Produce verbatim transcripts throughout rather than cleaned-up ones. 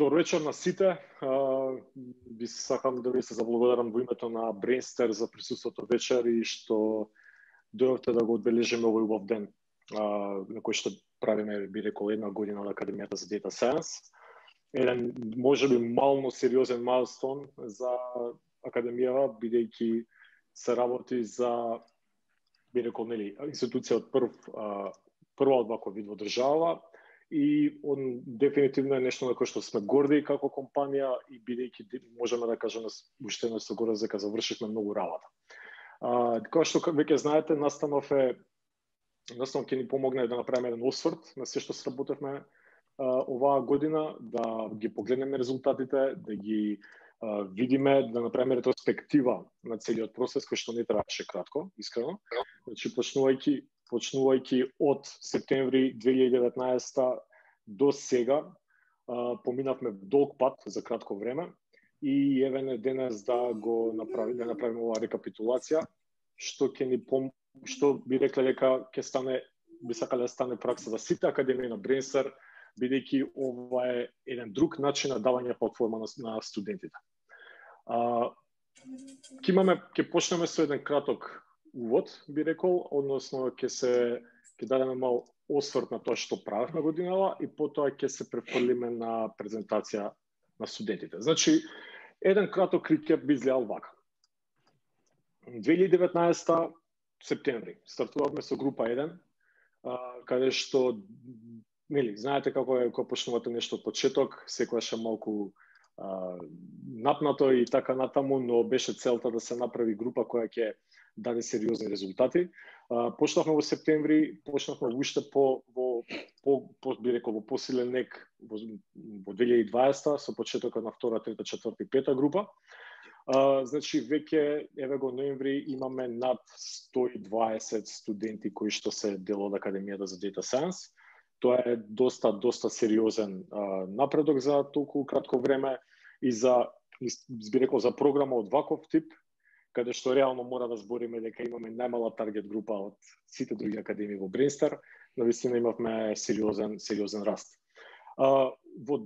Добро вечер на сите. Би сакам да ви се заблагодарам во името на Brainster за присуството вечер и што дојдовте да го одбележиме овој убав ден, на кој што правиме, би рекол, една година од Академијата за Data Science. Еден, можеби, мално сериозен майлстон за Академијава, бидејќи се работи за, би рекол, нели, институција од прв, прва од ваков вид во држава, и он дефинитивно е нешто на кое што сме горди како компанија и бидејќи можеме да кажеме уште еднаш со горда дека завршивме многу работа. А, како што веќе знаете, настанов е настанов ќе ни помогне да направиме еден осврт на се што сработевме а, оваа година, да ги погледнеме резултатите, да ги а, видиме, да направиме ретроспектива на целиот процес кој што не требаше кратко, искрено. Значи почнувајќи почнувајќи од септември две илјади и деветнаесета до сега, поминавме долг пат за кратко време и еве не денес да го направи, да направиме оваа рекапитулација, што ќе ни пом... што би рекле дека ќе стане, би сакале да стане пракса за сите академии на Brainster, бидејќи ова е еден друг начин на давање платформа на, на студентите. А, ќе имаме, ќе почнеме со еден краток увод, би рекол, односно ќе се ќе дадеме мал осврт на тоа што правевме годинава и потоа ќе се префрлиме на презентација на студентите. Значи, еден краток рекап би изгледал вака. две илјади и деветнаесета септември стартувавме со група еден, каде што, нели, знаете како е кога почнувате нешто од почеток, секогаш е малку а, напнато и така натаму, но беше целта да се направи група која ќе даде сериозни резултати. Uh, почнавме во септември, почнавме уште по во по, по би рекол во посилен нек во, во две илјади и дваесета со почетокот на втора, трета, четврта и пета група. Uh, значи веќе еве го ноември имаме над сто и дваесет студенти кои што се дел од Академијата за Data Science. Тоа е доста доста сериозен uh, напредок за толку кратко време и за би рекол за програма од ваков тип, каде што реално мора да збориме дека имаме најмала таргет група од сите други академии во Brainster, навистина имавме сериозен сериозен раст. А, во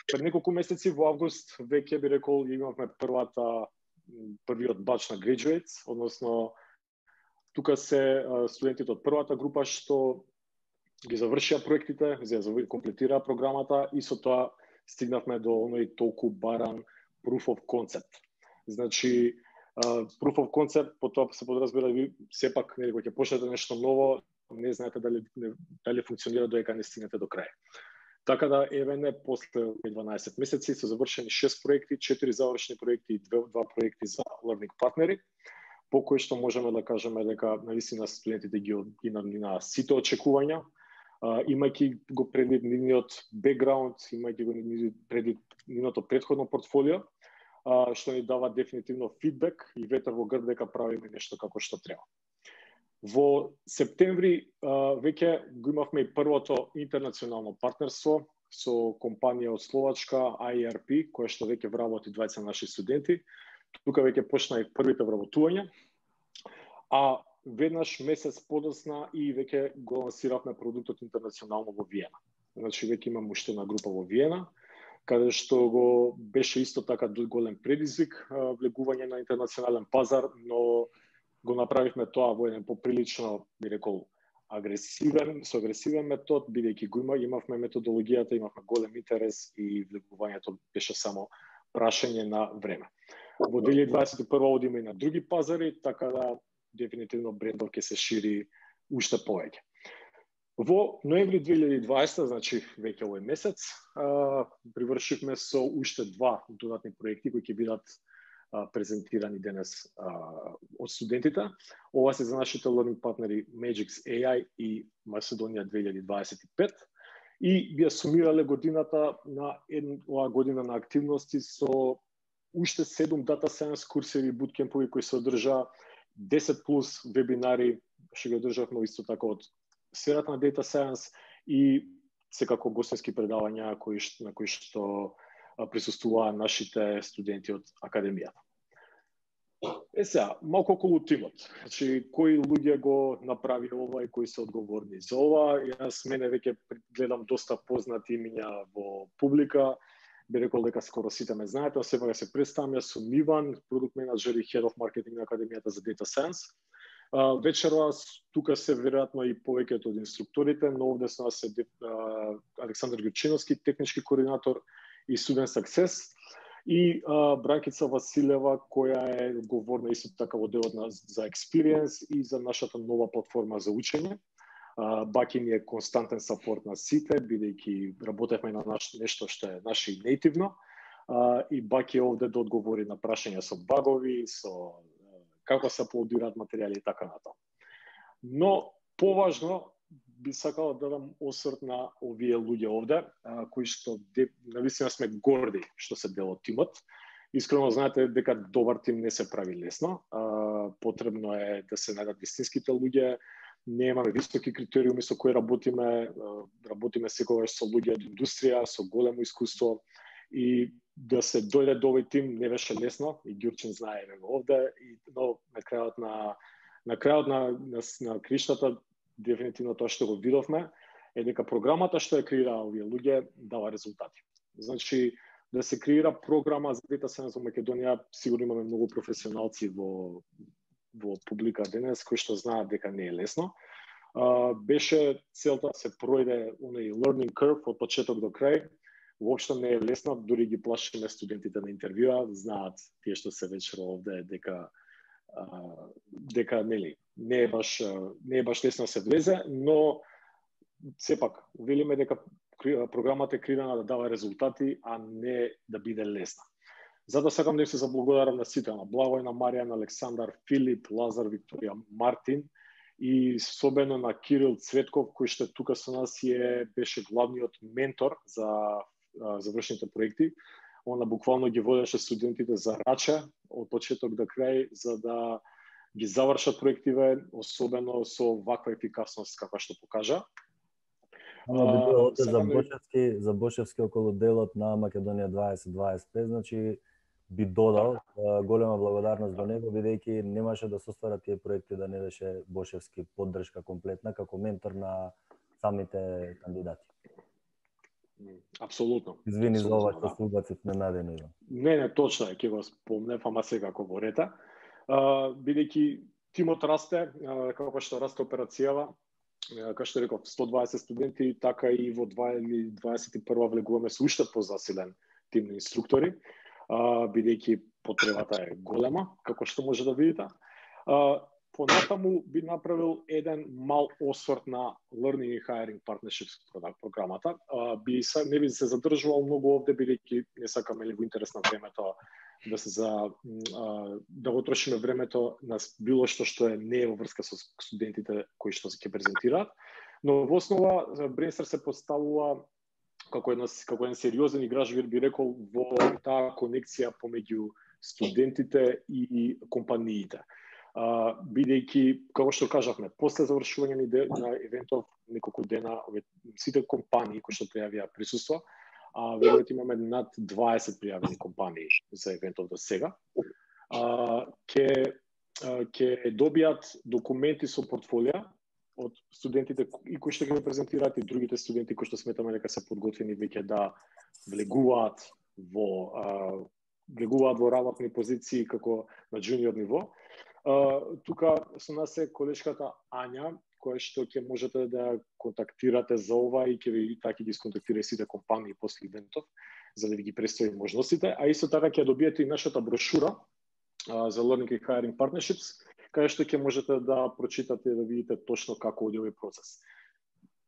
пред неколку месеци во август веќе би рекол имавме првата првиот бач на graduates, односно тука се студентите од првата група што ги завршија проектите, за да комплетираа програмата и со тоа стигнавме до оној толку баран proof of concept. Значи Uh, proof of concept, потоа се подразбира да ви сепак нели кога ќе почнете нешто ново, не знаете дали дали функционира додека не стигнете до крај. Така да еве не после дванаесет месеци се завршени шест проекти, четири завршени проекти и два проекти за learning партнери, по кои што можеме да кажеме дека навистина студентите ги ги на сите очекувања, uh, имајќи го предвид нивниот бекграунд, имајќи го предвид нивното претходно портфолио, Uh, што ни дава дефинитивно фидбек и ветер во грб дека правиме нешто како што треба. Во септември uh, веќе го имавме и првото интернационално партнерство со компанија од Словачка I R P, која што веќе вработи дваесет наши студенти. Тука веќе почна и првите вработувања. А веднаш месец подосна и веќе го лансиравме продуктот интернационално во Виена. Значи веќе имаме уште една група во Виена, каде што го беше исто така голем предизвик влегување на интернационален пазар, но го направивме тоа во еден поприлично, би рекол, агресивен, со агресивен метод, бидејќи го има, имавме методологијата, имавме голем интерес и влегувањето беше само прашање на време. Во две илјади дваесет и прва одиме и на други пазари, така да дефинитивно брендов ќе се шири уште повеќе. Во ноември две илјади и дваесета, значи веќе овој месец, а, привршивме со уште два додатни проекти кои ќе бидат а, презентирани денес а, од студентите. Ова се за нашите learning партнери Magix A I и Macedonија две илјади дваесет и пет. И би ја сумирале годината на една оваа година на активности со уште седум data science курсеви и буткемпови кои се одржаа, десет плюс вебинари што ги одржавме исто така од сферата на Data Science и секако гостински предавања кои, на кои што присуствуваа нашите студенти од Академијата. Е сега, малку околу тимот. Значи, кои луѓе го направи ова и кои се одговорни за ова. Јас мене веќе гледам доста познати имиња во публика. би рекол дека скоро сите ме знаете, но сепак се представам, јас сум Иван, продукт менаџер и Head of Marketing на Академијата за Data Science. Uh, вечерва тука се веројатно и повеќето од инструкторите, но овде со нас е uh, Александар Гјурчиновски, технички координатор и Student Success, и uh, Бранкица Василева, која е говорна исто така во делот на за Experience и за нашата нова платформа за учење. Uh, Баки ни е константен сапорт на сите, бидејќи работевме на наш, нешто што е наше и нейтивно, uh, и Баки е овде да одговори на прашања со багови, со како се аплодираат материјали и така натаму. Но поважно би сакал да дадам осврт на овие луѓе овде, а, кои што навистина сме горди што се дел од тимот. Искрено знаете дека добар тим не се прави лесно. А, потребно е да се најдат вистинските луѓе. Не имаме високи критериуми со кои работиме, работиме секогаш со луѓе од индустрија, со големо искуство, и да се дојде до овој тим не беше лесно, и Ѓурчин знае него овде, и, но на крајот на на крајот на, на, на криштата, дефинитивно тоа што го видовме е дека програмата што ја креира овие луѓе дава резултати. Значи, да се креира програма за Data Science во Македонија, сигурно имаме многу професионалци во во публика денес кои што знаат дека не е лесно. Uh, беше целта да се пројде оној learning curve од почеток до крај. Воопшто не е лесно, дури ги плашиме студентите на интервјуа, знаат тие што се вечера овде дека uh, дека нели не е баш не е баш лесно да се влезе, но сепак велиме дека програмата е креирана да дава резултати, а не да биде лесна. Затоа сакам да им се заблагодарам на сите, на Благој, на Маријан, Александар, Филип, Лазар, Викторија, Мартин и особено на Кирил Цветков, кој што тука со нас е беше главниот ментор за завршените проекти. Она буквално ги водеше студентите за раче од почеток до крај за да ги завршат проективе, особено со ваква ефикасност каква што покажа. Ама би било за Бошевски, за Бошевски околу делот на Македонија дваесет дваесет и пет, значи би додал голема благодарност до него, бидејќи немаше да се остварат тие проекти да не беше Бошевски поддршка комплетна како ментор на самите кандидати. Апсолутно. Извини за ова што се убацив ненадено. Не, не, точно е, ќе го спомнев, ама сега како во рета. Бидејќи тимот расте, како што расте операцијава, како што реков, сто дваесет студенти, така и во дваесет и прва влегуваме со уште позасилен тим на инструктори, бидејќи потребата е голема, како што може да видите. Понатаму би направил еден мал осврт на Learning and Hiring Partnerships програмата. Би се, не би се задржувал многу овде, бидејќи не сакаме ли во интерес на времето да се за да го трошиме времето на било што што е не е во врска со студентите кои што ќе презентираат, но во основа Brainstar се поставува како една како еден сериозен играч, би рекол, во таа конекција помеѓу студентите и компаниите. Uh, бидејќи, како што кажавме, после завршување на евентов неколку дена, сите компании кои што пријавија присуство, а веројатно имаме над дваесет пријавени компании за евентов до сега, uh, ќе ќе добијат документи со портфолија од студентите и кои што ги презентираат и другите студенти кои што сметаме дека се подготвени веќе да влегуваат во uh, влегуваат во работни позиции како на джуниор ниво. Uh, тука со нас е колешката Ања, која што ќе можете да контактирате за ова и ќе ви така ги сконтактира сите компании после ивентов, за да ви ги представи можностите, а исто така ќе добиете и нашата брошура uh, за Learning and Hiring Partnerships, каде што ќе можете да прочитате и да видите точно како оди овој процес.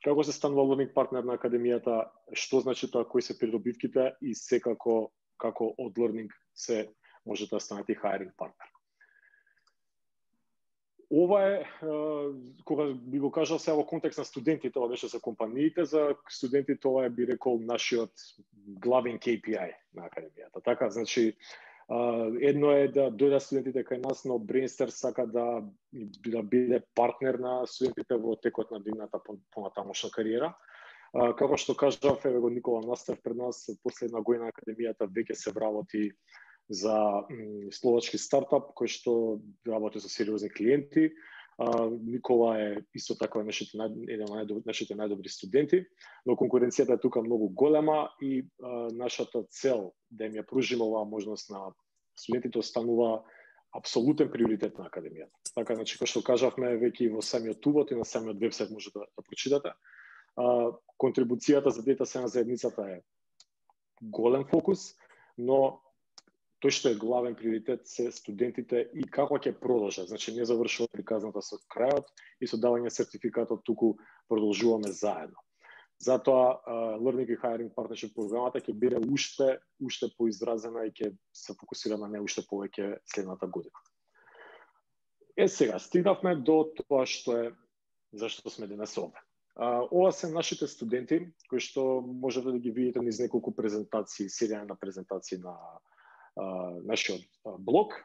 Како се станува learning партнер на академијата, што значи тоа, кои се придобивките и секако како од learning се можете да станете hiring партнер. Ова е, кога би го кажал сега во контекст на студентите, ова беше за компаниите, за студентите ова е, би рекол, нашиот главен К П И на академијата. Така, значи, едно е да дојдат студентите кај нас, но Brainstar сака да, да биде партнер на студентите во текот на нивната понатамошна кариера. Како што кажав, еве го Никола Настев пред нас, после една година на академијата веќе се вработи за словачки стартап кој што работи со сериозни клиенти. А, Никола е исто така нашите еден од нашите најдобри студенти, но конкуренцијата е тука многу голема и а, нашата цел да им ја пружиме оваа можност на студентите останува апсолутен приоритет на академијата. Така, значи, како што кажавме, веќе и во самиот увод и на самиот вебсайт може да, да прочитате. А, контрибуцијата за Data Science заедницата е голем фокус, но тој што е главен приоритет се студентите и како ќе продолжат. Значи, не завршува приказната со крајот и со давање сертификатот, туку продолжуваме заедно. Затоа uh, Learning и Hiring Partnership програмата ќе биде уште, уште поизразена и ќе се фокусира на не уште повеќе следната година. Е, сега, стигнавме до тоа што е, зашто сме денес овде. Uh, ова се нашите студенти, кои што можете да ги видите низ неколку презентации, серија на презентации на uh, нашиот uh, блог.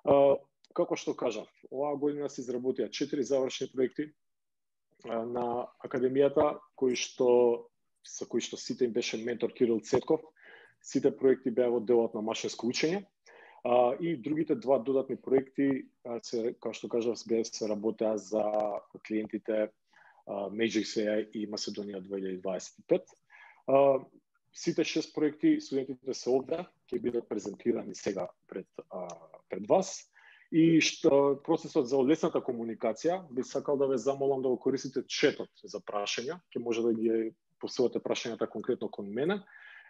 Uh, како што кажав, оваа година се изработија четири завршни проекти на академијата, кои што со кои што сите им беше ментор Кирил Цетков. Сите проекти беа во делот на машинско учење. А, и другите два додатни проекти, се, како што кажав, се работеа за клиентите а, Magix еј ај и Macedоnia две илјади дваесет и пет. А, сите шест проекти, студентите се овде, ќе бидат презентирани сега пред, а, пред вас. И што процесот за лесната комуникација, би сакал да ве замолам да го користите четот за прашања, ќе може да ги поставите прашањата конкретно кон мене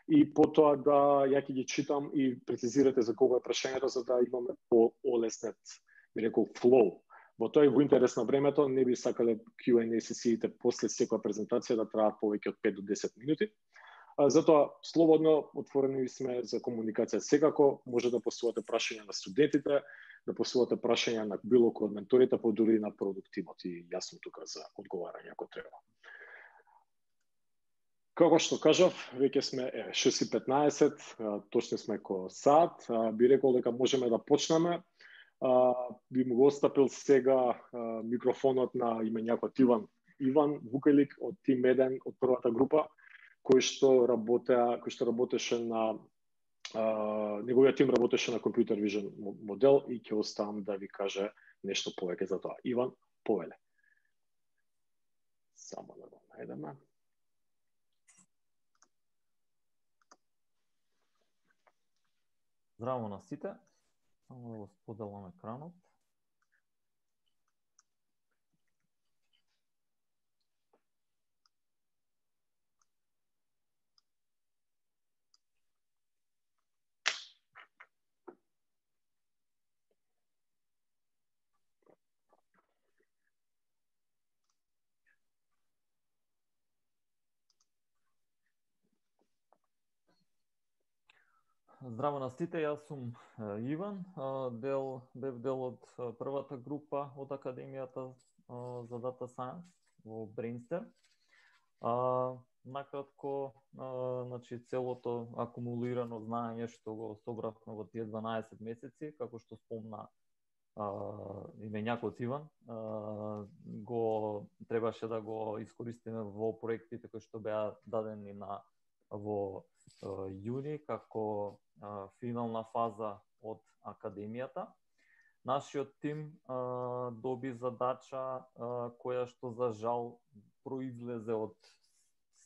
и потоа да ја ќе ги читам и прецизирате за кого е прашањето, за да имаме по-олеснет, би рекол, флоу. Во тоа и во интерес на времето не би сакале Q and A сесиите после секоја презентација да траат повеќе од пет до десет минути. Затоа слободно отворени сме за комуникација. Секако може да поставате прашања на студентите, да поставате прашања на било кој од менторите, па дури на продуктивот, и јас сум тука за одговарање ако треба. Како што кажав, веќе сме е, шест и петнаесет, точно сме ко сат, би рекол дека можеме да почнеме. Би му го остапил сега микрофонот на имењакот Иван Иван Вукелик од Тим еден од првата група, кој што работеа, кој што работеше на Uh, неговиот тим работеше на Computer Vision модел и ќе оставам да ви каже нешто повеќе за тоа. Иван, повеле. Само да го најдеме. Здраво на сите. Само да го споделам екранот. Здраво на сите, јас сум Иван, дел, бев дел од првата група од Академијата за Data Science во Brainster. Накратко, значи, целото акумулирано знаење што го собравме во тие дванаесет месеци, како што спомна имењакот Иван, го требаше да го искористиме во проектите кои што беа дадени на во јуни како а, финална фаза од академијата. Нашиот тим а, доби задача а, која што за жал произлезе од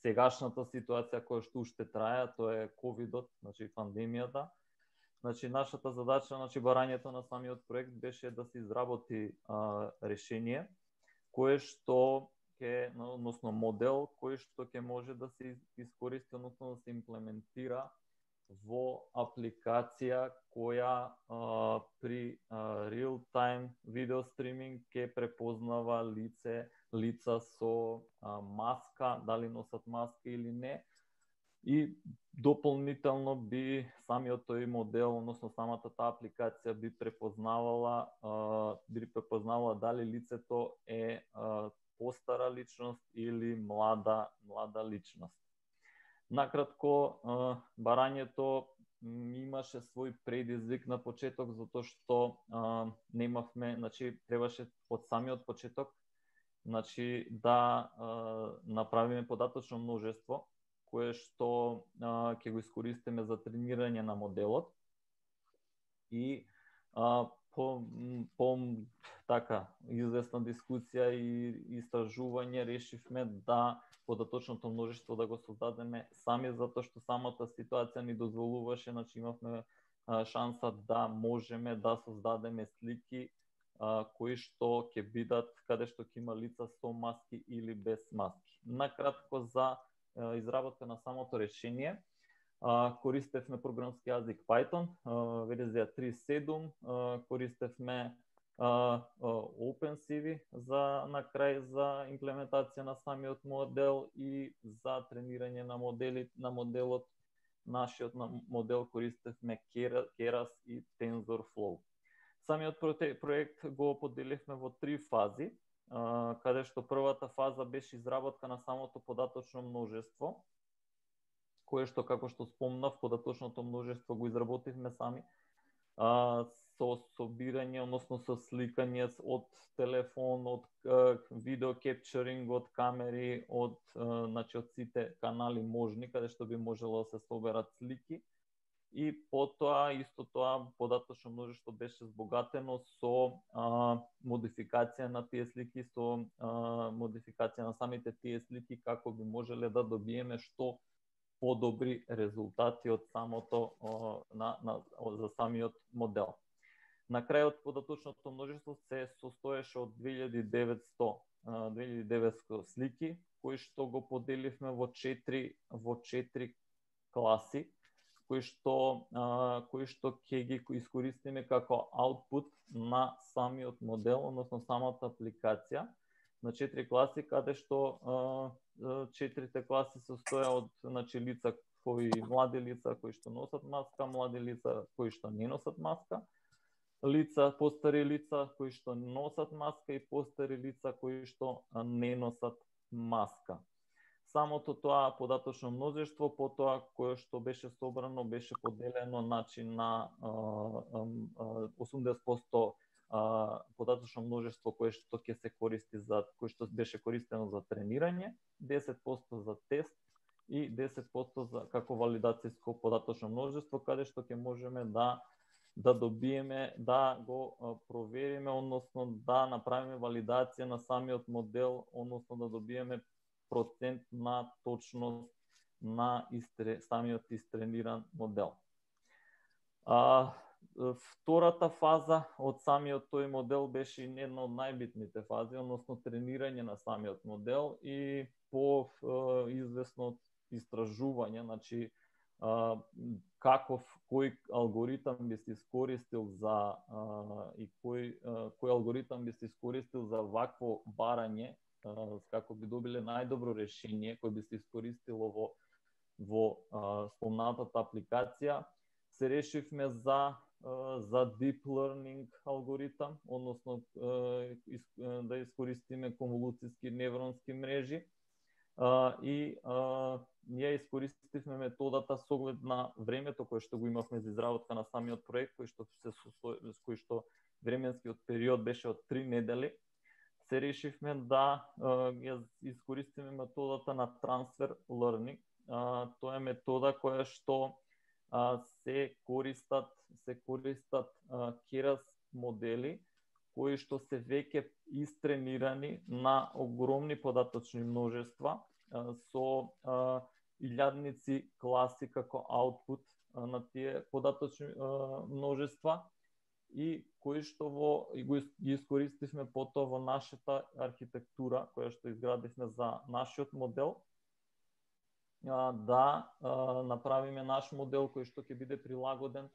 сегашната ситуација која што уште трае, тоа е ковидот, значи пандемијата. Значи нашата задача, значи барањето на самиот проект беше да се изработи а, решение кое што ке, односно модел кој што ќе може да се искористи, односно да се имплементира во апликација која а, при а, real-time видео стриминг ќе препознава лице, лица со а, маска, дали носат маска или не, и дополнително би самиот тој модел, односно самата таа апликација би препознавала, а, би препознавала дали лицето е а, постара личност или млада млада личност. Накратко, барањето имаше свој предизвик на почеток затоа што немавме, значи требаше од самиот почеток, значи да направиме податочно множество кое што ќе го искористиме за тренирање на моделот и по, по така известна дискусија и истражување решивме да податочното множество да го создадеме сами, затоа што самата ситуација ни дозволуваше, значи имавме шанса да можеме да создадеме слики а, кои што ќе бидат каде што ќе има лица со маски или без маски. Накратко за а, изработка на самото решение, а, користевме програмски јазик Python, а, верзија три точка седум, а, користевме а, а, OpenCV за на крај за имплементација на самиот модел и за тренирање на модели на моделот. Нашиот модел користевме Keras и TensorFlow. Самиот проект го поделивме во три фази, каде што првата фаза беше изработка на самото податочно множество, кое што, како што спомнав, податочното множество го изработивме сами, со собирање, односно со сликање од телефон, од видео кепчеринг, од камери, од значи од сите канали можни каде што би можело да се соберат слики. И потоа исто тоа податочно множество беше збогатено со а, модификација на тие слики, со а, модификација на самите тие слики како би можеле да добиеме што подобри резултати од самото на, на за самиот модел. На крајот податочното множество се состоеше од две илјади и деветсто слики, кои што го поделивме во четири во четири класи, кои што а, кои што ќе ги искористиме како output на самиот модел, односно самата апликација на четири класи, каде што а, четирите класи се состоја од значи лица кои млади лица кои што носат маска, млади лица кои што не носат маска, лица, постари лица кои што носат маска и постари лица кои што не носат маска. Самото тоа податочно множество потоа кое што беше собрано беше поделено значи на осумдесет проценти податочно множество кое што ќе се користи за кое што беше користено за тренирање, десет проценти за тест и десет проценти за како валидацијско податочно множество, каде што ќе можеме да да добиеме, да го провериме, односно да направиме валидација на самиот модел, односно да добиеме процент на точност на истре, самиот истрениран модел. А, втората фаза од самиот тој модел беше една од најбитните фази, односно тренирање на самиот модел и по е, известно истражување, значи Uh, каков кој алгоритам би се искористил за uh, и кој uh, кој алгоритам би се искористил за вакво барање, uh, како би добиле најдобро решение кој би се искористило во во uh, спомнатата апликација. Се решивме за uh, за deep learning алгоритам, односно uh, из, uh, да искористиме конволуцијски невронски мрежи. Uh, и uh, ние искористивме методата со оглед на времето кое што го имавме за изработка на самиот проект, кој што се состои, кој што временскиот период беше од три недели. Се решивме да ја uh, искористиме методата на transfer learning. Uh, тоа е метода која што uh, се користат се користат uh, Keras модели кои што се веќе истренирани на огромни податочни множества со а, илјадници класи како output а, на тие податочни а, множества и кои што во и го искористивме потоа во нашата архитектура која што изградивме за нашиот модел, а, да а, направиме наш модел кој што ќе биде прилагоден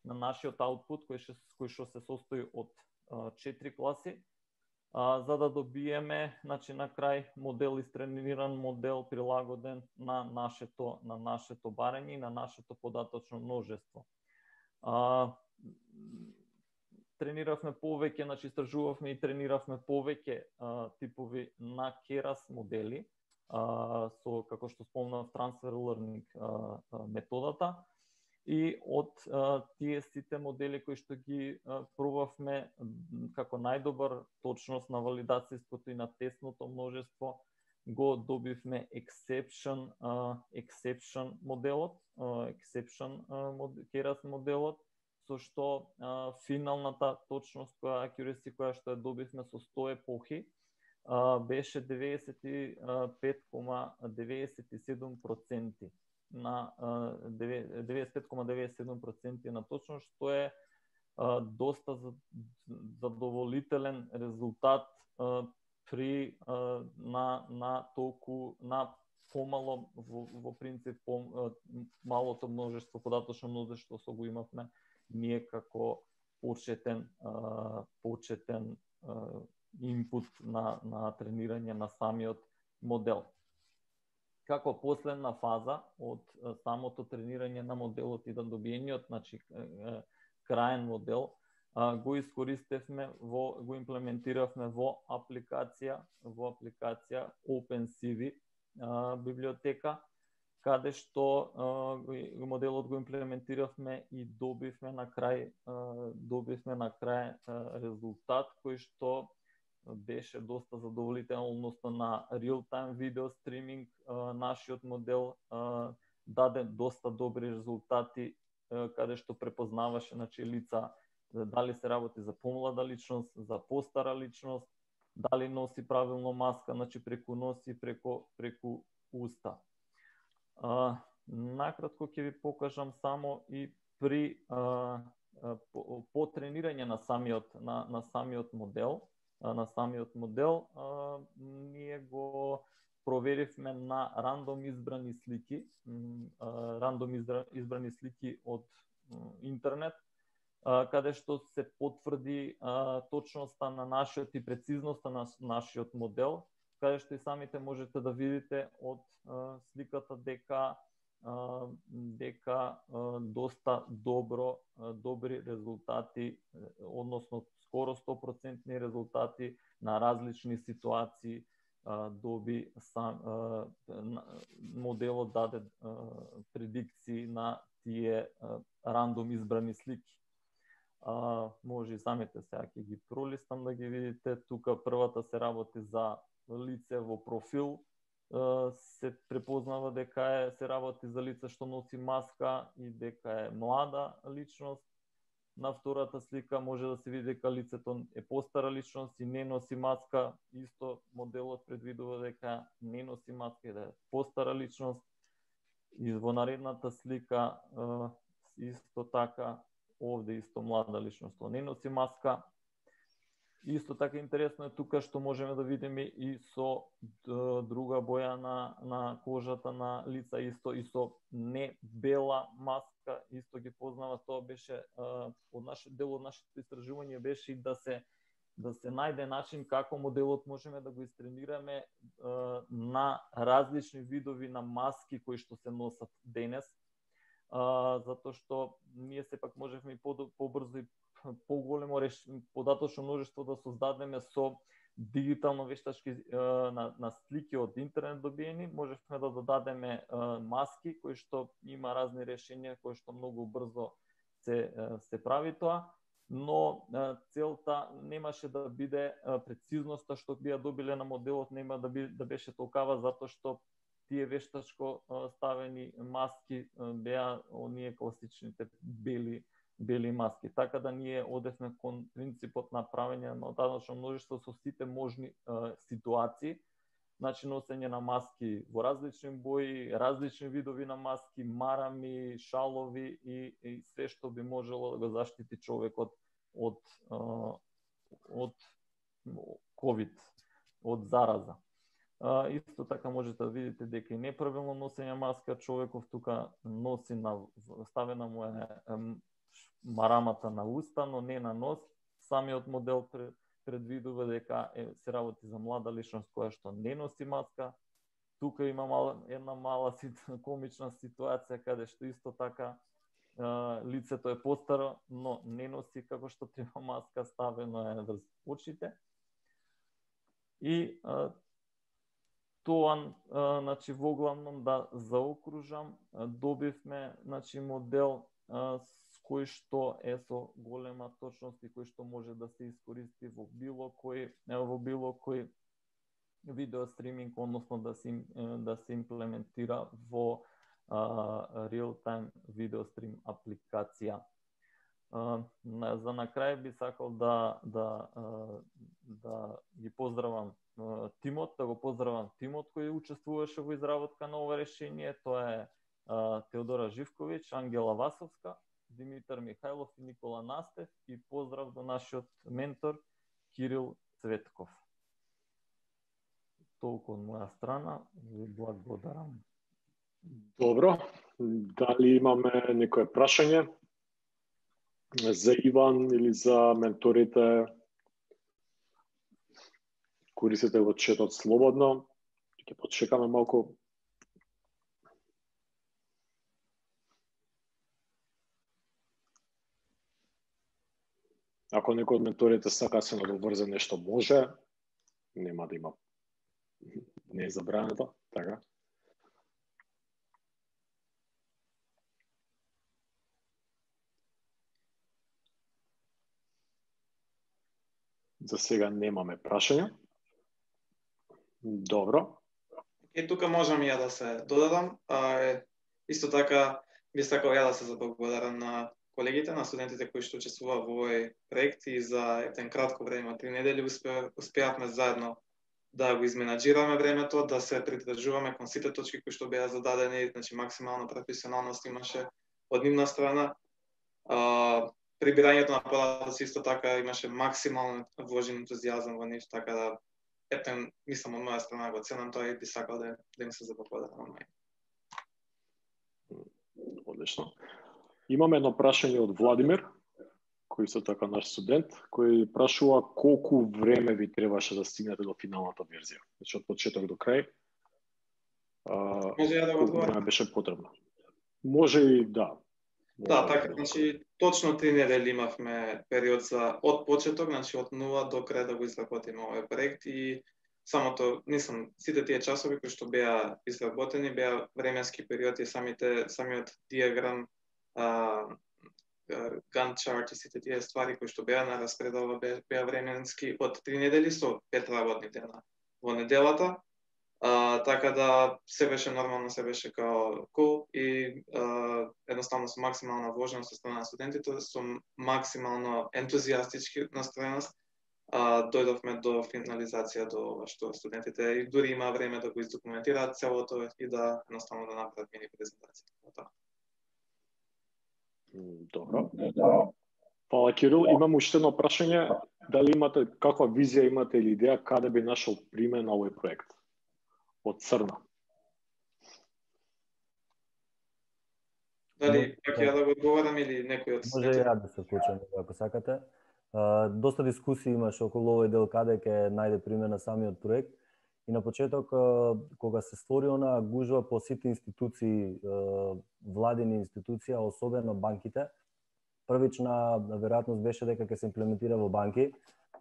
на нашиот output кој што кој што се состои од а, четири класи. А, за да добиеме, значи на крај модел истрениран модел прилагоден на нашето на нашето барање и на нашето податочно множество. А, трениравме повеќе, значи истражувавме и трениравме повеќе а, типови на Keras модели, а, со како што спомнав transfer learning а, а, методата. И од а, тие сите модели кои што ги а, пробавме како најдобар точност на валидацијското и на тестното множество, го добивме exception uh, exception моделот, uh, exception uh, Keras моделот со што а, финалната точност која accuracy која што ја добивме со сто епохи а, беше деветдесет и пет кома деветдесет и седум проценти на а, деветдесет и пет кома деветдесет и седум проценти на точност, што е а, доста задоволителен резултат а, при а, на на толку на помало во, во принцип по малото множество податочно множество што го имавме ние како почетен а, почетен а, инпут на на тренирање на самиот модел. Како последна фаза од самото тренирање на моделот и да добиениот, значи краен модел, го искористевме во го имплементиравме во апликација, во апликација OpenCV библиотека, каде што моделот го имплементиравме и добивме на крај добивме на крај резултат кој што беше доста задоволителен, односно на real-time видео стриминг, нашиот модел даде доста добри резултати, каде што препознаваше, значи, лица, дали се работи за помлада личност, за постара личност, дали носи правилно маска, значи преку нос и преку преку уста. А, накратко ќе ви покажам само и при а, по, по тренирање на самиот на, на самиот модел, а, на самиот модел, а, ние го проверивме на рандом избрани слики, а, рандом избрани слики од интернет, каде што се потврди а, точноста на нашиот и прецизноста на нашиот модел, каде што и самите можете да видите од а, сликата дека а, дека а, доста добро а, добри резултати, односно скоро сто проценти резултати на различни ситуации а, доби сам а, моделот даде а, предикции на тие а, рандом избрани слики. А, може и самите сега ќе ги пролистам да ги видите. Тука првата се работи за лице во профил, а, се препознава дека е се работи за лице што носи маска и дека е млада личност. На втората слика може да се види дека лицето е постара личност и не носи маска. Исто моделот предвидува дека не носи маска и да е постара личност. И во наредната слика а, исто така овде исто млада личност што не носи маска. Исто така интересно е тука што можеме да видиме и со друга боја на, на кожата на лица, исто и со не бела маска, исто ги познава. Тоа беше а, од нашиот дел од нашето истражување беше и да се да се најде начин како моделот можеме да го истренираме а, на различни видови на маски кои што се носат денес. Uh, затоа што ние сепак можевме и побрзо и поголемо реш... податочно множество да создадеме со дигитално вештачки uh, на, на слики од интернет добиени, можевме да додадеме uh, маски кои што има разни решенија кои што многу брзо се uh, се прави тоа, но uh, целта немаше да биде uh, прецизноста што би ја добиле на моделот, нема да би да беше толкава, затоа што тие вештачко ставени маски беа оние класичните бели бели маски. Така да ние одевме кон принципот на правење на податочно множество со сите можни а, ситуации, значи носење на маски во различни бои, различни видови на маски, марами, шалови и, и све што би можело да го заштити човекот од а, од ковид, од зараза. Uh, исто така можете да видите дека и неправилно носење маска, човеков тука носи на ставена му е марамата на уста, но не на нос. Самиот модел предвидува дека е, се работи за млада личност која што не носи маска. Тука има мала, една мала комична ситуација каде што исто така uh, лицето е постаро, но не носи како што треба маска, ставено е врз очите. И uh, тоа, значи, воглавном да заокружам, добивме, значи, модел а, с кој што е со голема точност и кој што може да се искористи во било кој во било кој видео стриминг, односно да се да се имплементира во а, real-time видео стрим апликација. На, за на крај би сакал да да да ги поздравам тимот, да го поздравам тимот кој учествуваше во изработка на ова решение. Тоа е Теодора Живковиќ, Ангела Васовска, Димитар Михајлов и Никола Настев, и поздрав до нашиот ментор Кирил Цветков. Толку од моја страна, ви благодарам. Добро, дали имаме некое прашање за Иван или за менторите? Користите го четот слободно. Ќе почекаме малку. Ако некој од менторите сака се надоврзе нешто, може, нема да има, не е забрането, така. За сега немаме прашања. Добро. И тука можам ја да се додадам. А, исто така би сакал ја да се заблагодарам на колегите, на студентите кои што учествуваа во овој проект и за еден кратко време, три недели, успе, успеавме заедно да го изменаџираме времето, да се придржуваме кон сите точки кои што беа зададени, значи максимална професионалност имаше од нивна страна. А, прибирањето на податоци исто така имаше максимално вложен ентузијазам во нив, така да ете, мислам од моја страна го ценам тоа и би сакал да, да им се заблагодарам. Одлично. Имаме едно прашање од Владимир, кој се така наш студент, кој прашува колку време ви требаше да стигнете до финалната верзија. Значи од почеток до крај. А, Може ја да го одговорам? Време беше потребно. Може и да. Да, така, значи точно три недели имавме период за од почеток, значи од нула до крај да го изработиме овој проект, и самото, мислам, сите тие часови кои што беа изработени беа временски период и самите самиот диаграм, а, Gantt chart и сите тие ствари кои што беа на распредала беа временски од три недели со пет работни дена во неделата. А, така да се беше нормално, се беше као cool и а, едноставно со максимална вложеност со страна на студентите, со максимално ентузијастички настроеност, а, дојдовме до финализација, до што студентите и дури има време да го издокументираат целото и да едноставно да направат мини презентација. Добро. Фала, Кирил. Имам уште едно прашање. Дали имате, каква визија имате или идеја каде би нашол примен на овој проект? Од Црна. Дали пак ја да го одговорам или некој од... Може ја да се вклучам, ако сакате. Uh, доста дискусии имаше околу овој дел каде ќе најде примена самиот проект. И на почеток, uh, кога се створи она гужва по сите институции, uh, владини институции, особено банките, првична веројатност беше дека ќе се имплементира во банки,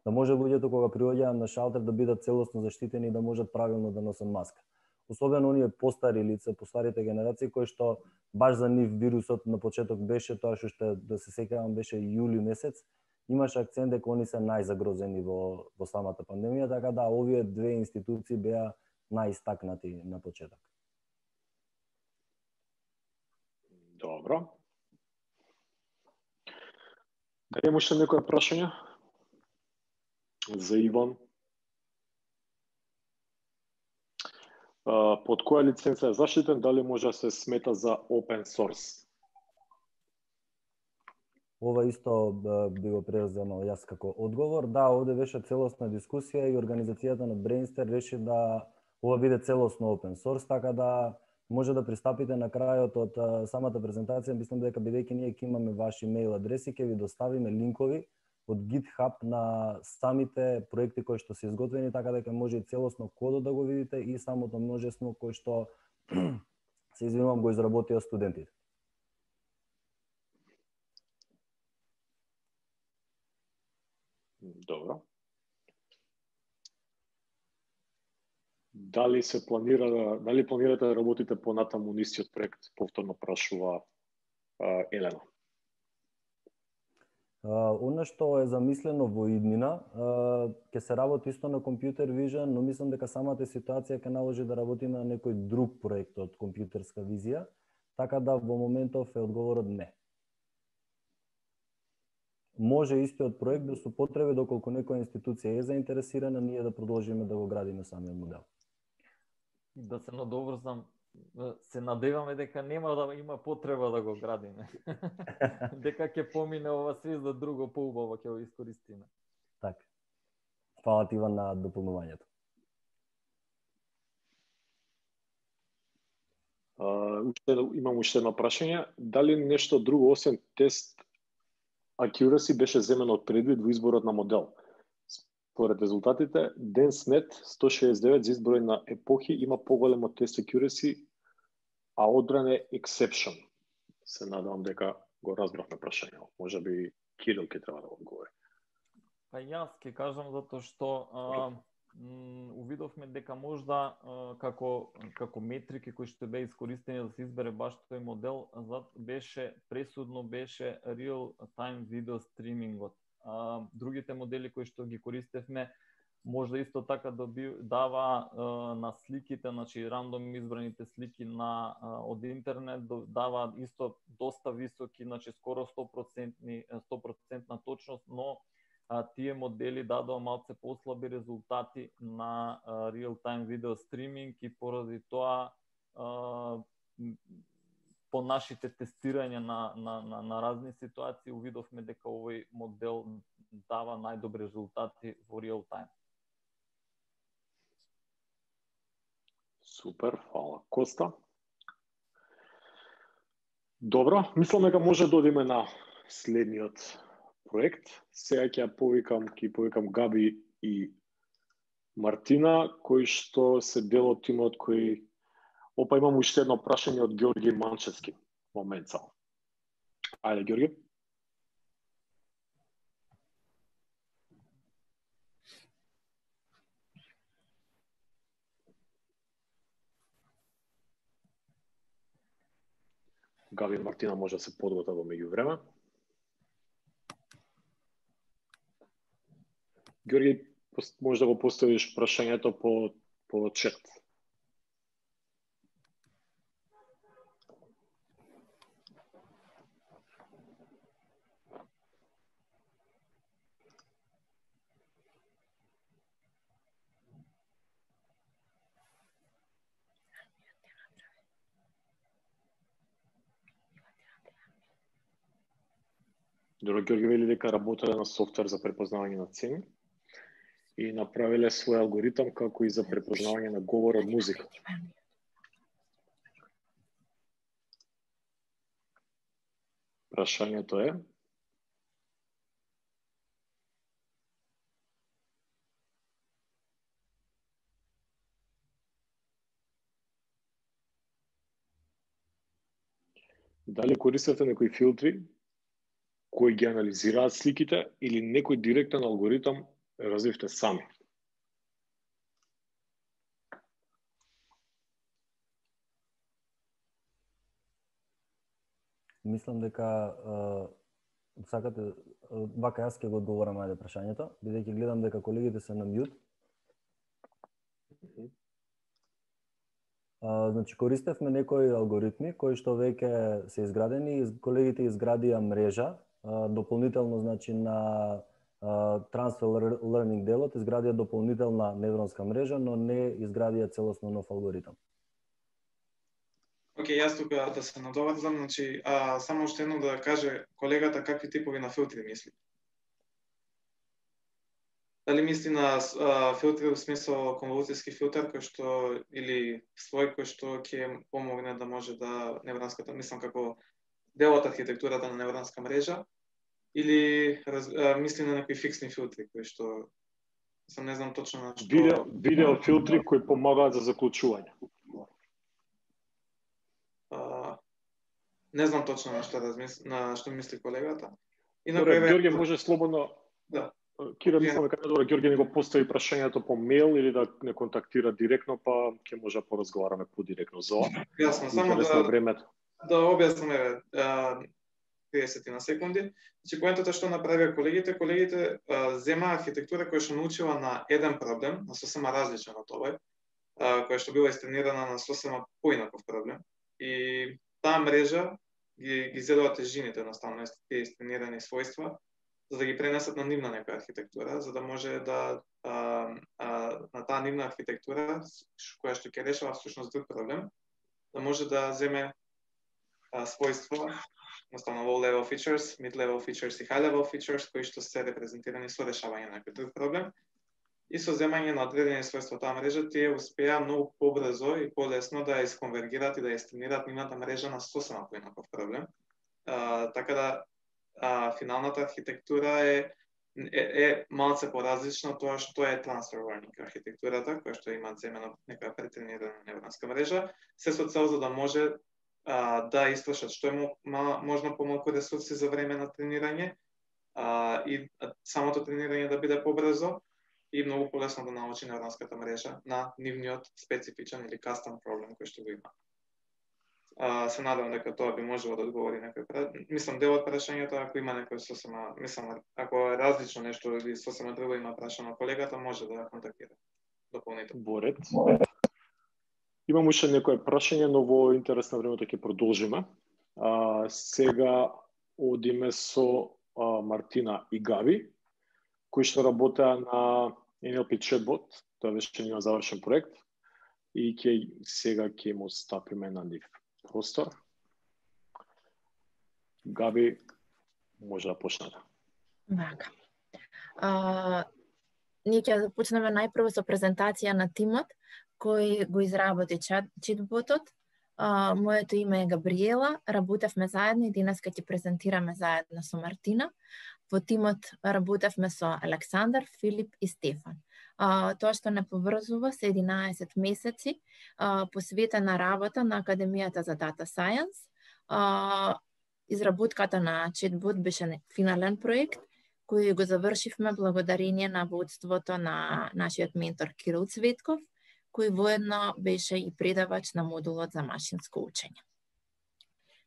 да може луѓето кога приоѓаат на шалтер да бидат целосно заштитени и да можат правилно да носат маска. Особено оние постари лица, постарите генерации кои што баш за нив вирусот на почеток беше тоа што ще, да се сеќавам, беше јули месец, имаше акцент дека они се најзагрозени во во самата пандемија, така да овие две институции беа најистакнати на почеток. Добро. Да имаме уште некоја прашање за Иван? Под која лиценца е заштитен, дали може да се смета за open source? Ова исто би го преземал јас како одговор. Да, овде беше целосна дискусија и организацијата на Brainster реши да ова биде целосно open source, така да може да пристапите на крајот од самата презентација. Мислам дека бидејќи ние ќе имаме ваши мејл адреси, ќе ви доставиме линкови од GitHub на самите проекти кои што се изготвени, така дека може и целосно кодот да го видите и самото множество кои што се извинувам го изработија студентите. Добро. Дали се планира, дали планирате да работите понатаму на истиот проект? Повторно прашува а, Елена. Uh, Она што е замислено во иднина, uh, ќе се работи исто на Computer Vision, но мислам дека самата ситуација ќе наложи да работиме на некој друг проект од компјутерска визија, така да во моментов е одговорот не. може истиот проект да се потреби доколку некоја институција е заинтересирана, ние да продолжиме да го градиме самиот модел. Да се надоврзам, се надеваме дека нема да има потреба да го градиме. Дека ќе помине ова свест за друго поубаво ќе го искористиме. Така. Фала ти, Иван, на дополнувањето. Uh, уште, имам уште едно прашање. Дали нешто друго освен тест accuracy беше земено од предвид во изборот на модел? Според резултатите, DenseNet сто шеесет и девет за изброј на епохи има поголемо тест accuracy, а одбран е exception. Се надевам дека го разбравме прашањето. Може би Кирил ќе треба да го одговори. Па јас ќе кажам затоа што а, м, увидовме дека можда а, како како метрики кои што беа искористени да се избере баш тој модел, зат беше пресудно беше real time video стримингот. А, другите модели кои што ги користевме можда исто така доби, дава а, на сликите, значи рандом избраните слики на а, од интернет дава исто доста високи, значи скоро сто проценти сто процентна точност, но а, тие модели дадоа малце послаби резултати на а, real time видео стриминг и поради тоа а, по нашите тестирања на, на, на, на разни ситуации увидовме дека овој модел дава најдобри резултати во real time. Супер, фала. Коста? Добро, мислам дека може да одиме на следниот проект. Сега ќе ја повикам, ќе повикам Габи и Мартина, кои што се дел од тимот кој... Опа, имам уште едно прашање од Георги Манчевски. Момент само. Ајде, Георги. Габи и Мартина може да се подготват во меѓувреме. Георги, може да го поставиш прашањето по, по чат. Добро, Георги вели дека работеле на софтвер за препознавање на цени и направиле свој алгоритам како и за препознавање на говор од музика. Прашањето е: дали користите некои филтри кои ги анализираат сликите или некој директен алгоритам развивте сами? Мислам дека е, сакате, вака јас ќе го одговорам на прашањето, бидејќи гледам дека колегите се на мјут. А, значи, користевме некои алгоритми кои што веќе се изградени, колегите изградија мрежа, а, дополнително, значи, на а, transfer learning делот, изградија дополнителна невронска мрежа, но не изградија целосно нов алгоритам. Океј, okay, јас тука да се надоврзам, значи, а, само уште едно да каже колегата какви типови на филтри мисли. Дали мисли на а, филтри во смисол конволуцијски филтер кој што или свој кој што ќе помогне да може да невронската, мислам како дел од архитектурата на невронска мрежа, или раз, а, мисли на некои фиксни филтри кои што сам не знам точно на што. Видео, видео филтри кои помагаат за заклучување. А, не знам точно на што размисли, на што мисли колегата. И на Добре, Георги може слободно. Да. Кира, мислам дека добро Георги не го постави прашањето по мејл или да не контактира директно, па ќе може да поразговараме подиректно за ова. Јасно, само да времето. Да објасниме триесет на секунди. Значи поентата што направија колегите, колегите а, зема архитектура која што научила на еден проблем, на сосема различен од овој, а, која што била истренирана на сосема поинаков проблем. И таа мрежа ги ги зедува тежините, едноставно тие истренирани својства за да ги пренесат на нивна некоја архитектура, за да може да а, а, на таа нивна архитектура, која што ќе решава всушност друг проблем, да може да земе а, својства, наставно low level features, mid level features и high level features, кои што се репрезентирани со решавање на некој друг проблем. И со земање на одредени својства таа мрежа, тие успеа многу побрзо и полесно да ја исконвергираат и да ја естимираат нивната мрежа на сосема поинаков проблем. А, така да а, финалната архитектура е, е, е малце поразлична тоа што е transfer learning архитектурата, која што има земено некоја претренирана невронска мрежа, се со цел за да може а, да истрошат што е можно помалку ресурси за време на тренирање а, и самото тренирање да биде побрзо и многу полесно да научи невронската мрежа на нивниот специфичен или custom проблем кој што го има. А, се надевам дека тоа би можело да одговори некој, мислам дел од прашањето, ако има некој сосема, мислам ако е различно нешто или сосема друго има прашано колегата, може да контактира дополнително. Во ред. Имам уште некој прашање, но во интерес на времето ќе продолжиме. А, сега одиме со а, Мартина и Габи, кои што работеа на Ен Ел Пи Chatbot, тоа веќе има завршен проект и ќе сега ќе му стапиме на нив простор. Габи, може да почнете. Вака. А, ние ќе започнеме најпрво со презентација на тимот кој го изработи чатботот. А, моето име е Габриела, работевме заедно и денеска ќе презентираме заедно со Мартина. Во тимот работевме со Александар, Филип и Стефан. А, тоа што не поврзува се единаесет месеци а, посветена работа на Академијата за Data Science. А, изработката на чатбот беше финален проект кој го завршивме благодарение на водството на нашиот ментор Кирил Цветков, кој воедно беше и предавач на модулот за машинско учење.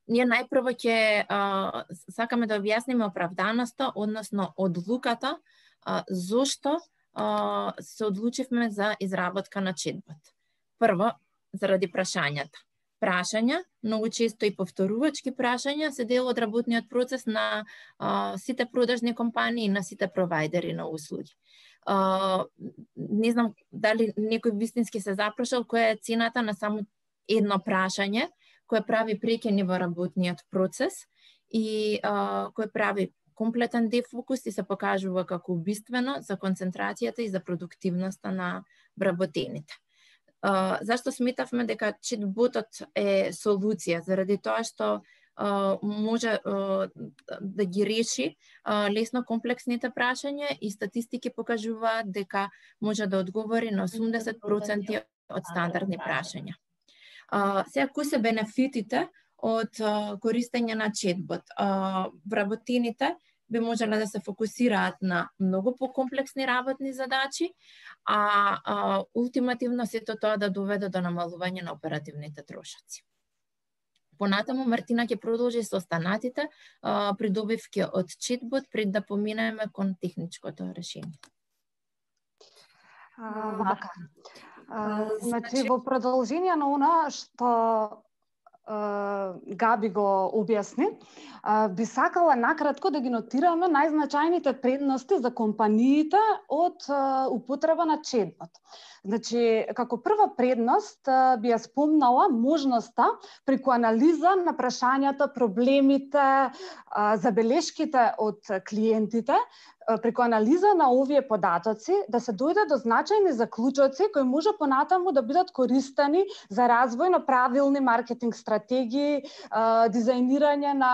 Ние најпрво ќе а, сакаме да објасниме оправданоста, односно одлуката, а, зошто а, се одлучивме за изработка на чатбот. Прво, заради прашањата. Прашања, многу често и повторувачки прашања, се дел од работниот процес на а, сите продажни компании и на сите провайдери на услуги. Uh, не знам дали некој вистински се запрашал која е цената на само едно прашање кое прави прекини во работниот процес и uh, кое прави комплетен дефокус и се покажува како убиствено за концентрацијата и за продуктивноста на вработените. Uh, зашто сметавме дека чатботот е солуција? Заради тоа што Uh, може uh, да ги реши uh, лесно комплексните прашања и статистики покажуваат дека може да одговори на осумдесет проценти од стандардни прашања. Uh, сега, кои се бенефитите од uh, користење на чатбот? Uh, вработените би можеле да се фокусираат на многу покомплексни работни задачи, а uh, ултимативно сето тоа да доведе до намалување на оперативните трошоци. Понатаму Мартина ќе продолжи со останатите а, придобивки од чатбот пред да поминеме кон техничкото решение. А, вака. А, значи во продолжение на она што а, Габи го објасни, а, би сакала накратко да ги нотираме најзначајните предности за компаниите од а, употреба на чатбот. Значи, како прва предност би ја спомнала можноста преку анализа на прашањата, проблемите, забелешките од клиентите, преку анализа на овие податоци да се дојде до значајни заклучоци кои може понатаму да бидат користени за развој на правилни маркетинг стратегии, дизајнирање на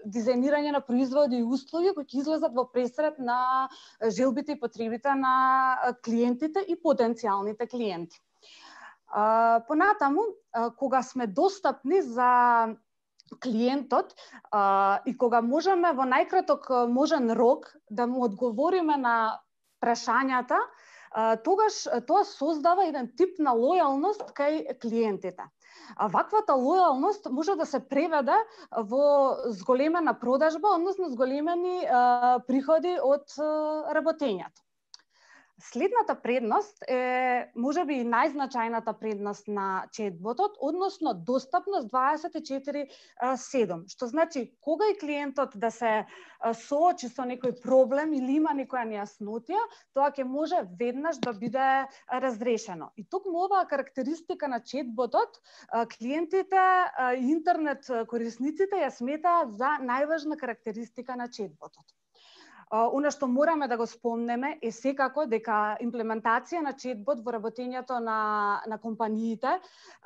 дизајнирање на производи и услуги кои ќе излезат во пресред на желбите и потребите на клиентите и потенцијалните клиенти. Понатаму, кога сме достапни за клиентот а, и кога можеме во најкраток можен рок да му одговориме на прашањата, а, тогаш тоа создава еден тип на лојалност кај клиентите. А ваквата лојалност може да се преведе во зголемена продажба, односно зголемени а, приходи од а, работењето. Следната предност е можеби и најзначајната предност на четботот, односно достапност дваесет и четири седум. Што значи кога и клиентот да се соочи со некој проблем или има некоја нејаснотија, тоа ќе може веднаш да биде разрешено. И токму оваа карактеристика на четботот, клиентите и интернет корисниците ја сметаат за најважна карактеристика на четботот. Она што мораме да го спомнеме е секако дека имплементација на четбот во работењето на, на компаниите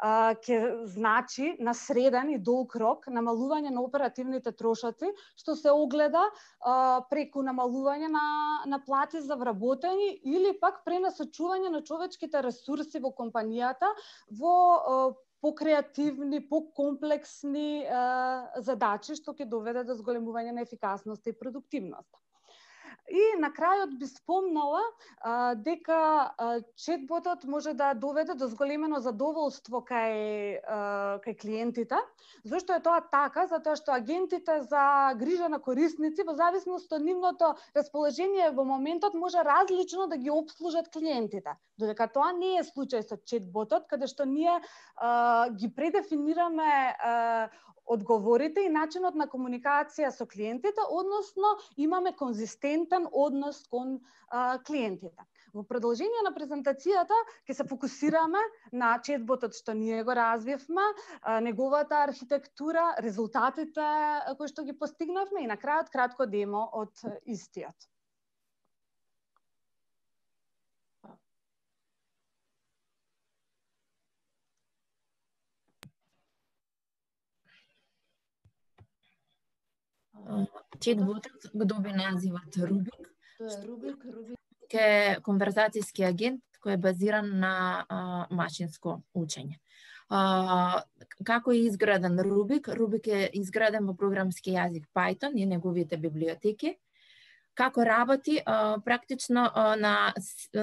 ќе значи на среден и долг рок намалување на оперативните трошоци, што се огледа а, преку намалување на, на плати за вработени или пак пренасочување на човечките ресурси во компанијата во а, покреативни, покомплексни а, задачи, што ќе доведе до зголемување на ефикасност и продуктивност. И на крајот би спомнала а, дека а, четботот може да доведе до зголемено задоволство кај, а, кај клиентите. Зошто е тоа така? Затоа што агентите за грижа на корисници, во зависност од нивното расположение во моментот, може различно да ги обслужат клиентите. Додека тоа не е случај со четботот, каде што ние а, ги предефинираме а, одговорите и начинот на комуникација со клиентите, односно имаме конзистентен однос кон а, клиентите. Во продолжение на презентацијата ќе се фокусираме на четботот што ние го развивме, а, неговата архитектура, резултатите кои што ги постигнавме и на крајот кратко демо од истиот. Четботот го доби називот Рубик. Тоа е Рубик, Рубик е конверзацијски агент кој е базиран на а, машинско учење. А, како е изграден Рубик? Рубик е изграден во програмски јазик Python и неговите библиотеки. Како работи? А, практично а, на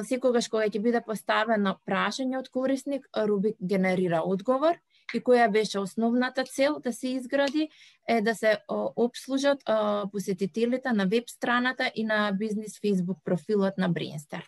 секогаш кога ќе биде поставено прашање од корисник, Рубик генерира одговор. И која беше основната цел да се изгради е да се обслужат посетителите на веб страната и на бизнес Facebook профилот на Brainster.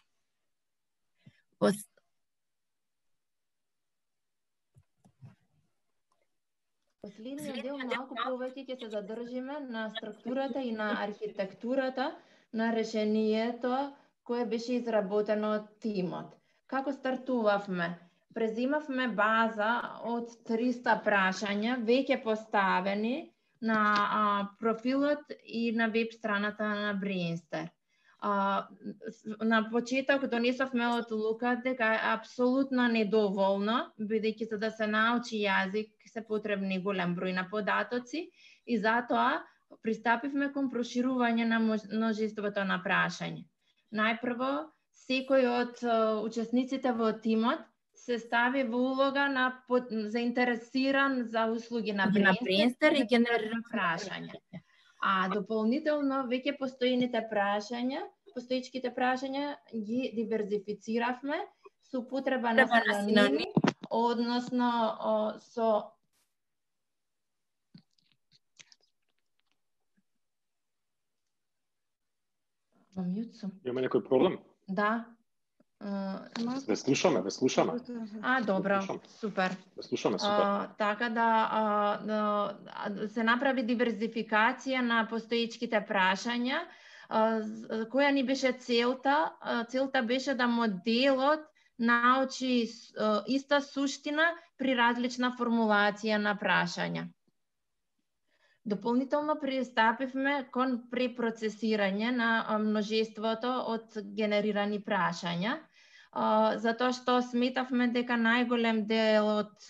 Последниот дел малку повеќе ќе се задржиме на структурата и на архитектурата на решението кое беше изработено од тимот. Како стартувавме? Презимавме база од триста прашања, веќе поставени на а, профилот и на веб страната на Brainster. А, на почеток донесовме одлука дека е апсолутно недоволно, бидејќи за да се научи јазик се потребни голем број на податоци и затоа пристапивме кон проширување на множеството на прашања. Најпрво, секој од учесниците во тимот се стави во улога на под, заинтересиран за услуги на Brainster и генерира прашања. А дополнително веќе постојните прашања, постоичките прашања ги диверзифициравме со употреба на синоними, односно о, со Има некој проблем? Да. Ве слушаме, ве слушаме. А, добро, супер. Ве слушаме, супер. А, така да, а, да се направи диверзификација на постоичките прашања. А, која ни беше целта? А, целта беше да моделот научи а, иста суштина при различна формулација на прашања. Дополнително пристапивме кон препроцесирање на множеството од генерирани прашања, затоа што сметавме дека најголем дел од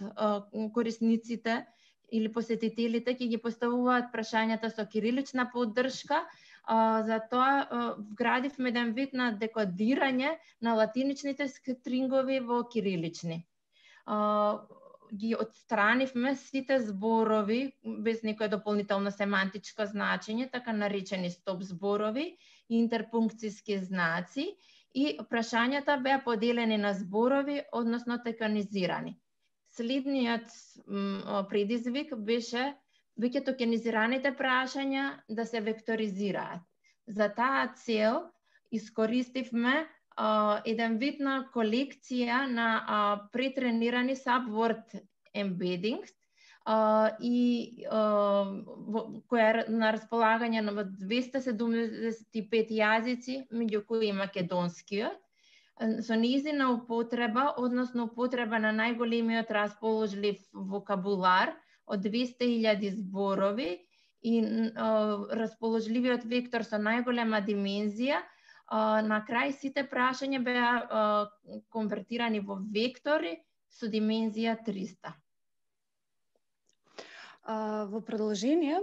корисниците или посетителите ќе ги поставуваат прашањата со кирилична поддршка, затоа вградивме еден вид на декодирање на латиничните стрингови во кирилични. Ги отстранивме сите зборови без некое дополнително семантичко значење, така наречени стоп зборови, интерпункцијски знаци и прашањата беа поделени на зборови, односно токенизирани. Следниот предизвик беше веќе токенизираните прашања да се векторизираат. За таа цел искористивме а, еден вид на колекција на а, претренирани subword embeddings а, и а, која е на располагање на двеста седумдесет и пет јазици, меѓу кои и македонскиот, со низина употреба, односно употреба на најголемиот расположлив вокабулар од двеста илјади зборови и а, расположливиот вектор со најголема димензија. А, на крај сите прашања беа а, конвертирани во вектори со димензија триста. А, во продолжение,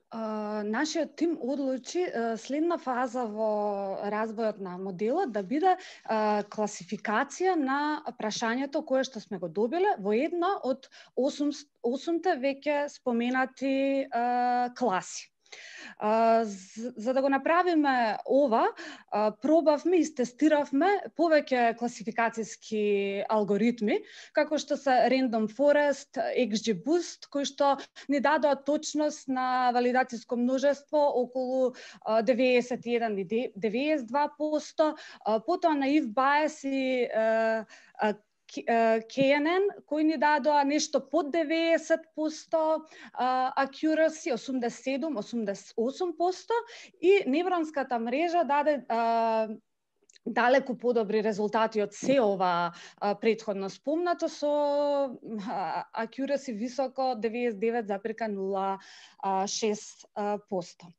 а, нашиот тим одлучи а, следна фаза во развојот на моделот да биде а, класификација на прашањето кое што сме го добиле во една од осум, осумте веќе споменати а, класи. Uh, за да го направиме ова, uh, пробавме и тестиравме повеќе класификацијски алгоритми, како што се Random Forest, X G Boost, кои што ни дадоа точност на валидацијско множество околу uh, деветдесет и еден и деветдесет и два проценти, uh, потоа на Naive Bayes и uh, uh, K N N, кои ни дадоа нешто под деветдесет проценти, accuracy осумдесет и седум, осумдесет и осум проценти и невронската мрежа даде а, далеку подобри резултати од се ова а, претходно спомнато со а, accuracy високо деветдесет и девет запирка нула шест проценти.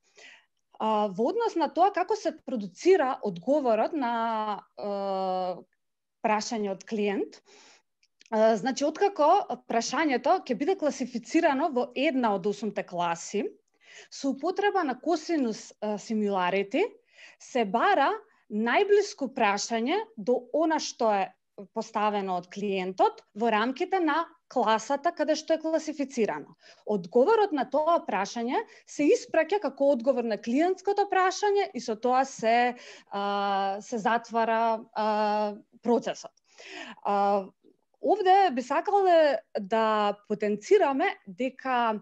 А, во однос на тоа како се продуцира одговорот на а, прашање од клиент. Значи, откако прашањето ќе биде класифицирано во една од осумте класи, со употреба на косинус симиларити, се бара најблиско прашање до она што е поставено од клиентот во рамките на класата каде што е класифицирано. Одговорот на тоа прашање се испраќа како одговор на клиентското прашање и со тоа се, а, се затвара а, процесот. А, овде би сакале да потенцираме дека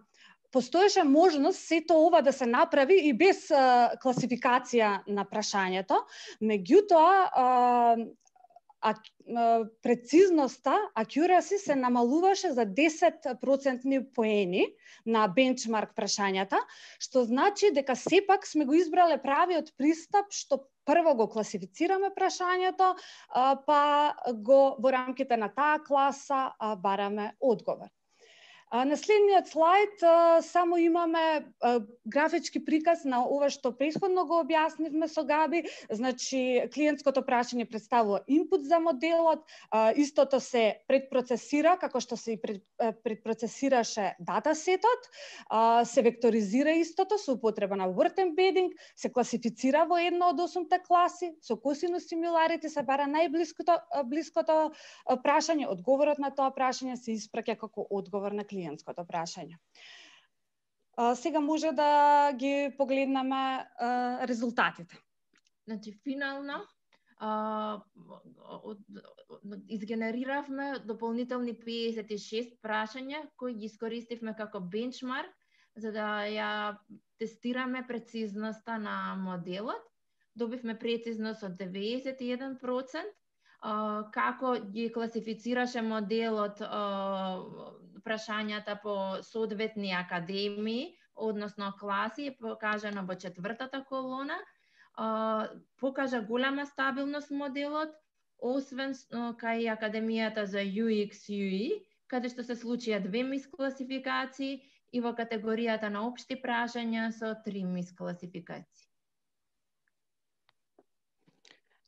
постоеше можност сето ова да се направи и без а, класификација на прашањето, меѓутоа а, а, а, прецизноста, accuracy се намалуваше за десет процентни поени на бенчмарк прашањата, што значи дека сепак сме го избрале правиот пристап, што прво го класифицираме прашањето, па го во рамките на таа класа бараме одговор. На следниот слайд само имаме графички приказ на ова што претходно го објаснивме со Габи. Значи, клиентското прашање представува инпут за моделот, истото се предпроцесира, како што се и предпроцесираше датасетот, се векторизира истото со употреба на word embedding, се класифицира во една од осумте класи, со косинус симиларити се бара најблиското блиското прашање, одговорот на тоа прашање се испраќа како одговор на клиентското прашање. А, сега може да ги погледнеме а, резултатите. Значи, финално а, од, изгенериравме дополнителни педесет и шест прашања кои ги искористивме како бенчмарк за да ја тестираме прецизноста на моделот. Добивме прецизност од деветдесет и еден проценти, а, како ги класифицираше моделот а, прашањата по соодветни академии, односно класи, покажано во четвртата колона, а, покажа голема стабилност моделот, освен кај Академијата за Ю Екс Ю И, каде што се случија две мискласификации и во категоријата на општи прашања со три мискласификации.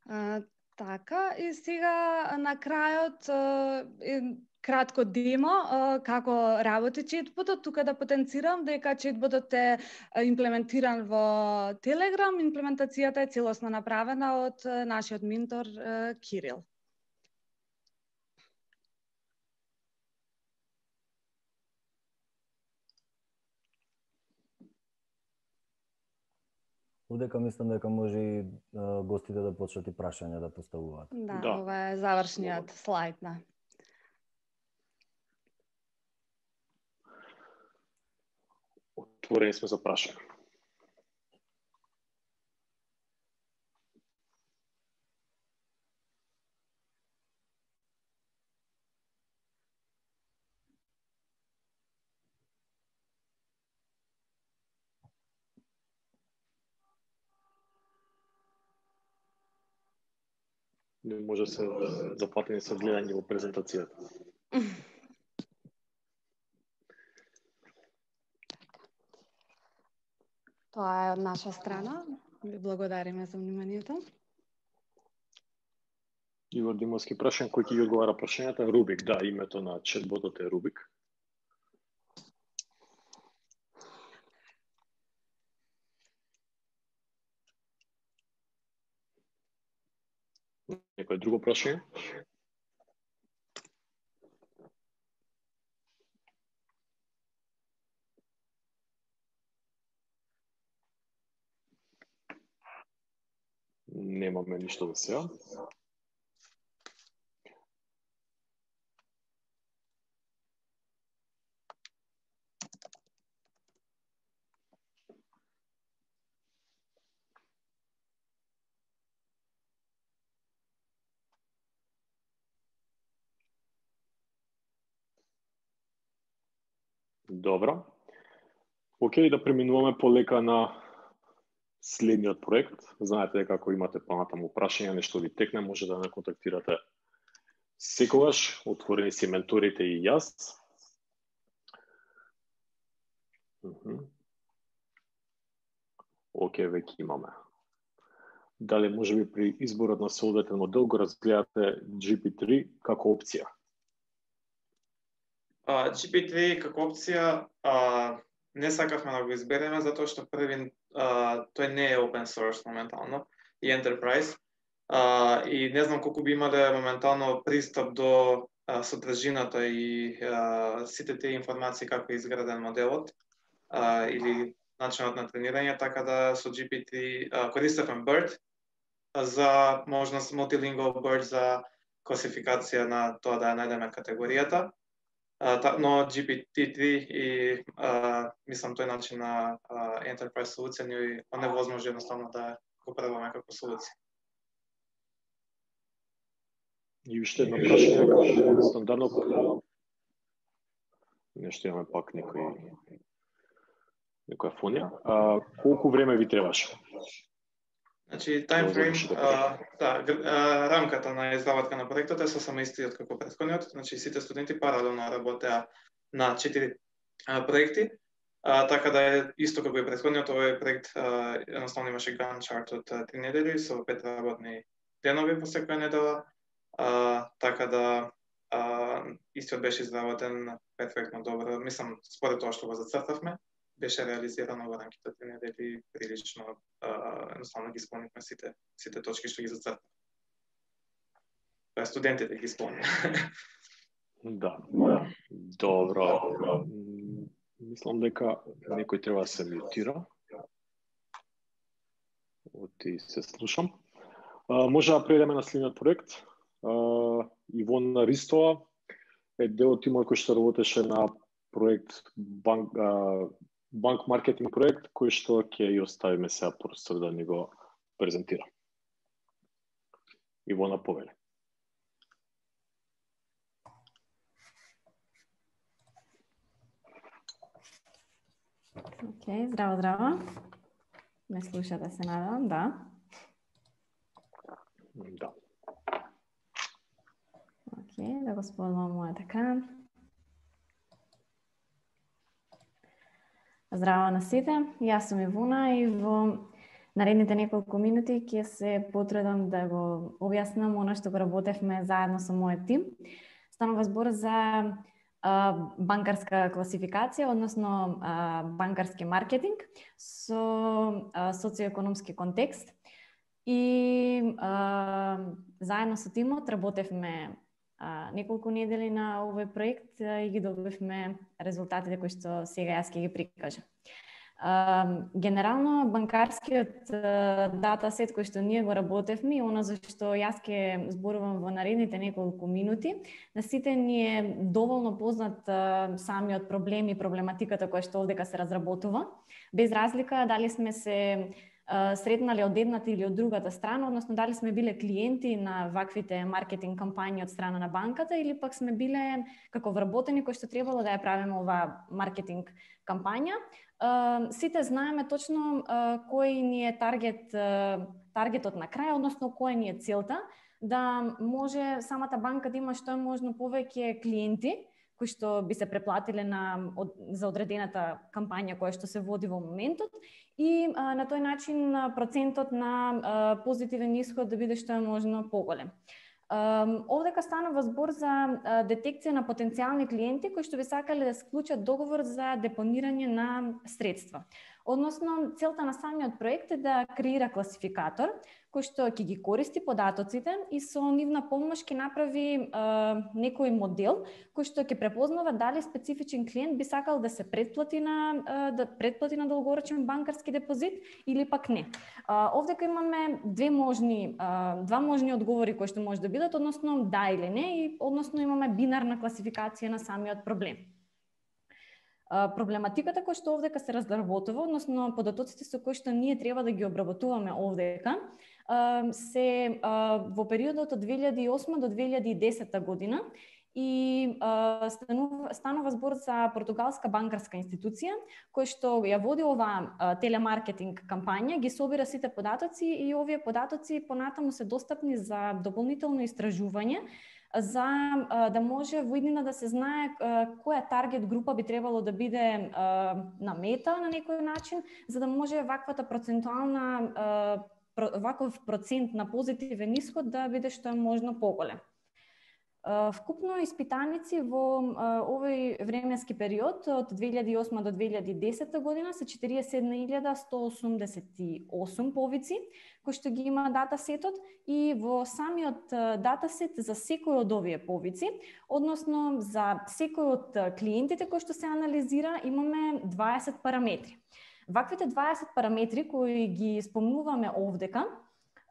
А, така, и сега на крајот кратко демо како работи четботот. Тука да потенцирам дека четботот е имплементиран во Telegram. Имплементацијата е целосно направена од нашиот ментор Кирил. Одека мислам дека може и гостите да почнат и прашања да поставуваат. Да, Да. ова е завршниот слайд, да. Отворени сме за прашање. не може да се заплатени со гледање во презентацијата. Тоа е од наша страна. Ви благодариме за вниманието. Игор Димовски прашање, кој ќе ги одговара прашањата? Рубик, да, името на четботот е Рубик. Некој друго прашање? Немаме ништо за сега. Добро. Океј, да преминуваме полека на следниот проект. Знаете дека ако имате понатаму прашања, нешто ви текне, може да ме контактирате секогаш. Отворени си менторите и јас. Океј, веќе имаме. Дали може би при изборот на соодветен модел го разгледате Джи Пи три како опција? Uh, Джи Пи три како опција uh, не сакавме да го избереме затоа што први uh, тој не е open source моментално и enterprise uh, и не знам колку би имале моментално пристап до uh, содржината и uh, сите тие информации како е изграден моделот uh, или начинот на тренирање, така да со Джи Пи три uh, користевме BERT за можност multilingual BERT за класификација на тоа да ја најдеме категоријата. Uh, но Джи Пи три и uh, мислам тој начин на uh, enterprise солуција ни оневозможи едноставно да го правиме како солуција. И уште едно прашање како стандардно. Нешто имаме пак некој некоја фонија. А, колку време ви требаше? Значи, time frame, а, да, а, рамката на издаватка на проектот е сосема истиот како претходниот. Значи, сите студенти паралелно работеа на четири а, проекти, а, така да е исто како и претходниот, овој проект а, едноставно имаше Gantt chart од три недели со пет работни денови во секоја недела, а, така да а, истиот беше изработен перфектно добро. Мислам, според тоа што го зацртавме, беше реализирано во рамките три недели, прилично а, едноставно ги исполнивме сите сите точки што ги зацртавме. Тоа студентите ги исполнија. Да. Добро. Мислам дека некој треба да се мјутира. Оти се слушам. А, може да преидеме на следниот проект. А, Ивона Ристова е дел од тимот кој што работеше на проект банк а, банк маркетинг проект, кој што ќе ја оставиме сега простор да ни го презентира. Ивона, повели. Океј, okay, здраво, здраво. Ме слушате, се надевам, да? Да. Океј, okay, да го споделам мојот екран. Здраво на сите, јас сум Ивона и во наредните неколку минути ќе се потрудам да го објаснам она што го работевме заедно со мојот тим. Станува збор за а, банкарска класификација, односно а, банкарски маркетинг со а, социоекономски контекст. И а, заедно со тимот работевме а, неколку недели на овој проект а, и ги добивме резултатите кои што сега јас ќе ги прикажам. Uh, генерално банкарскиот uh, датасет кој што ние го работевме и она за што јас ќе зборувам во наредните неколку минути, на сите ни е доволно познат uh, самиот проблем и проблематиката која што овдека се разработува, без разлика дали сме се uh, сретнали од едната или од другата страна, односно дали сме биле клиенти на ваквите маркетинг кампањи од страна на банката или пак сме биле како вработени кои што требало да ја правиме оваа маркетинг кампања. Uh, сите знаеме точно uh, кој ни е таргет, uh, таргетот на крај, односно која ни е целта, да може самата банка да има што е можно повеќе клиенти кои што би се преплатиле на од, за одредената кампања која што се води во моментот и а, на тој начин процентот на а, позитивен исход да биде што е можно поголем. Um, овдека станува збор за uh, детекција на потенцијални клиенти кои што би сакале да склучат договор за депонирање на средства. Односно, целта на самиот проект е да креира класификатор кој што ќе ги користи податоците и со нивна помош ќе направи е, некој модел кој што ќе препознава дали специфичен клиент би сакал да се претплати на е, да претплати на долгорочен банкарски депозит или пак не. Е, овдека имаме две можни е, два можни одговори кои што може да бидат, односно да или не, и односно имаме бинарна класификација на самиот проблем. Проблематиката која што овдека се разработува, односно податоците со кои што ние треба да ги обработуваме овдека, се во периодот од две илјади и осма до две илјади и десета година и станува, станува збор за португалска банкарска институција која што ја води оваа телемаркетинг кампања, ги собира сите податоци и овие податоци понатаму се достапни за дополнително истражување за а, да може во иднина да се знае а, која таргет група би требало да биде а, намета на некој начин, за да може ваквата процентуална а, ваков процент на позитивен исход да биде што е можно поголем. Вкупно испитаници во овој временски период од две илјади и осма до две илјади и десета година се четириесет и една илјада сто осумдесет и осум повици кои што ги има датасетот и во самиот датасет за секој од овие повици, односно за секој од клиентите кои што се анализира, имаме дваесет параметри. Ваквите дваесет параметри кои ги спомнуваме овдека,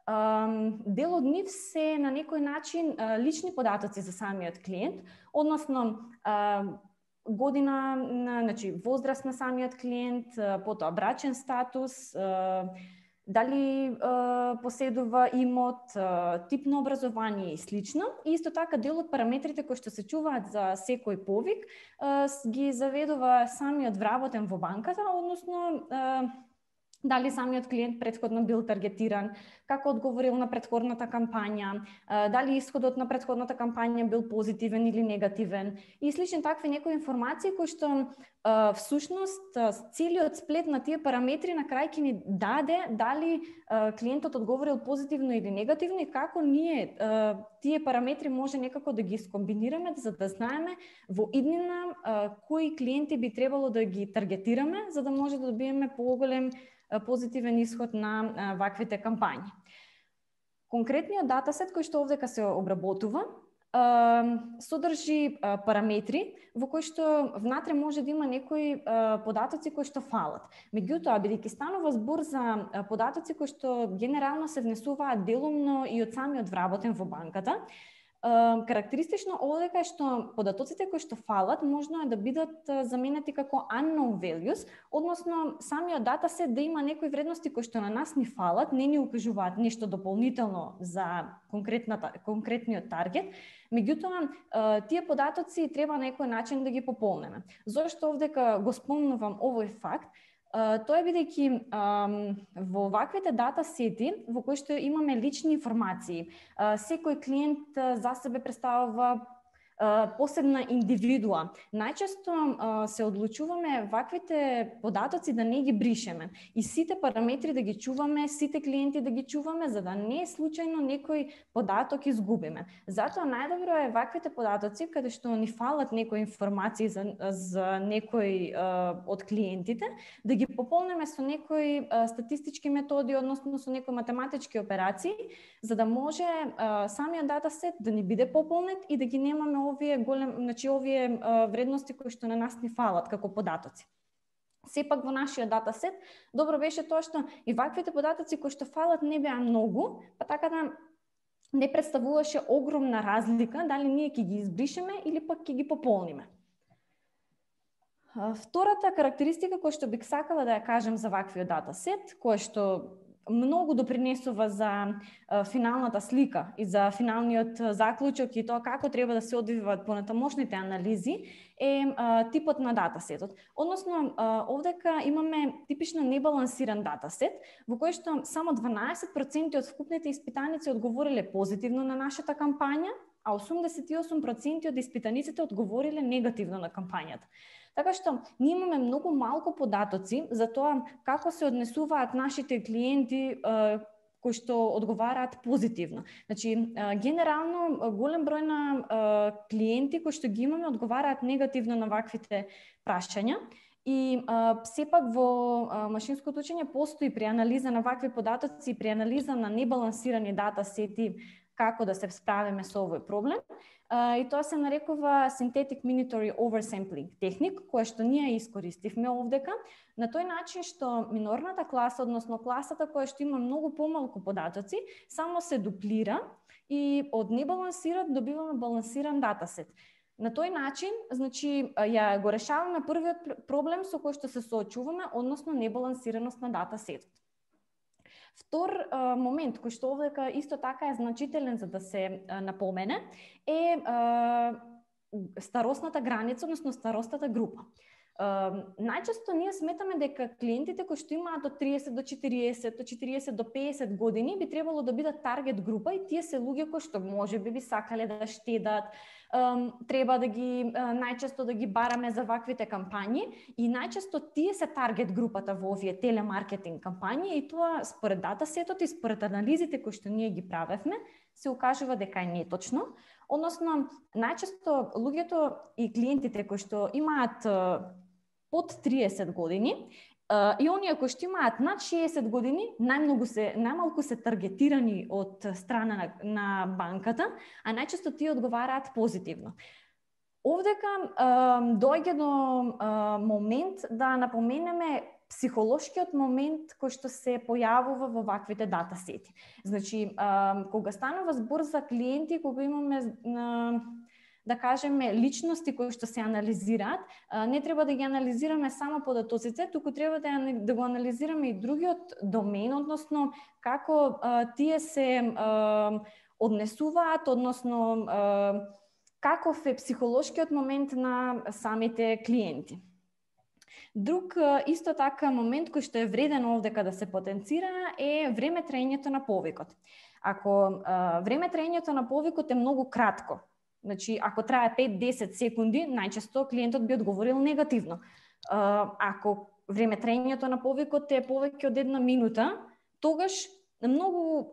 дел од нив се на некој начин лични податоци за самиот клиент, односно година, значи возраст на самиот клиент, потоа брачен статус, дали поседува имот, тип на образование и слично. И исто така дел од параметрите кои што се чуваат за секој повик ги заведува самиот вработен во банката, односно дали самиот клиент претходно бил таргетиран, како одговорил на претходната кампања, дали исходот на претходната кампања бил позитивен или негативен и слични такви некои информации кои што всушност целиот сплет на тие параметри на крај ќе ни даде дали клиентот одговорил позитивно или негативно и како ние тие параметри може некако да ги скомбинираме за да знаеме во иднина кои клиенти би требало да ги таргетираме за да може да добиеме поголем позитивен исход на ваквите кампањи. Конкретниот датасет кој што овдека се обработува содржи параметри во кои што внатре може да има некои податоци кои што фалат. Меѓутоа, бидејќи станува збор за податоци кои што генерално се внесуваат делумно и од самиот вработен во банката, карактеристично овдека е што податоците кои што фалат можно е да бидат заменети како unknown values, односно самиот датасет да има некои вредности кои што на нас ни фалат, не ни укажуваат нешто дополнително за конкретната конкретниот таргет. Меѓутоа, тие податоци треба на некој начин да ги пополнеме. Зошто овдека го спомнувам овој факт? Тоа е бидејќи во ваквите датасети во кои што имаме лични информации, секој клиент за себе представува посебна индивидуа. Најчесто се одлучуваме ваквите податоци да не ги бришеме и сите параметри да ги чуваме, сите клиенти да ги чуваме за да не случајно некој податок изгубиме. Затоа најдобро е ваквите податоци каде што ни фалат некои информации за, за некој од клиентите да ги пополнеме со некои статистички методи, односно со некои математички операции, за да може самиот датасет да ни биде пополнет и да ги немаме овие голем, значи овие а, вредности кои што на нас ни фалат како податоци. Сепак во нашиот датасет добро беше тоа што и ваквите податоци кои што фалат не беа многу, па така да не представуваше огромна разлика дали ние ќе ги избришеме или пак ќе ги пополниме. Втората карактеристика која што бих сакала да ја кажам за ваквиот датасет, која што многу допринесува за финалната слика и за финалниот заклучок и тоа како треба да се одвиваат понатамошните анализи е типот на датасетот. Односно, овдека имаме типично небалансиран датасет, во кој што само дванаесет проценти од вкупните испитаници одговориле позитивно на нашата кампања, а осумдесет и осум проценти од испитаниците одговориле негативно на кампањата. Така што ние имаме многу малку податоци за тоа како се однесуваат нашите клиенти кои што одговараат позитивно. Значи, генерално голем број на клиенти кои што ги имаме одговараат негативно на ваквите прашања. И а, сепак во а, машинското учење постои при анализа на вакви податоци и при анализа на небалансирани датасети како да се справиме со овој проблем. Uh, и тоа се нарекува Synthetic Minatory Oversampling техник, која што ние искористивме овдека, на тој начин што минорната класа, односно класата која што има многу помалку податоци, само се дуплира и од небалансиран добиваме балансиран датасет. На тој начин, значи, ја го решаваме првиот проблем со кој што се соочуваме, односно небалансираност на датасетот. Втор а, момент кој што овдека исто така е значителен за да се а, напомене е а, старосната граница, односно старостната група. Uh, најчесто ние сметаме дека клиентите кои што имаат од триесет до четириесет, од четириесет до песет години би требало да бидат таргет група и тие се луѓе кои што можеби би сакале да штедат, um, треба да ги uh, најчесто да ги бараме за ваквите кампањи и најчесто тие се таргет групата во овие телемаркетинг кампањи и тоа според датасетот и според анализите кои што ние ги правевме се укажува дека е неточно. Односно, најчесто луѓето и клиентите кои што имаат uh, под триесет години и оние кои што имаат над шеесет години најмногу се најмалку се таргетирани од страна на, на банката, а најчесто тие одговараат позитивно. Овдека доаѓа до момент да напоменеме психолошкиот момент кој што се појавува во ваквите датасети. Значи, кога станува збор за клиенти, кога имаме да кажеме личности кои што се анализираат, не треба да ги анализираме само податоците, туку треба да, да го анализираме и другиот домен, односно како а, тие се а, однесуваат, односно а, каков е психолошкиот момент на самите клиенти. Друг исто така момент кој што е вреден овдека да се потенцира е време траењето на повикот. Ако а, време траењето на повикот е многу кратко, значи, ако трае пет до десет секунди, најчесто клиентот би одговорил негативно. Ако време траењето на повикот е повеќе од една минута, тогаш многу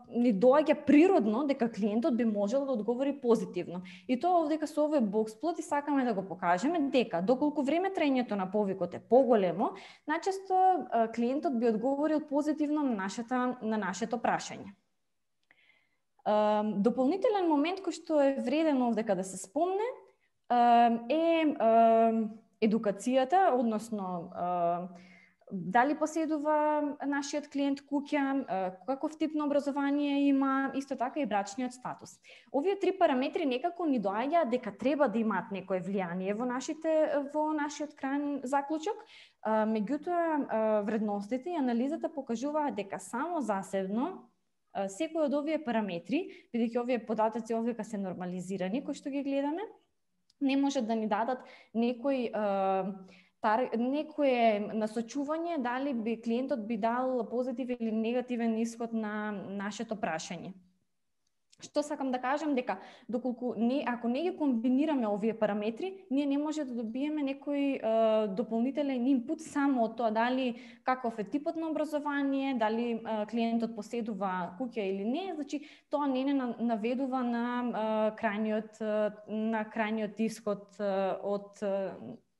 ни доаѓа природно дека клиентот би можел да одговори позитивно. И тоа овдека со овој боксплот и сакаме да го покажеме дека доколку време траењето на повикот е поголемо, најчесто клиентот би одговорил позитивно на нашата на нашето прашање. Uh, дополнителен момент кој што е вреден овдека да се спомне uh, е uh, едукацијата, односно uh, дали поседува нашиот клиент куќа, uh, каков тип на образование има, исто така и брачниот статус. Овие три параметри некако ни доаѓа дека треба да имаат некое влијание во нашите во нашиот крајен заклучок. Uh, меѓутоа uh, вредностите и анализата покажуваат дека само засебно секој од овие параметри, бидејќи овие податоци овдека се нормализирани, кои што ги гледаме, не може да ни дадат некој тар, некое насочување дали би клиентот би дал позитивен или негативен исход на нашето прашање. Што сакам да кажам дека доколку не ако не ги комбинираме овие параметри, ние не може да добиеме некој е, дополнителен инпут само од тоа дали каков е типот на образование, дали е, клиентот поседува куќа или не, значи тоа не не наведува на е, крајниот на крајниот исход е, од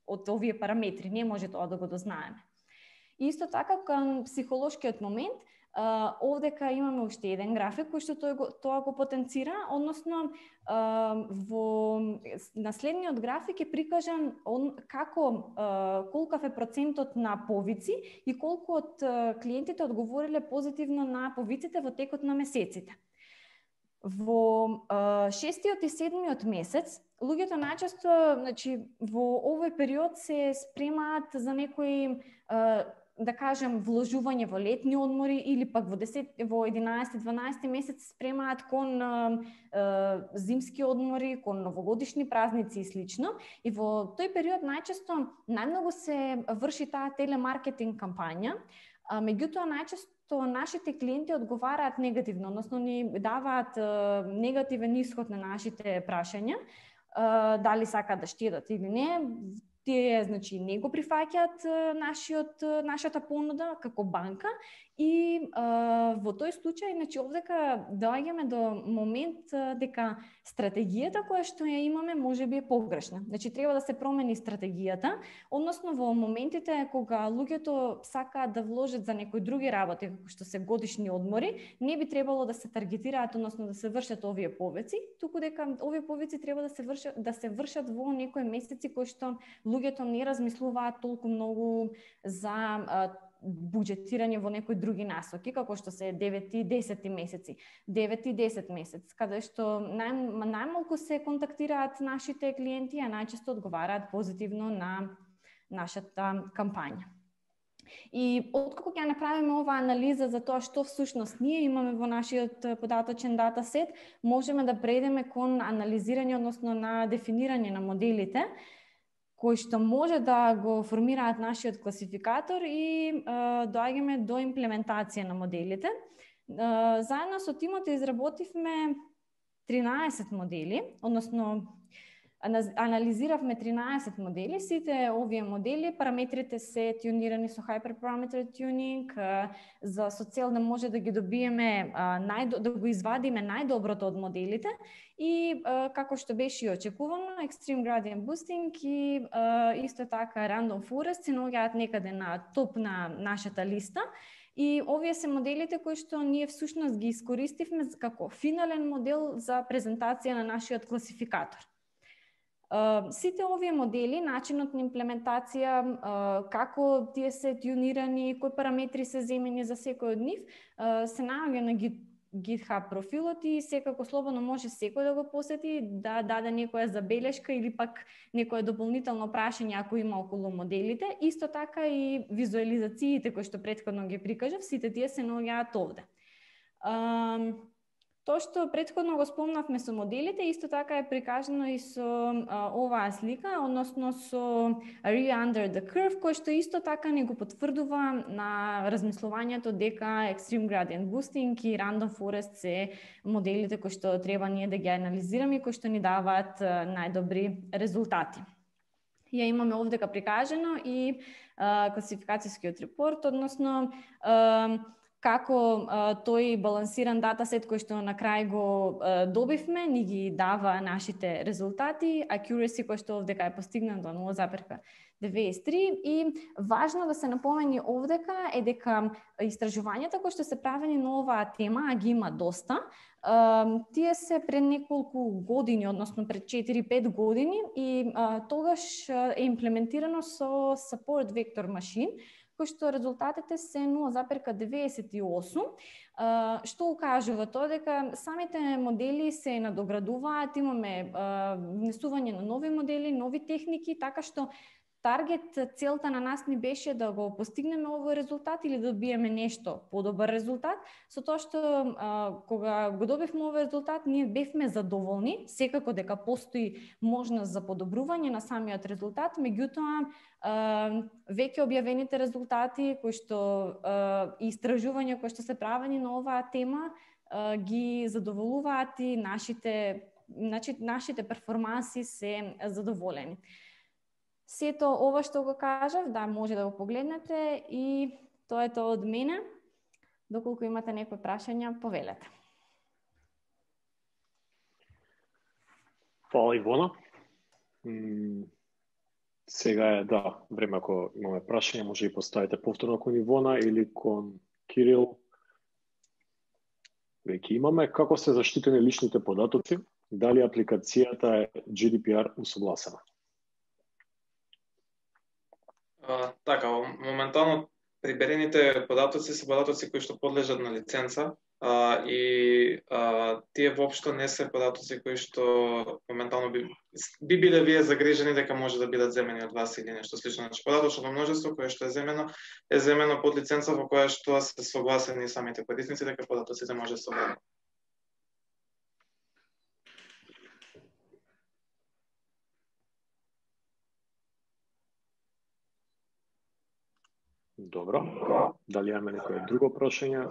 од овие параметри, не може тоа да го дознаеме. И исто така кон психолошкиот момент, Uh, овдека имаме уште еден график кој што тоа го, тоа го потенцира, односно uh, во наследниот график е прикажан он, како uh, колкав е процентот на повици и колку од uh, клиентите одговориле позитивно на повиците во текот на месеците. Во uh, шестиот и седмиот месец луѓето најчесто, значи во овој период се спремаат за некои uh, да кажем, вложување во летни одмори или пак во десет, во единаесети-дванаесети месец спремаат кон е, зимски одмори, кон новогодишни празници и слично. И во тој период најчесто најмногу се врши таа телемаркетинг кампања, а меѓутоа најчесто нашите клиенти одговараат негативно, односно ни даваат е, негативен исход на нашите прашања, е, дали сакаат да штедат или не. Тие, значи, не го прифаќаат нашиот нашата понуда како банка и а, во тој случај, значи, овдека доаѓаме до момент а, дека стратегијата која што ја имаме можеби е погрешна. Значи, треба да се промени стратегијата, односно во моментите кога луѓето сакаат да вложат за некои други работи, како што се годишни одмори, не би требало да се таргетираат, односно да се вршат овие повици, туку дека овие повици треба да се вршат да се вршат во некои месеци кои што луѓето не размислуваат толку многу за а, буџетирање во некои други насоки, како што се девети и десети месеци. девети и десети месец, каде што нај, најмалку се контактираат нашите клиенти, а најчесто одговараат позитивно на нашата кампања. И откако ќе направиме оваа анализа за тоа што всушност ние имаме во нашиот податочен датасет, можеме да предеме кон анализирање, односно на дефинирање на моделите, кои што може да го формираат нашиот класификатор и е, доаѓаме до имплементација на моделите. Е, заедно со тимот изработивме тринаесет модели, односно анализиравме тринаесет модели. Сите овие модели, параметрите се тюнирани со hyperparameter tuning, за со цел да може да ги добиеме, да го извадиме најдоброто од моделите и како што беше и очекувано, Extreme Gradient Boosting и исто така Random Forest се наоѓаат некаде на топ на нашата листа. И овие се моделите кои што ние всушност ги искористивме како финален модел за презентација на нашиот класификатор. Сите овие модели, начинот на имплементација, како тие се тюнирани, кои параметри се земени за секој од нив, се наоѓа на GitHub профилот и секако слободно може секој да го посети, да даде некоја забелешка или пак некое дополнително прашање ако има околу моделите. Исто така и визуализациите кои што претходно ги прикажав, сите тие се наоѓаат овде. Тоа што претходно го спомнавме со моделите, исто така е прикажано и со а, оваа слика, односно со Area Under the Curve, кој што исто така не го потврдува на размислувањето дека Extreme Gradient Boosting и Random Forest се моделите кои што треба ние да ги анализираме и кои што ни даваат најдобри резултати. Ја имаме овдека прикажано и а, класификацијскиот репорт, односно а, како а, тој балансиран датасет кој што на крај го а, добивме, ни ги дава нашите резултати, accuracy кој што овдека е постигнат до нула запирка деветдесет и три и важно да се напомени овдека е дека истражувањата кои што се правени на оваа тема, а ги има доста, а, тие се пред неколку години, односно пред четири-пет години и а, тогаш е имплементирано со Support Vector Machine, кој што резултатите се нула запирка деветдесет и осум, што укажува тоа дека самите модели се надоградуваат, имаме внесување на нови модели, нови техники, така што таргет, целта на нас ни беше да го постигнеме овој резултат или да добиеме нешто подобар резултат, со тоа што а, кога го добивме овој резултат, ние бевме задоволни, секако дека постои можност за подобрување на самиот резултат, меѓутоа а, веќе објавените резултати кои што а, и истражувања кои што се правени на оваа тема а, ги задоволуваат и нашите, значи, нашите перформанси се задоволени. Сето ова што го кажав, да, може да го погледнете и тоа е тоа од мене. Доколку имате некои прашања, повелете. Фала, Ивона. М, сега е, да, време ако имаме прашања, може и поставите повторно кон Ивона или кон Кирил. Веќе имаме. Како се заштитени личните податоци? Дали апликацијата е Джи Ди Пи Ар усогласена? А, така, моментално приберените податоци се податоци кои што подлежат на лиценца, а, и а, тие воопшто не се податоци кои што моментално би, би биле вие загрижени дека може да бидат земени од вас или нешто слично. Значи податочното множество кое што е земено е земено под лиценца во која што се согласени самите корисници дека податоците може да се обработат. Добро. Дали имаме некое друго прашање?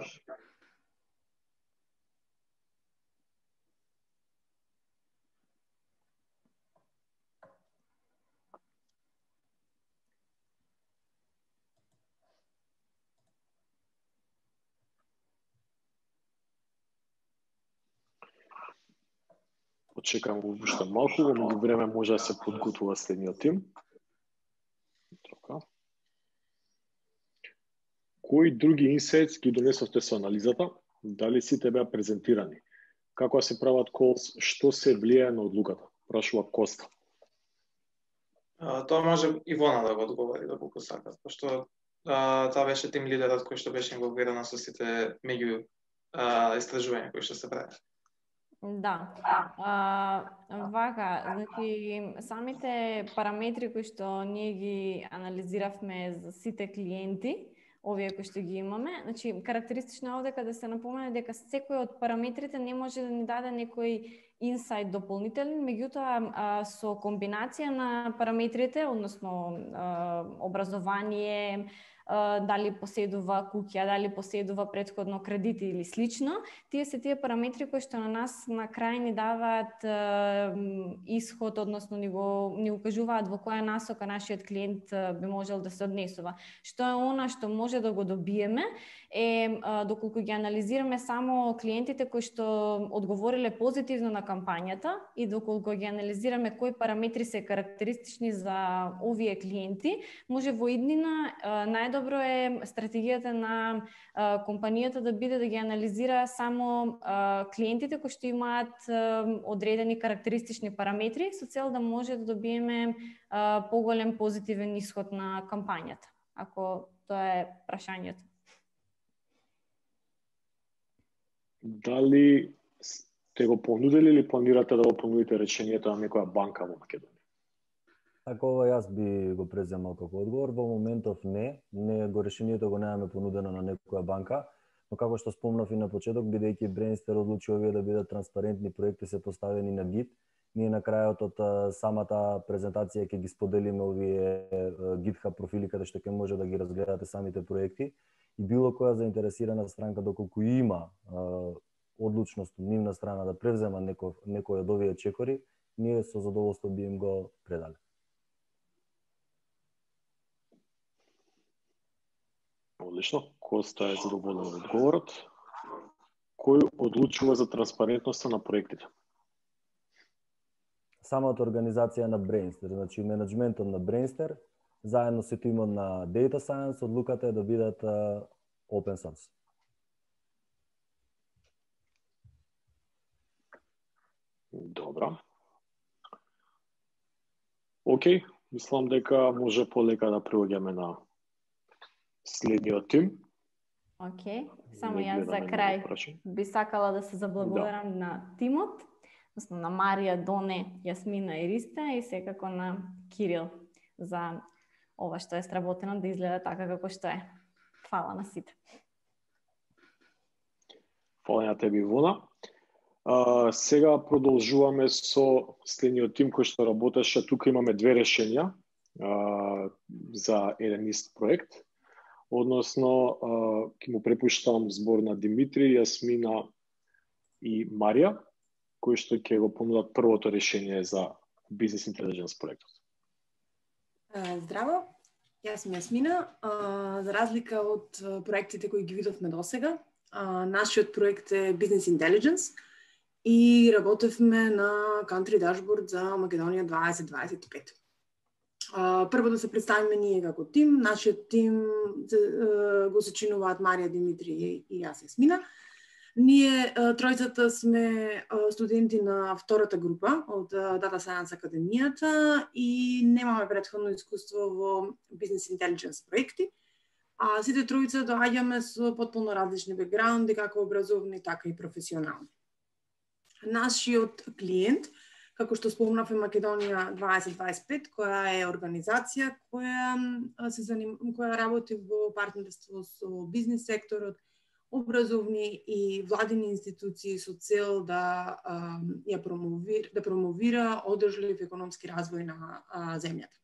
Почекам уште малку, во меѓувреме може да се подготвува следниот тим. Така. Кои други инсайтс ги донесовте со анализата? Дали сите беа презентирани? Како се прават колс? Што се влијае на одлуката? Прашува Коста. А, тоа може Ивона да го одговори доколку сакат, пошто тоа беше тим лидерот кој што беше инволвиран со сите меѓу а, истражувања кои што се прават. Да. А, вака, значи самите параметри кои што ние ги анализиравме за сите клиенти, овие кои што ги имаме, значи карактеристично е овде да се напомене дека секој од параметрите не може да ни даде некој инсайт дополнителен, меѓутоа со комбинација на параметрите, односно а, образование, дали поседува куќа, дали поседува претходно кредити или слично, тие се тие параметри кои што на нас на крај ни даваат е, исход, односно ни го ни укажуваат во која насока нашиот клиент би можел да се однесува. Што е она што може да го добиеме е е доколку ги анализираме само клиентите кои што одговориле позитивно на кампањата и доколку ги анализираме кои параметри се карактеристични за овие клиенти, може во иднина најдобро Добро е стратегијата на а, компанијата да биде да ги анализира само а, клиентите кои што имаат а, одредени карактеристични параметри со цел да може да добиеме а, поголем позитивен исход на кампањата, ако тоа е прашањето. Дали сте го понудили или планирате да го понудите реченијето на некоја банка во Македонија? Така, ова јас би го преземал како одговор. Во моментов не, не го решението го немаме понудено на некоја банка, но како што спомнав и на почеток, бидејќи Brainster одлучи овие да бидат транспарентни проекти се поставени на гид, ние на крајот од самата презентација ќе ги споделиме овие GitHub профили каде што ќе може да ги разгледате самите проекти и било која заинтересирана странка доколку има одлучност од нивна страна да превзема некој, некој од овие чекори, ние со задоволство би им го предале. Одлично. Коста е задоволен од одговорот. Кој одлучува за транспарентноста на проектите? Самата организација на Brainster, значи менеджментот на Brainster, заедно со тимот на Data Science, одлуката е да бидат uh, open source. Добро. Океј, мислам дека може полека да приоѓаме на следниот тим. Океј, само јас за крај би сакала да се заблагодарам да. на тимот, односно на Марија, Доне, Јасмина и Риста и секако на Кирил за ова што е сработено да изгледа така како што е. Фала на сите. Фала на тебе, Ивона. А, сега продолжуваме со следниот тим кој што работеше. Тука имаме две решенија а, за еден ист проект. Односно, ќе му препуштам збор на Димитри, Јасмина и Марија, кои што ќе го понудат првото решение за Business Intelligence проектот. Здраво, јас сум Јасмина. За разлика од проектите кои ги видовме досега, нашиот проект е Business Intelligence и работевме на Country Dashboard за Македонија дваесет дваесет и пет. Uh, прво да се представиме ние како тим. Нашиот тим uh, го сочинуваат Марија, Димитри и јас Јасмина. Ние uh, тројцата сме uh, студенти на втората група од uh, Data Science Академијата и немаме претходно искуство во Business Intelligence проекти. А сите тројца доаѓаме со потполно различни бекграунди, како образовни, така и професионални. Нашиот клиент, како што спомнав, е Македонија дваесет дваесет и пет, која е организација која се заним... која работи во партнерство со бизнис секторот, образовни и владини институции со цел да а, ја промовира, да промовира одржлив економски развој на а, земјата.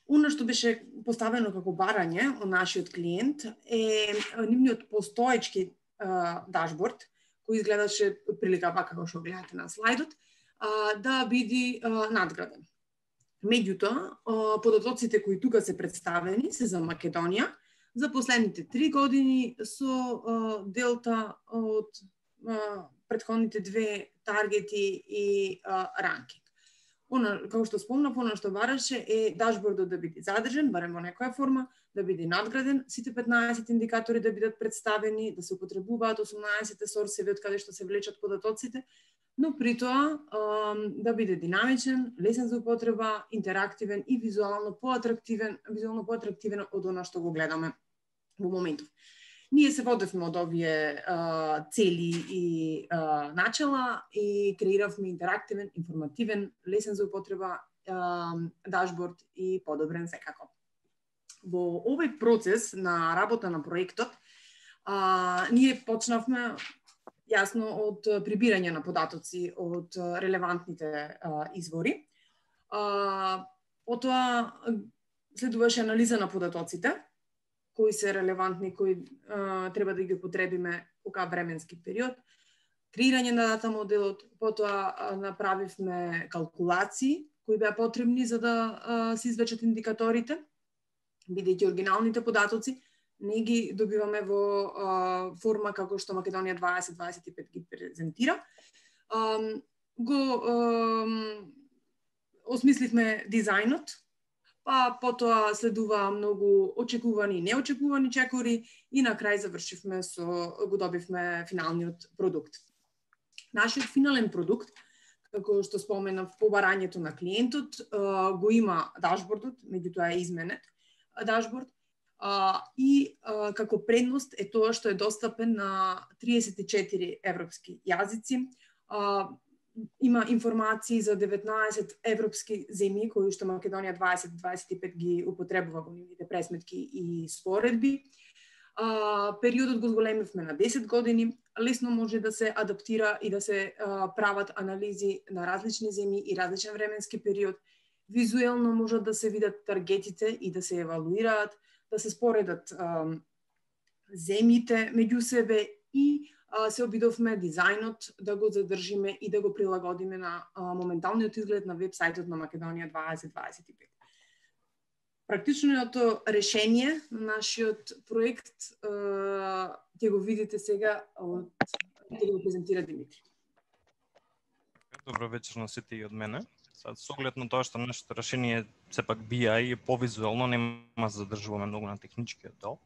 Оно што беше поставено како барање од нашиот клиент е нивниот постоечки а, дашборд, кој изгледаше прилика вака како што гледате на слайдот, а, да биде а, надграден. Меѓутоа, податоците кои тука се представени се за Македонија за последните три години со а, делта од а, претходните две таргети и а, ранкинг. Она, како што спомнав, она што бараше е дашбордот да биде задржен, барем во некоја форма, да биде надграден, сите петнаесет индикатори да бидат представени, да се употребуваат осумнаесет сорсеви од каде што се влечат податоците, но при тоа да биде динамичен, лесен за употреба, интерактивен и визуално поатрактивен, визуално поатрактивен од она што го гледаме во моментов. Ние се водевме од овие а, цели и а, начала и креиравме интерактивен, информативен, лесен за употреба а, дашборд и подобрен секако. Во овој процес на работа на проектот, а, ние почнавме јасно од прибирање на податоци од релевантните а, извори. А, потоа следуваше анализа на податоците, кои се релевантни, кои а, треба да ги употребиме кога временски период, креирање на дата моделот, потоа а, направивме калкулации кои беа потребни за да а, се извлечат индикаторите, бидејќи оригиналните податоци не ги добиваме во а, форма како што Македонија дваесет дваесет и пет ги презентира. А, го а, осмисливме дизајнот, па потоа следува многу очекувани и неочекувани чекори и на крај завршивме со го добивме финалниот продукт. Нашиот финален продукт, како што споменав по барањето на клиентот, го има дашбордот, меѓутоа е изменет дашборд, и како предност е тоа што е достапен на триесет и четири европски јазици. Има информации за деветнаесет европски земји кои што Македонија дваесет дваесет и пет ги употребува во нивните пресметки и споредби. А, периодот го зголемивме на десет години, лесно може да се адаптира и да се а, прават анализи на различни земји и различен временски период. Визуелно можат да се видат таргетите и да се евалуираат, да се споредат а, земјите меѓу себе и се обидовме дизајнот да го задржиме и да го прилагодиме на моменталниот изглед на веб-сајтот на Македонија дваесет дваесет и пет. Практичното решение на нашиот проект ќе го видите сега, ќе го презентира Димитри. Добро вечер на сите и од мене. Сад, со оглед на тоа што нашето решение сепак би ай е повизуелно, нема да задржуваме многу на техничкиот дел.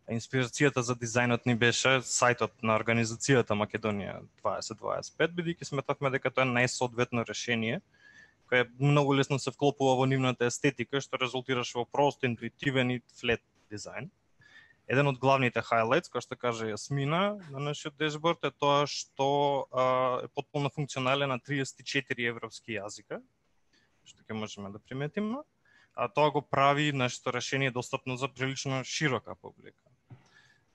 Инспирацијата за дизајнот ни беше сајтот на организацијата Македонија дваесет дваесет и пет, бидејќи сметавме дека тоа е најсоодветно решение, кое многу лесно се вклопува во нивната естетика, што резултираше во прост, интуитивен и флет дизајн. Еден од главните хайлайтс, кој што каже Јасмина, на нашиот дашборд е тоа што а, е потполно функционален на триесет и четири европски јазика, што ќе можеме да приметиме. А тоа го прави нашето решение достапно за прилично широка публика.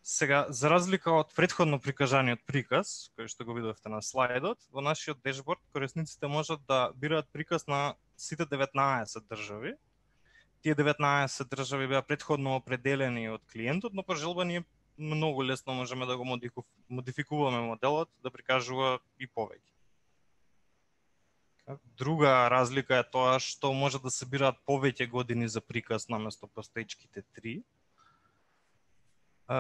Сега, за разлика од претходно прикажаниот приказ, кој што го видовте на слайдот, во нашиот дашборд корисниците можат да бираат приказ на сите деветнаесет држави. Тие деветнаесет држави беа претходно определени од клиентот, но по желба ние многу лесно можеме да го модификуваме моделот да прикажува и повеќе. Друга разлика е тоа што може да се бираат повеќе години за приказ наместо постоечките три.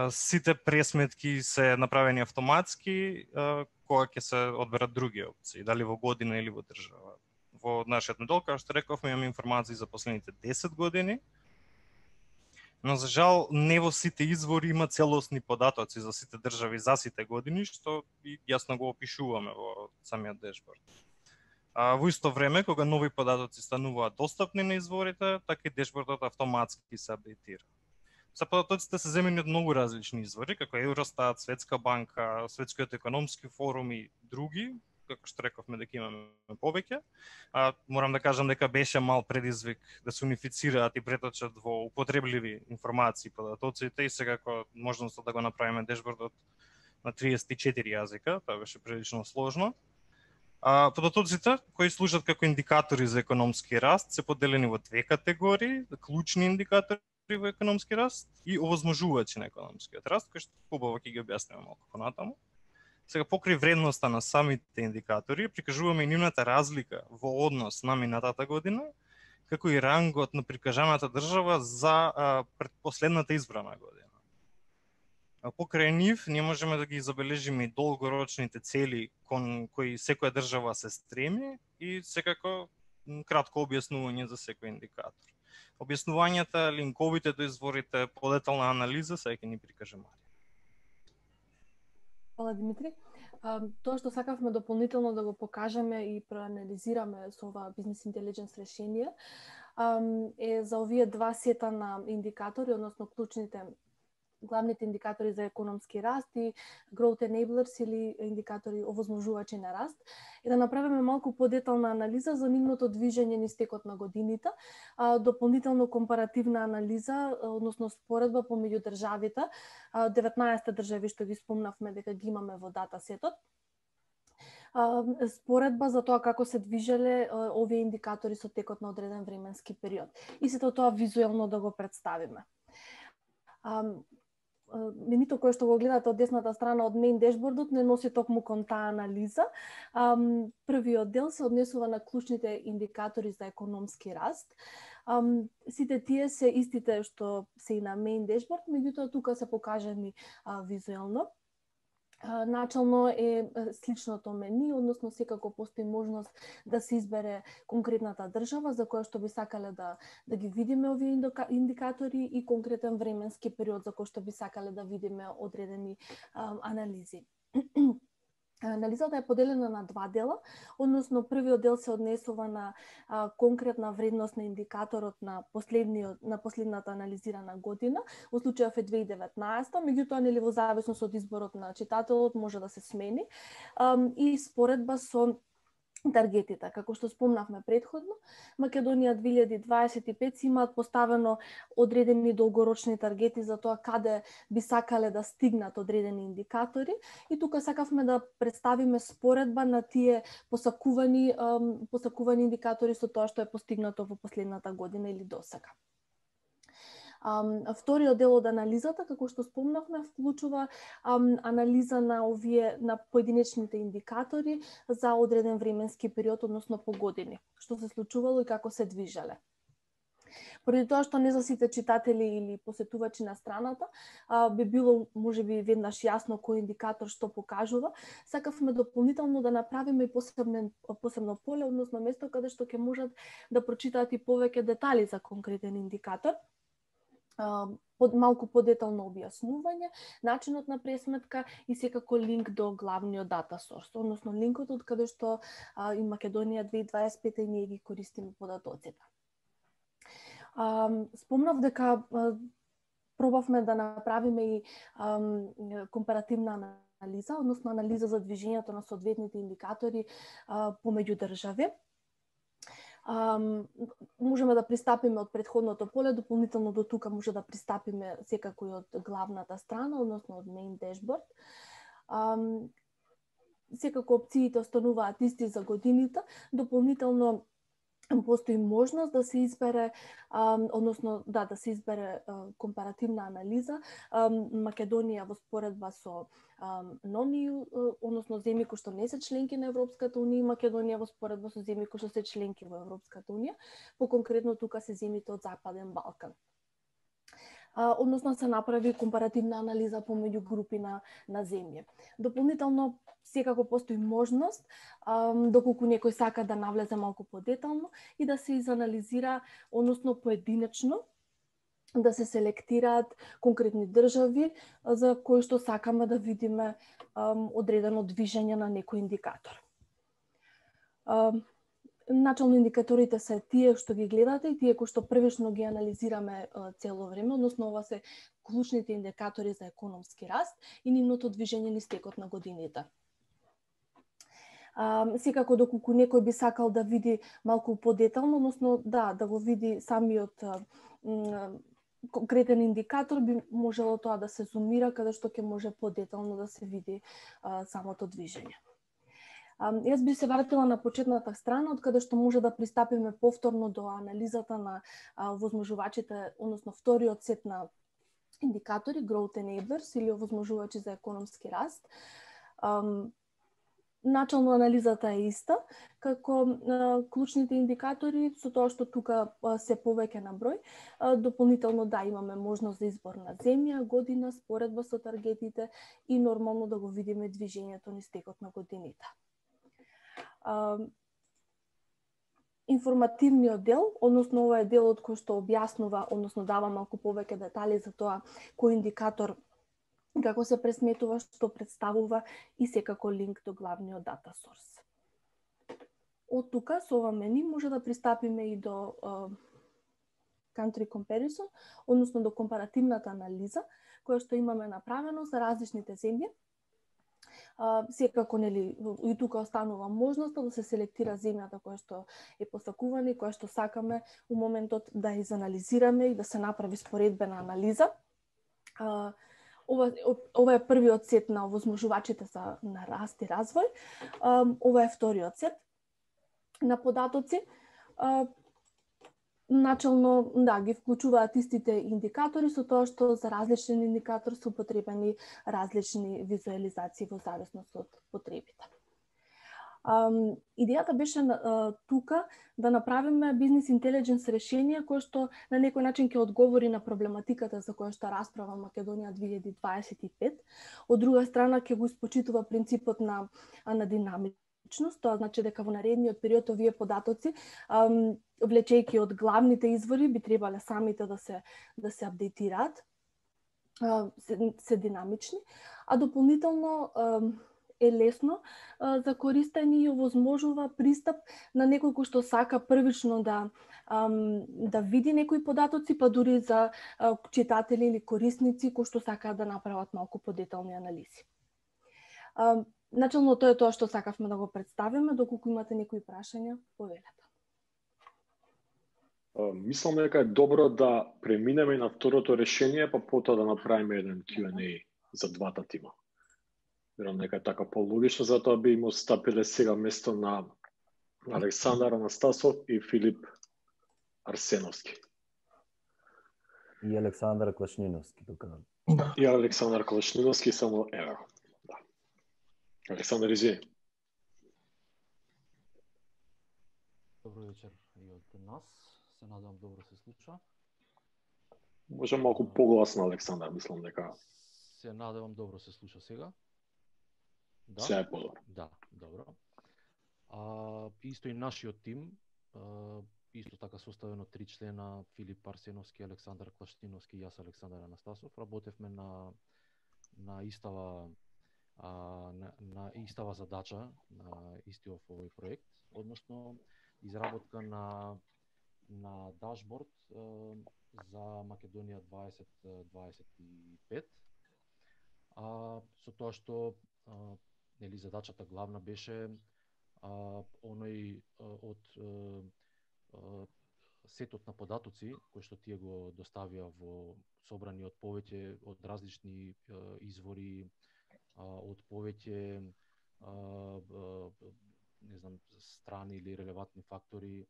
Сите пресметки се направени автоматски, кога ќе се одберат други опции, дали во година или во држава. Во нашиот модел, како што рековме, имаме информации за последните десет години, но за жал не во сите извори има целосни податоци за сите држави за сите години, што и јасно го опишуваме во самиот дашборд. А, во исто време, кога нови податоци стануваат достапни на изворите, така и дашбордот автоматски се апдейтира. Са податоците се земени од многу различни извори, како Евростат, Светска банка, Светскиот економски форум и други, како што рековме дека имаме повеќе. А, морам да кажам дека беше мал предизвик да се унифицираат и преточат во употребливи информации податоците и секако можноста да го направиме дешбордот на триесет и четири јазика, тоа беше прилично сложно. А, податоците кои служат како индикатори за економски раст се поделени во две категории: клучни индикатори во економски раст и овозможувачи на економскиот раст, кои што побаво ќе ги објасниме малку понатаму. Сега покрај вредноста на самите индикатори, прикажуваме и нивната разлика во однос на минатата година, како и рангот на прикажаната држава за а, предпоследната избрана година. А покрај нив, ние можеме да ги забележиме и долгорочните цели кон кои секоја држава се стреми и секако кратко објаснување за секој индикатор. Објаснувањата, линковите до изворите, подетална анализа, сега ќе ни прикаже Марија. Фала, Димитри. Тоа што сакавме дополнително да го покажеме и проанализираме со ова бизнес интелидженс решение е за овие два сета на индикатори, односно клучните главните индикатори за економски раст и growth enablers или индикатори овозможувачи на раст, и да направиме малку подетална анализа за нивното движење низ текот на годините, дополнително компаративна анализа, односно споредба помеѓу државите, деветнаесет држави што ги спомнавме дека ги имаме во датасетот, споредба за тоа како се движеле овие индикатори со текот на одреден временски период. И сето тоа визуелно да го представиме. Менито кое што го гледате од десната страна од main дешбордот не носи токму кон таа анализа. Првиот дел се однесува на клучните индикатори за економски раст. Сите тие се истите што се и на main дешборд, меѓутоа тука се покажани визуелно. Начално е сличното мени, односно секако постои можност да се избере конкретната држава за која што би сакале да, да ги видиме овие индикатори и конкретен временски период за кој што би сакале да видиме одредени а, анализи. Анализата е поделена на два дела, односно првиот дел се однесува на а, конкретна вредност на индикаторот на последниот на последната анализирана година, во случајов е две илјади и деветнаесета, меѓутоа нели во зависност од изборот на читателот може да се смени, а, и споредба со таргетите. Како што спомнавме предходно, Македонија две илјади дваесет и пет си имаат поставено одредени долгорочни таргети за тоа каде би сакале да стигнат одредени индикатори, и тука сакавме да представиме споредба на тие посакувани посакувани индикатори со тоа што е постигнато во последната година или досега. Вториот дел од анализата, како што спомнавме, вклучува анализа на овие на поединечните индикатори за одреден временски период, односно по години, што се случувало и како се движеле. Поради тоа што не за сите читатели или посетувачи на страната би било можеби веднаш јасно кој индикатор што покажува, сакавме дополнително да направиме и посебно посебно поле, односно место каде што ќе можат да прочитаат и повеќе детали за конкретен индикатор, под малку подетално објаснување, начинот на пресметка и секако линк до главниот дата сорс, односно линкот од каде што а, и Македонија две илјади дваесет и пета и ние ги користиме податоците. А, спомнав дека а, пробавме да направиме и а, компаративна анализа, односно анализа за движењето на соодветните индикатори а, помеѓу држави. Um, можеме да пристапиме од претходното поле, дополнително до тука може да пристапиме секако и од главната страна, односно од main dashboard. Um, секако опциите остануваат исти за годините, дополнително постои можност да се избере, um, односно да, да се избере uh, компаративна анализа. Um, Македонија во споредба со um, нони, uh, односно земји кои што не се членки на Европската унија, и Македонија во споредба со земји кои што се членки во Европската унија, по конкретно тука се земјите од Западен Балкан. Uh, односно се направи компаративна анализа помеѓу групи на, на земји. Дополнително, секако постои можност, um, доколку некој сака да навлезе малку подетално и да се изанализира, односно поединечно, да се селектираат конкретни држави за кои што сакаме да видиме um, одредено движење на некој индикатор. Um, начално индикаторите се тие што ги гледате и тие кои што првично ги анализираме цело време, односно ова се клучните индикатори за економски раст и нивното движење низ текот на годините. А, секако доколку некој би сакал да види малку подетално, односно да, да го види самиот конкретен индикатор, би можело тоа да се зумира, каде што ќе може подетално да се види а, самото движење. А, јас би се вратила на почетната страна, од каде што може да пристапиме повторно до анализата на а, овозможувачите, односно вториот сет на индикатори, Growth Enablers или овозможувачи за економски раст. А, Начално анализата е иста, како а, клучните индикатори, со тоа што тука а, се повеќе на број. А, дополнително да, имаме можност за избор на земја, година, споредба со таргетите и нормално да го видиме движењето низ текот на годините. А, информативниот дел, односно ова е делот кој што објаснува, односно дава малку повеќе детали за тоа кој индикатор како се пресметува, што представува и секако линк до главниот дата сорс. Од тука со ова мени може да пристапиме и до uh, country comparison, односно до компаративната анализа која што имаме направено за различните земји. Uh, секако нели и тука останува можноста да се селектира земјата која што е посакувана и која што сакаме у моментот да изанализираме и да се направи споредбена анализа. Uh, Ова, ова е првиот сет на овозможувачите за на раст и развој. Ова е вториот сет на податоци. Начално, да, ги вклучуваат истите индикатори, со тоа што за различен индикатор се употребени различни визуализации во зависност од потребите. Um, идејата беше uh, тука да направиме бизнес интелидженс решение кое што на некој начин ќе одговори на проблематиката за која што расправа Македонија две илјади дваесет и пет. Од друга страна ќе го испочитува принципот на, на динамичност, тоа значи дека во наредниот период овие податоци, um, влечејќи од главните извори, би требале самите да се да се апдейтираат, uh, се, се динамични, а дополнително uh, е лесно а, за користење и овозможува пристап на некој кој што сака првично да ам, да види некои податоци, па дури за а, читатели или корисници кои што сакаат да направат малку подетални анализи. А, начално тоа е тоа што сакавме да го представиме, доколку имате некои прашања, повелете. Мислам дека е добро да преминеме на второто решение, па потоа да направиме еден Q and A за двата тима. Верам дека е така по-логично, затоа би им остапиле сега место на Александар Анастасов и Филип Арсеновски. И Александар Клашниновски тука. Да. И Александар Клашниновски само ева. Да. Александар, извини. Добро вечер и од нас. Се надевам добро се случа. Може малку погласно, Александар, мислам дека. Се надевам добро се случа сега. Да? Се е подобро. Да, добро. А, исто и нашиот тим, а, исто така составено три члена, Филип Арсеновски, Александар Клаштиновски и јас Александар Анастасов, работевме на на истава а, на, на истава задача на истиот овој проект, односно изработка на на дашборд а, за Македонија дваесет дваесет и пет. А, со тоа што а, нели задачата главна беше а, оној а, од а, а, сетот на податоци кои што тие го доставија во собрани од повеќе од различни а, извори, а, од повеќе а, а, не знам страни или релевантни фактори,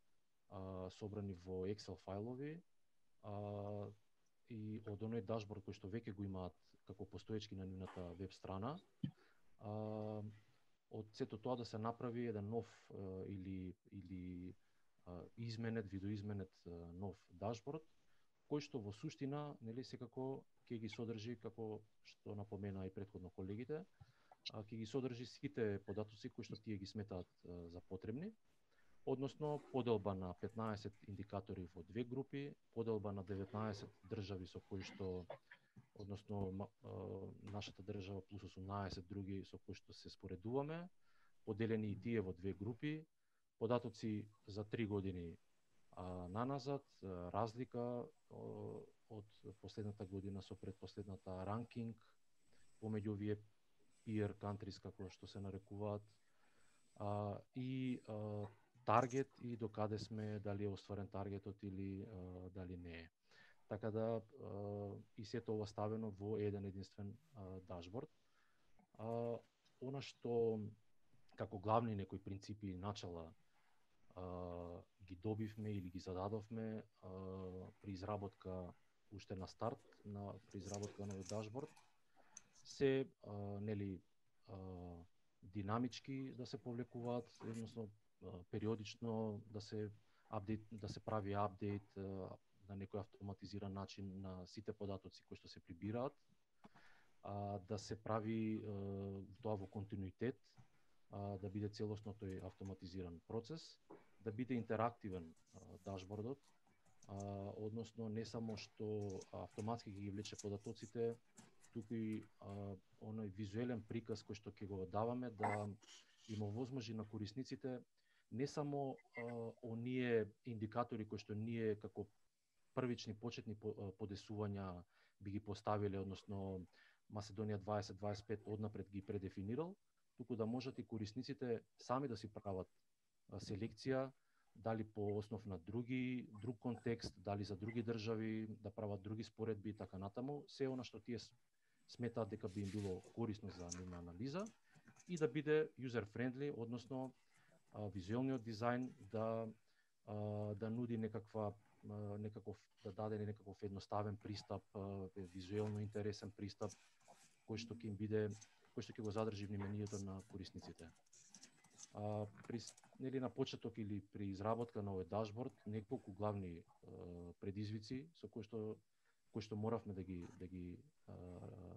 а, собрани во Excel фајлови, а, и од оној дашборд кој што веќе го имаат како постоечки на нивната веб страна. Uh, од сето тоа да се направи еден нов uh, или или uh, изменет, видоизменет uh, нов дашборд, кој што во суштина, нели, секако ќе ги содржи, како што напомена и претходно колегите, uh, ќе ги содржи сите податоци кои што тие ги сметаат uh, за потребни, односно поделба на петнаесет индикатори во две групи, поделба на деветнаесет држави со кои што односно нашата држава плюс осумнаесет други со кои што се споредуваме, поделени и тие во две групи, податоци за три години а, наназад, разлика од последната година со предпоследната ранкинг помеѓу овие peer countries како што се нарекуваат, а, и а, таргет и докаде сме, дали е остварен таргетот или а, дали не е. Така да а, и сето ова ставено во еден единствен а, дашборд. А, она што како главни некои принципи и начала а, ги добивме или ги зададовме а, при изработка уште на старт на при изработка на овој дашборд се а, нели а, динамички да се повлекуваат, едносно периодично да се апдейт, да се прави апдейт на некој автоматизиран начин на сите податоци кои што се прибираат, а, да се прави а, тоа во континуитет, а, да биде целосно тој автоматизиран процес, да биде интерактивен а, дашбордот, а, односно не само што автоматски ги влече податоците, туку и а, оној визуелен приказ кој што ќе го даваме да им овозможи на корисниците не само а, оние индикатори кои што ние како првични почетни подесувања би ги поставиле, односно Македонија дваесет дваесет и пет однапред ги предефинирал, туку да можат и корисниците сами да си прават селекција, дали по основ на други, друг контекст, дали за други држави, да прават други споредби и така натаму, се она што тие сметаат дека би им било корисно за нивна анализа и да биде user friendly, односно визуелниот дизајн да да нуди некаква некаков да даде некаков едноставен пристап, визуелно интересен пристап кој што ќе им биде кој што ќе го задржи вниманието на корисниците. А, при нели на почеток или при изработка на овој дашборд неколку главни а, предизвици со кои што кои што моравме да ги да ги а,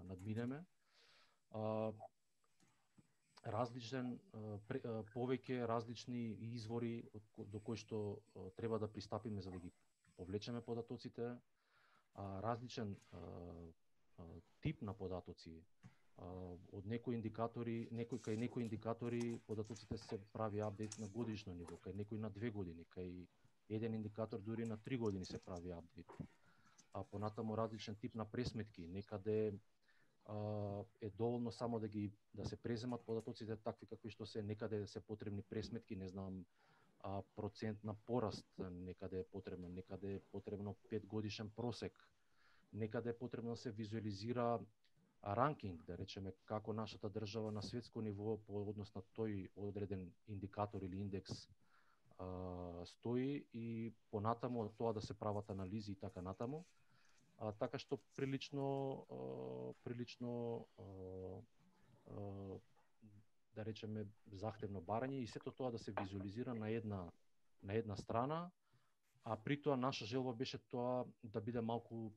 надминеме. А, различен а, пре, а, повеќе различни извори од, до кои што а, треба да пристапиме за да ги повлечеме податоците, а, различен а, а, тип на податоци. Uh, од некои индикатори, некои кај некои индикатори податоците се прави апдейт на годишно ниво, кај некои на две години, кај еден индикатор дури на три години се прави апдейт. А понатаму различен тип на пресметки, некаде uh, е доволно само да ги да се преземат податоците такви какви што се, некаде се потребни пресметки, не знам, uh, процент на пораст, некаде е потребно, некаде е потребно пет годишен просек, некаде е потребно да се визуализира ранкинг, да речеме, како нашата држава на светско ниво по однос на тој одреден индикатор или индекс а, стои и понатаму од тоа да се прават анализи и така натаму. А, така што прилично а, прилично а, а, да речеме захтевно барање и сето тоа да се визуализира на една на една страна, а при тоа наша желба беше тоа да биде малку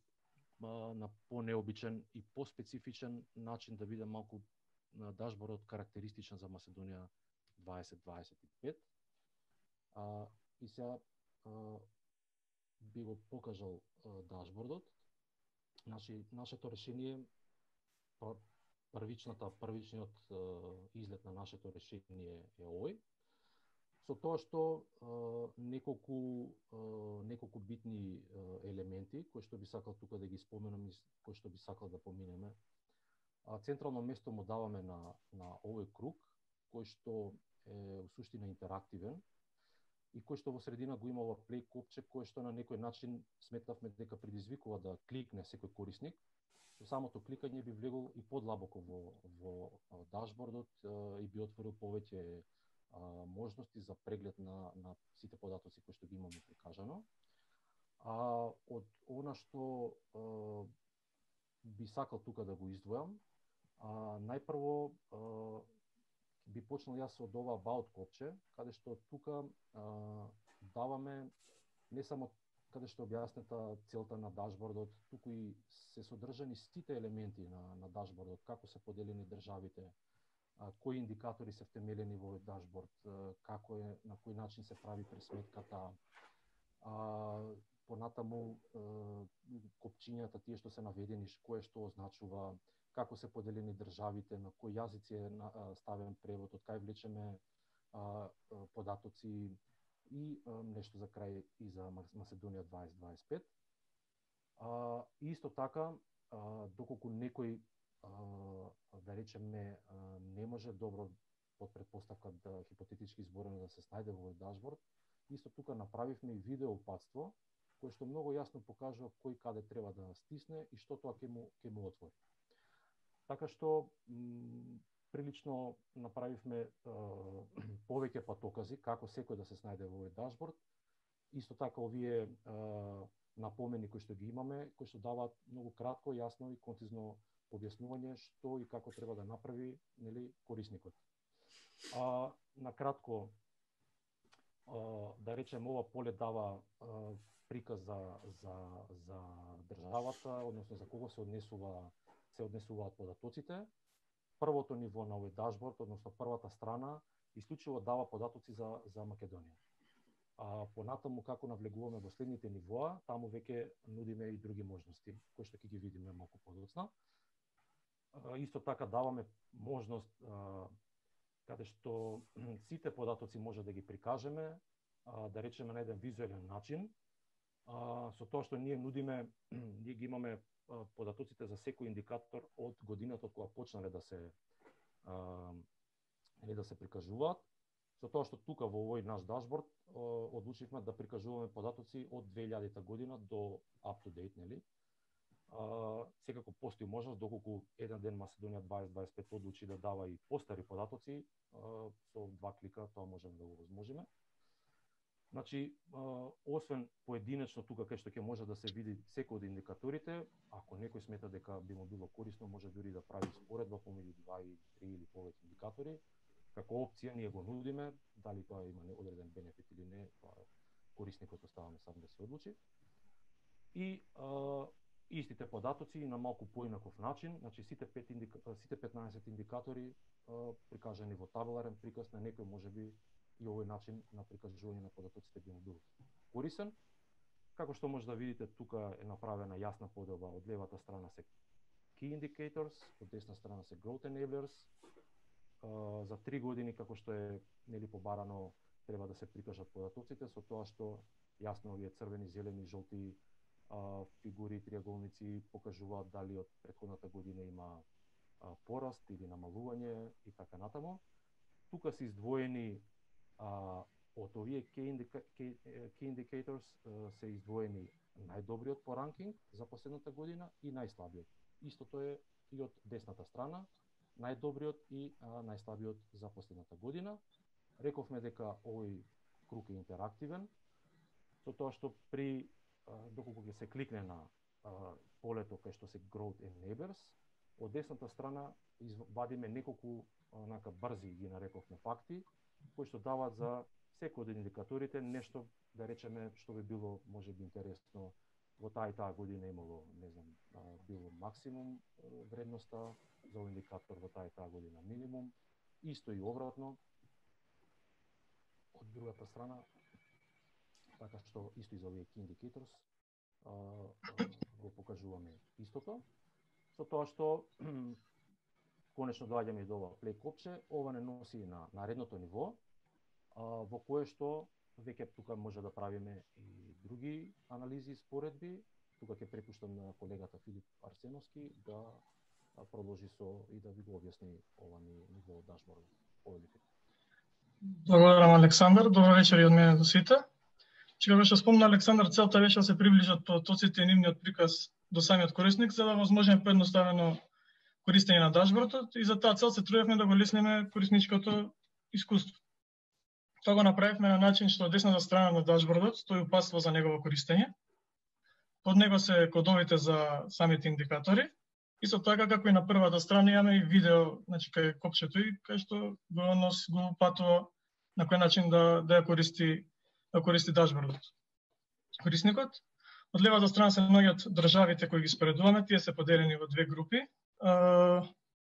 на по-необичен и по-специфичен начин, да биде малку дашбордот карактеристичен за Македонија дваесет дваесет и пет. А, и сега а, би го покажал а, дашбордот. Значи, нашето решение, првичната, првичниот а, излет на нашето решение е овој. Со тоа што а, неколку а, неколку битни а, елементи кои што би сакал тука да ги споменам и кои што би сакал да поминеме. А, централно место му даваме на на овој круг кој што е во суштина интерактивен и кој што во средина го има ова плей копче кој што на некој начин сметавме дека предизвикува да кликне секој корисник. Со самото кликање би влегол и подлабоко во во дашбордот а, и би отворил повеќе А, можности за преглед на, на сите податоци кои што ги имаме прикажано. А од она што а, би сакал тука да го издвојам, а, најпрво а, би почнал јас од ова about копче, каде што тука а, даваме не само каде што објаснета целта на дашбордот, туку и се содржани сите елементи на, на дашбордот, како се поделени државите, кои индикатори се втемелени во овој дашборд, како е, на кој начин се прави пресметката, а, понатаму копчињата тие што се наведени, кое што означува, како се поделени државите, на кои јазици е ставен превод, од кај влечеме а, податоци и а, нешто за крај и за Македонија дваесет дваесет и пет. А, исто така, а, доколку некој а, да речеме а, не може добро под предпоставка да хипотетички зборено да се снајде во овој дашборд, исто тука направивме и видео упатство кој што многу јасно покажува кој каде треба да стисне и што тоа ќе му ќе му отвори. Така што прилично направивме е, повеќе патокази како секој да се снајде во овој дашборд. Исто така овие е, напомени кои што ги имаме, кои што даваат многу кратко, јасно и концизно објаснување што и како треба да направи, нели, корисникот. А на кратко, а, да речем, ова поле дава а, приказ за за за државата, односно за кого се однесува се однесуваат податоците. Првото ниво на овој дашборд, односно првата страна, исклучиво дава податоци за за Македонија. А понатаму како навлегуваме во следните нивоа, таму веќе нудиме и други можности, кои што ќе ги видиме малку подоцна. Исто така даваме можност а, каде што сите податоци може да ги прикажеме, а, да речеме на еден визуелен начин, а, со тоа што ние нудиме, ние ги имаме а, податоците за секој индикатор од годината од кога почнале да се а, или да се прикажуваат, со тоа што тука во овој наш дашборд а, одлучивме да прикажуваме податоци од две илјадета година до up to date, нели? Uh, секако постои можност, доколку еден ден Македонија дваесет дваесет и пет одлучи да дава и постари податоци, uh, со два клика тоа можеме да го возможиме. Значи, uh, освен поединечно тука кај што ќе може да се види секој од индикаторите, ако некој смета дека би му било корисно, може дури да прави споредба помеѓу два и три или повеќе индикатори. Како опција ние го нудиме, дали тоа има одреден бенефит или не, тоа корисникот оставаме сам да се одлучи. И uh, истите податоци на малку поинаков начин, значи сите пет индика... сите петнаесет индикатори а, прикажани во табеларен приказ, на некој можеби и овој начин на прикажување на податоците би му бил корисен. Како што може да видите, тука е направена јасна поделба, од левата страна се Key Indicators, од десна страна се Growth Enablers. А, за три години, како што е нели побарано, треба да се прикажат податоците, со тоа што јасно овие црвени, зелени, жолти а, фигури, триаголници покажуваат дали од претходната година има а, пораст или намалување и така натаму. Тука се издвоени а, од овие key, indica key, key indicators а, се издвоени најдобриот по ранкинг за последната година и најслабиот. Истото е и од десната страна, најдобриот и а, најслабиот за последната година. Рековме дека овој круг е интерактивен, со тоа што при доколку ќе се кликне на а, полето кај што се Growth Enablers, од десната страна извадиме неколку онака брзи ги нарековме факти, кои што даваат за секој од индикаторите нешто, да речеме, што би било можеби интересно. Во таа и таа година имало, не знам, било максимум вредноста, за овој индикатор во таа и таа година минимум, исто и обратно. Од другата страна, така што исто и за овие key indicators а, а, го покажуваме истото. Со тоа што конечно доаѓаме и до ова плей копче, ова не носи на наредното ниво, а, во кое што веќе тука може да правиме и други анализи и споредби. Тука ќе препуштам на колегата Филип Арсеновски да продолжи со и да ви го објасни ова ниво дашборд. Благодарам, Александар. Добро вечер и од мене до сите. Че како што спомна Александар, целта беше да се приближат податоците и нивниот приказ до самиот корисник, за да возможиме поедноставено користење на дашбордот, и за таа цел се трудевме да го лесниме корисничкото искуство. Тоа го направивме на начин што од десната страна на дашбордот стои упатство за негово користење. Под него се кодовите за самите индикатори. Исто така како и на првата страна имаме и видео, значи кај копчето и кај што го нос го упатува на кој начин да да ја користи да користи дашбордот. Корисникот од левата страна се наоѓаат државите кои ги споредуваме, тие се поделени во две групи,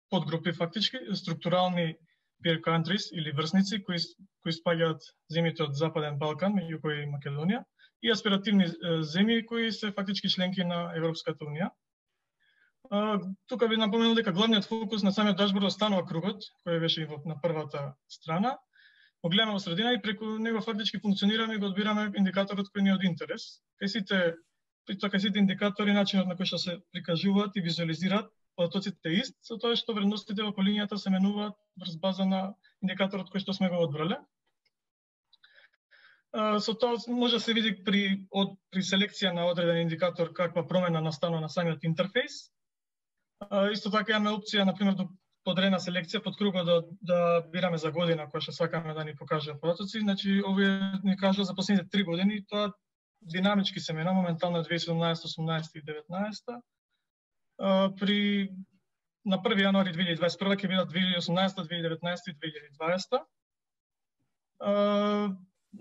подгрупи фактички, структурални peer countries или врсници кои кои спаѓаат земјите од Западен Балкан, меѓу кои и Македонија, и аспиративни земји кои се фактички членки на Европската унија. Тука би напоменал дека главниот фокус на самиот дашборд останува кругот, кој беше и на првата страна, го гледаме во средина и преку него фактички функционираме и го одбираме индикаторот кој ни е од интерес. Кај сите, при тоа кај сите индикатори, начинот на кој што се прикажуваат и визуализираат податоците е ист, со тоа што вредностите во линијата се менуваат врз база на индикаторот кој што сме го одбрале. Со тоа може да се види при, од, при селекција на одреден индикатор каква промена настанува на самиот интерфейс. Исто така имаме опција, например, до подредена селекција под кругот да, да бираме за година која што сакаме да ни покажат податоци. Значи, овие ни кажува за последните три години, тоа динамички се мена, моментално две тисачи и седумнаесета, осумнаесета и деветнаесета. При на први јануари две илјади дваесет и прва ќе бидат две илјади и осумнаесета, две илјади и деветнаесета и две илјади и дваесета.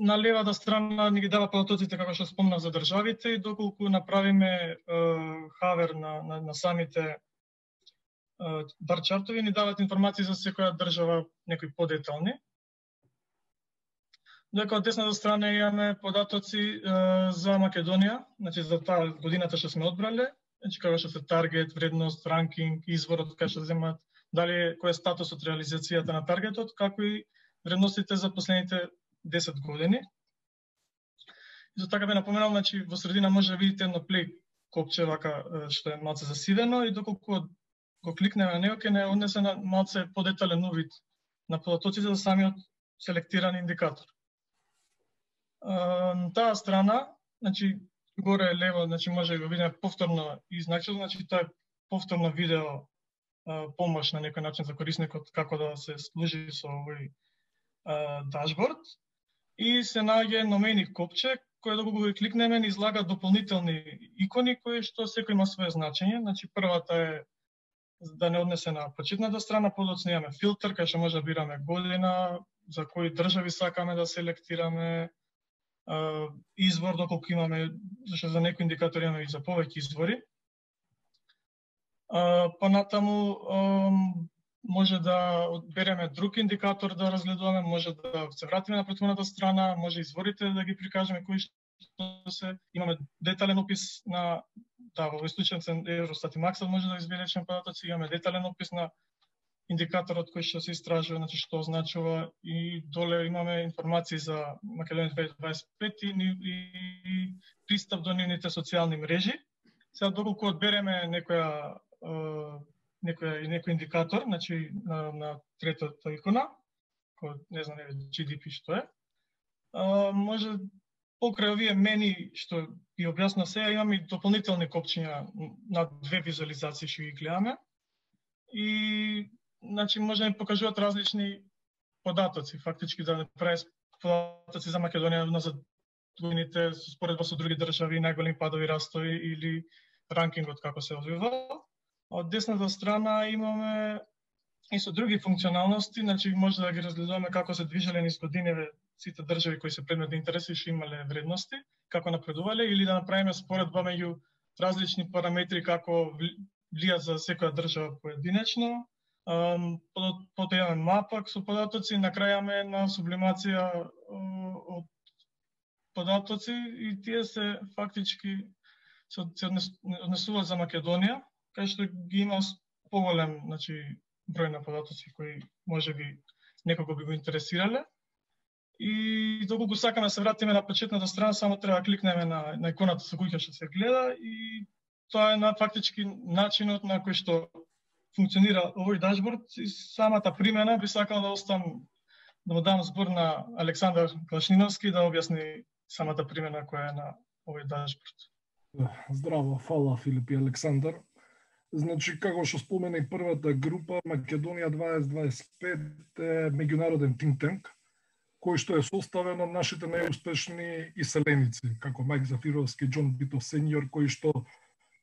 На левата страна ни ги дава податоците како што спомнав за државите и доколку направиме хавер на, на, на самите бар чартови ни дават информации за секоја држава некои подетални. Дека од десната страна имаме податоци е, за Македонија, значи за таа годината што сме одбрале, значи како што се таргет, вредност, ранкинг, изворот кај што земат, дали кој е статусот реализацијата на таргетот, како и вредностите за последните десет години. И за така бе напоменал, значи во средина може да видите едно плей копче вака што е малце засивено и доколку го кликнеме на него, ќе не однесе на малце подетален увид на податоците за самиот селектиран индикатор. На таа страна, значи горе лево, значи може да го видиме повторно изначено, значи тоа е повторно видео помош на некој начин за корисникот како да се служи со овој дашборд. И се наоѓа едно меню копче кој доколку го кликнеме ни излага дополнителни икони кои што секој има свое значење. Значи првата е да не однесе на почетната страна, подоцна имаме филтер кај што може да бираме година, за кои држави сакаме да селектираме, извор доколку имаме, зашто за некои индикатори имаме и за повеќе извори. Понатаму може да одбереме друг индикатор да разгледуваме, може да се вратиме на претходната страна, може изворите да ги прикажеме кои што се, имаме детален опис на, да, во овој случај Евростат и Максат може да избелечеме податоци, имаме детален опис на индикаторот кој што се истражува, значи што означува, и доле имаме информации за Македонија две илјади дваесет и пета и, и пристап до нивните социјални мрежи. Сега доколку одбереме некоја некој некој индикатор, значи на, на третата икона, кој не знам еве Джи Ди Пи што е, а, може покрај овие мени што ги објаснав сега, имаме и дополнителни копчиња на две визуализации што ги гледаме. И значи може да ни покажуваат различни податоци, фактички да не прави податоци за Македонија назад годините споредба со други држави, најголеми падови растови или ранкингот како се одвива. Од десната страна имаме и со други функционалности, значи може да ги разгледуваме како се движеле низ годиниве сите држави кои се предмет на интереси што имале вредности, како напредувале, или да направиме споредба меѓу различни параметри како влијат за секоја држава поединечно. Потоа имаме мапак со податоци, на крај имаме една сублимација од податоци и тие се фактички се однесуваат за Македонија, кај што ги има поголем, значи, број на податоци кои можеби некого би го интересирале. И доколку сакаме да се вратиме на почетната страна, само треба да кликнеме на, на иконата со куќа што се гледа и тоа е на фактички начинот на кој што функционира овој дашборд и самата примена. Би сакал да оставам да му дам збор на Александар Клашниновски да објасни самата примена која е на овој дашборд. Здраво, фала Филип и Александар. Значи, како што спомена и првата група, Македонија дваесет дваесет и пет е меѓународен think tank, кој што е составен од нашите најуспешни иселеници, како Мајк Зафировски, Џон Битов сениор, кои што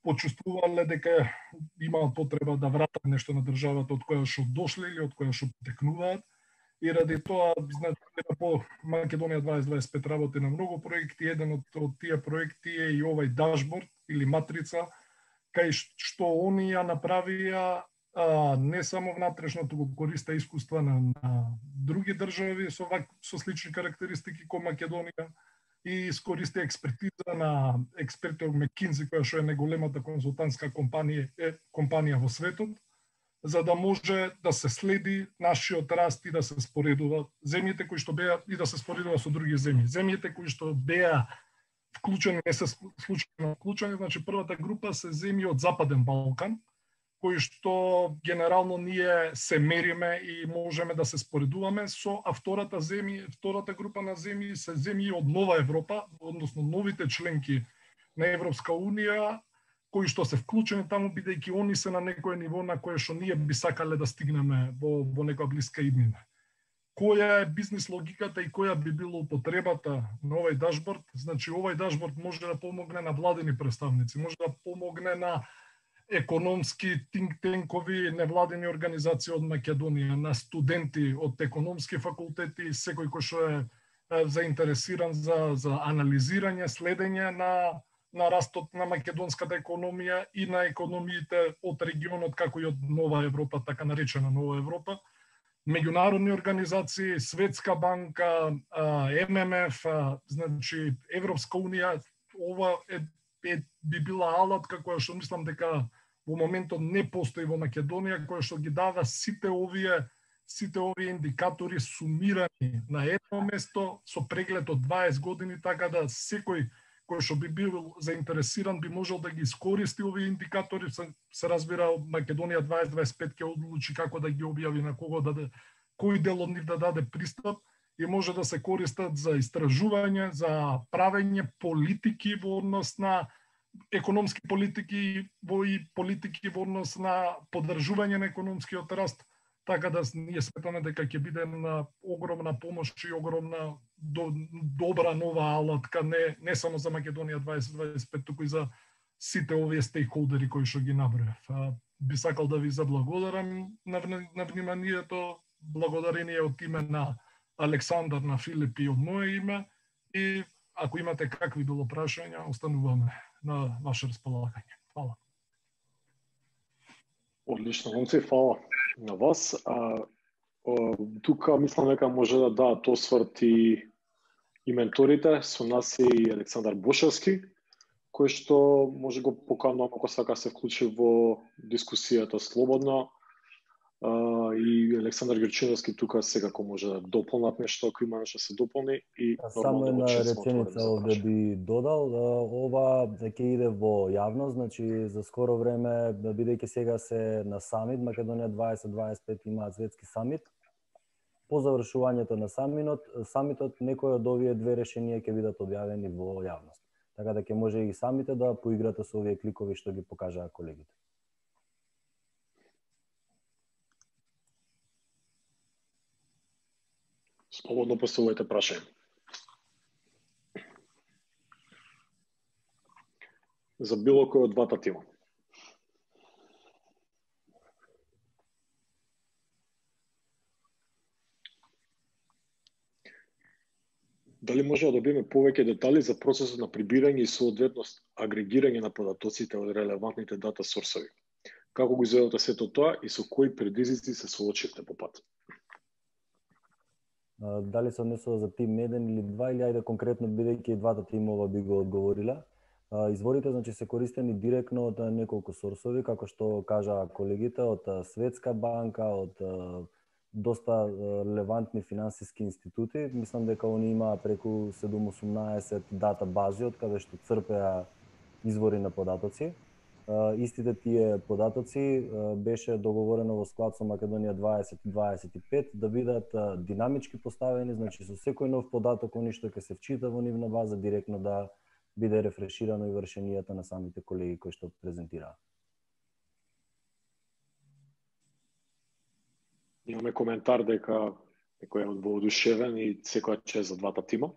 почувствувале дека имаат потреба да вратат нешто на државата од која што дошле или од која што потекнуваат. И ради тоа, значи, по Македонија дваесет дваесет и пет работи на многу проекти. Еден од, од тие проекти е и овај дашборд или матрица, кај што они ја направија а, не само внатрешно, туку користа искуства на, на други држави со, со слични карактеристики кој Македонија и искористи експертиза на експерти од McKinsey, која што е најголемата консултантска компанија, е, компанија во светот, за да може да се следи нашиот раст и да се споредува земјите кои што беа и да се споредува со други земји. Земјите кои што беа вклучени, не се случајно вклучени, значи првата група се земји од Западен Балкан, кои што генерално ние се мериме и можеме да се споредуваме со, а втората земји, втората група на земји се земји од Нова Европа, односно новите членки на Европска унија, кои што се вклучени таму, бидејќи они се на некое ниво на кое што ние би сакале да стигнеме во, во некоја блиска иднина. Која е бизнис логиката и која би било употребата на овој дашборд? Значи, овој дашборд може да помогне на владени представници, може да помогне на економски тинк-тенкови, невладени организации од Македонија, на студенти од економски факултети, секој кој што е заинтересиран за, за анализирање, следење на, на растот на македонската економија и на економиите од регионот, како и од Нова Европа, така наречена Нова Европа, меѓународни организации, Светска банка, Ем Ем Еф, значи Европска унија, ова е, е би била алатка која што мислам дека во моментот не постои во Македонија, која што ги дава сите овие сите овие индикатори сумирани на едно место со преглед од дваесет години, така да секој кој што би бил заинтересиран би можел да ги искористи овие индикатори. Се, се разбира, Македонија дваесет дваесет и пет ќе одлучи како да ги објави, на кого да даде, кој дел од нив да даде пристап, и може да се користат за истражување, за правење политики во однос на економски политики во и политики во однос на поддржување на економскиот раст, така да ние сметаме дека ќе биде на огромна помош и огромна до, добра нова алатка, не, не само за Македонија дваесет дваесет и пет, туку и за сите овие стейкхолдери кои што ги наброев. Би сакал да ви заблагодарам на, на вниманието, благодарение од име на Александар, на Филип и од моје име, и ако имате какви било прашања, остануваме на ваше располагање. Фала. Одлично, момци, фала на вас. А, а, тука мислам дека може да дадат осврт и, и менторите, со нас и Александар Бошевски, кој што може го поканувам ако сака се вклучи во дискусијата слободно. Uh, и Александар Грчиновски тука секако може да дополнат нешто ако има нешто се дополни и само една реченица овде би додал, ова ќе иде во јавност, значи за скоро време, бидејќи сега се на самит Македонија дваесет дваесет и пет имаат светски самит. По завршувањето на самитот, самитот некои од овие две решенија ќе бидат објавени во јавност. Така да ќе може и самите да поиграте со овие кликови што ги покажаа колегите. Слободно поставувајте прашање. За било кој од двата тима. Дали може да добиеме повеќе детали за процесот на прибирање и соодветност агрегирање на податоците од релевантните дата сорсови? Како го изведете сето тоа и со кои предизвици се соочивте по пат? Дали се однесува за тим еден или два, или ајде конкретно, бидејќи и двата тимова би го одговорила. Изворите, значи, се користени директно од неколку сорсови, како што кажа колегите, од Светска банка, од доста релевантни финансиски институти. Мислам дека они имаа преку седум-осумнаесет дата бази од каде што црпеа извори на податоци. Истите тие податоци беше договорено во склад со Македонија дваесет дваесет и пет да бидат динамички поставени, значи со секој нов податок они што ќе се вчита во нивна база директно да биде рефреширано и вршенијата на самите колеги кои што презентираа. Имаме коментар дека некој е воодушевен и секоја чест за двата тима.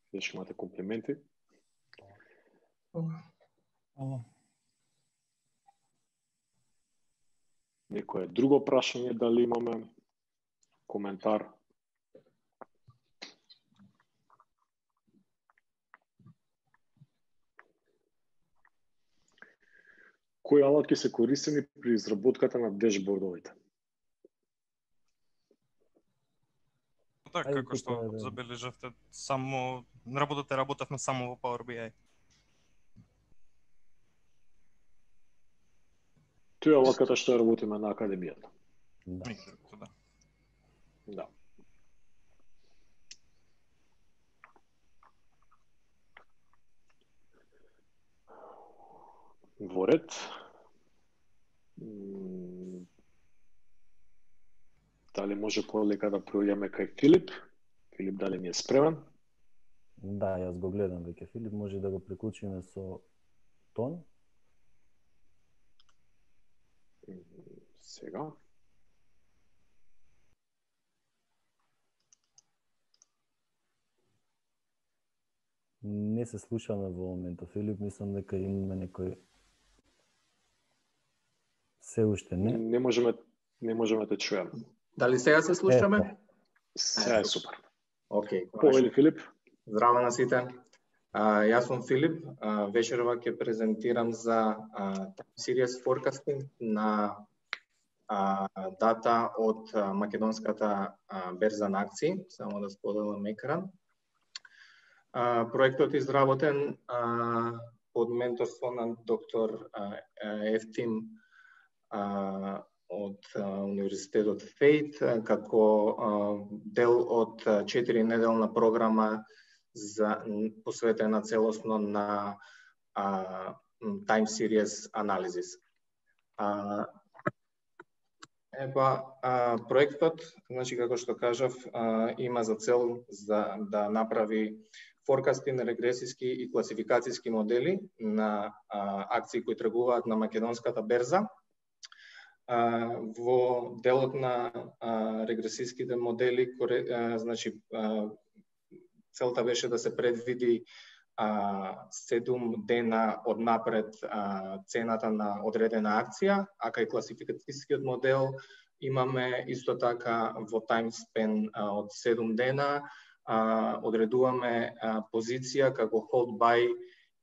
Веќе имате комплименти. Ала. Некое друго прашање, дали имаме коментар? Кои алатки се користени при изработката на дешбордовите? Така, како што забележавте, само работата работевме само во Power би ај. Тоа е лаката што работиме на академијата. Да. Да. Да. Во ред. Дали може полека да пројдеме кај Филип? Филип, дали ми е спремен? Да, јас го гледам веќе Филип, може да го приклучиме со тон. Сега. Не се слушаме во моментот, Филип, мислам дека имаме некој... Се уште не. Не можеме, не можеме да чуеме. Дали сега се слушаме? Сега е супер. Океј. Повели Филип. Здраво на сите. А, јас сум Филип. А, вечерва ќе презентирам за Time Series Forecasting на а, дата од а, македонската а, берза на акции. Само да споделам екран. А, проектот е изработен а, под менторство на доктор а, Ефтим а, од а, Универзитетот Фейт, како а, дел од четири неделна програма за посветена целосно на а, Time Series анализис. А, Еба, а, проектот, значи како што кажав, а, има за цел за да направи форкасти на регресиски и класификацијски модели на а, акции кои тргуваат на македонската берза. А, во делот на а, регресиските модели, коре, а, значи а, целта беше да се предвиди а, седум дена однапред а, цената на одредена акција, а кај класификацијскиот модел имаме исто така во таймспен а, од седум дена, а, одредуваме а, позиција како hold buy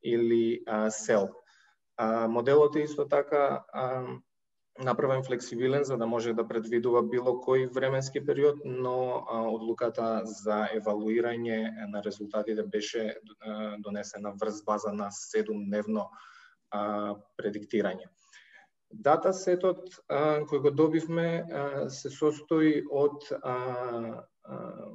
или а, sell. А, моделот е исто така а, направен флексибилен за да може да предвидува било кој временски период, но а, одлуката за евалуирање на резултатите беше а, донесена врз база на седумдневно а, предиктирање. Датасетот а, кој го добивме а, се состои од а, а,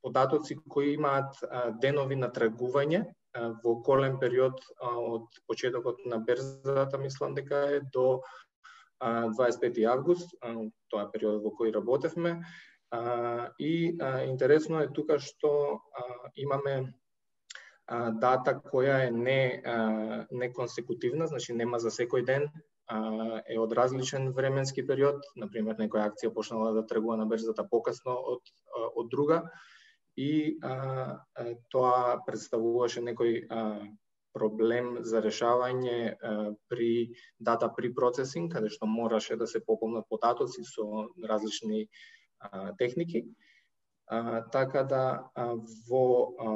податоци кои имаат а, денови на тргување а, во голем период а, од почетокот на берзата, мислам дека е до дваесет и пети август, тоа е периодот во кој работевме. И интересно е тука што имаме дата која е не, не консекутивна, значи нема за секој ден, е од различен временски период, например некоја акција почнала да тргува на берзата покасно од, од друга, и а, тоа представуваше некој а, проблем за решавање а, при дата при процесинг, каде што мораше да се пополнат податоци со различни а, техники. А, така да а, во а,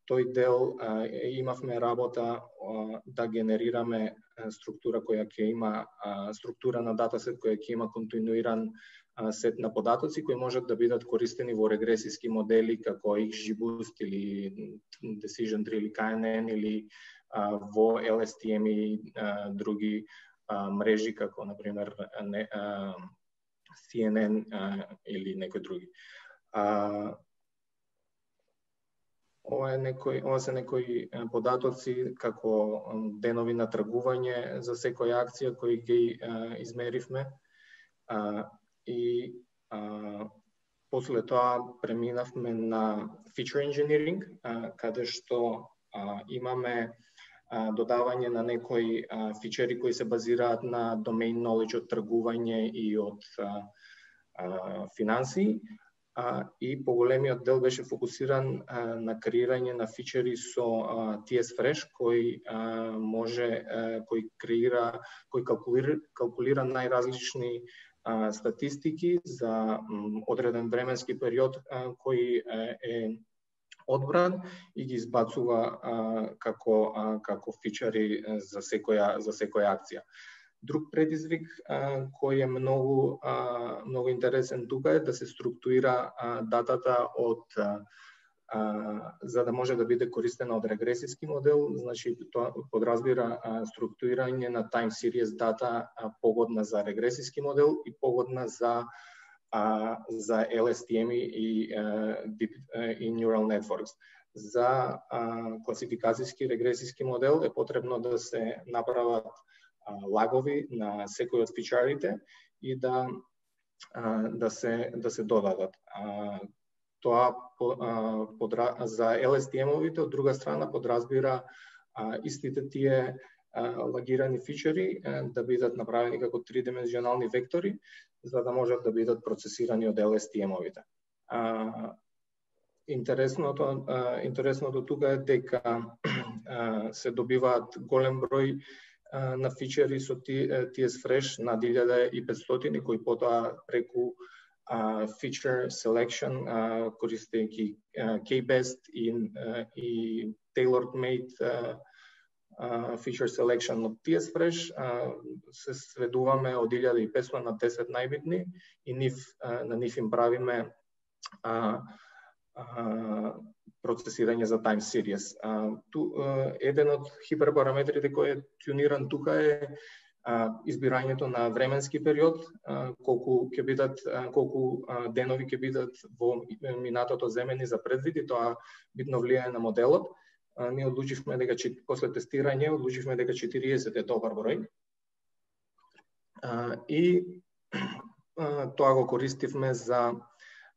тој дел а, имавме работа а, да генерираме структура која ќе има а, структура на датасет која ќе има континуиран а, сет на податоци кои можат да бидат користени во регресиски модели како икс джи Boost или Decision Tree или K N N или а, во L S T M и а, други а, мрежи како например не, а, C N N а, или некои други. А, ова е некои, ова се некои податоци како денови на тргување за секоја акција кои ги а, измеривме. А, и а, после тоа преминавме на feature engineering, а, каде што а, имаме а, додавање на некои а, фичери кои се базираат на domain knowledge од тргување и од а, а, финансии. А, и поголемиот дел беше фокусиран а, на креирање на фичери со а, T S Fresh кој а, може а, кој креира, кој калкулира, калкулира најразлични а, статистики за м, одреден временски период а, кој а, е одбран и ги избацува а, како а, како фичери за секоја за секоја акција. Друг предизвик а, кој е многу а, многу интересен тука е да се структурира а, датата од а, а, за да може да биде користена од регресиски модел, значи тоа подразбира а, структурирање на time series дата а, погодна за регресиски модел и погодна за а, за Ел Ес Ти Ем и а, deep, а, и neural networks. За а, класификацијски регресиски модел е потребно да се направат а, лагови на секој од фичарите и да а, да се да се додадат. А, тоа по, а, подра... за Ел Ес Ти Ем-овите од друга страна подразбира а, истите тие а, лагирани фичери а, да бидат направени како тридимензионални вектори за да можат да бидат процесирани од Ел Ес Ти Ем-овите. А, Интересното, а, интересното тука е дека а, се добиваат голем број а, на фичери со Ти Ес Fresh над илјада и петстотини кои потоа преку а, feature selection а, користејќи K-Best и, а, и tailored made а, а, feature selection од Ти Ес Fresh а, се сведуваме од илјада и петстотини на десет најбитни и нив, а, на нив им правиме а, процесирање за time series. А, ту, а, еден од хиперпараметрите кој е тюниран тука е а, избирањето на временски период, а, колку ќе бидат а, колку а, денови ќе бидат во минатото земени за предвид, тоа битно влијае на моделот. А, ние одлучивме дека после тестирање одлучивме дека четириесет е добар број. А, и а, тоа го користивме за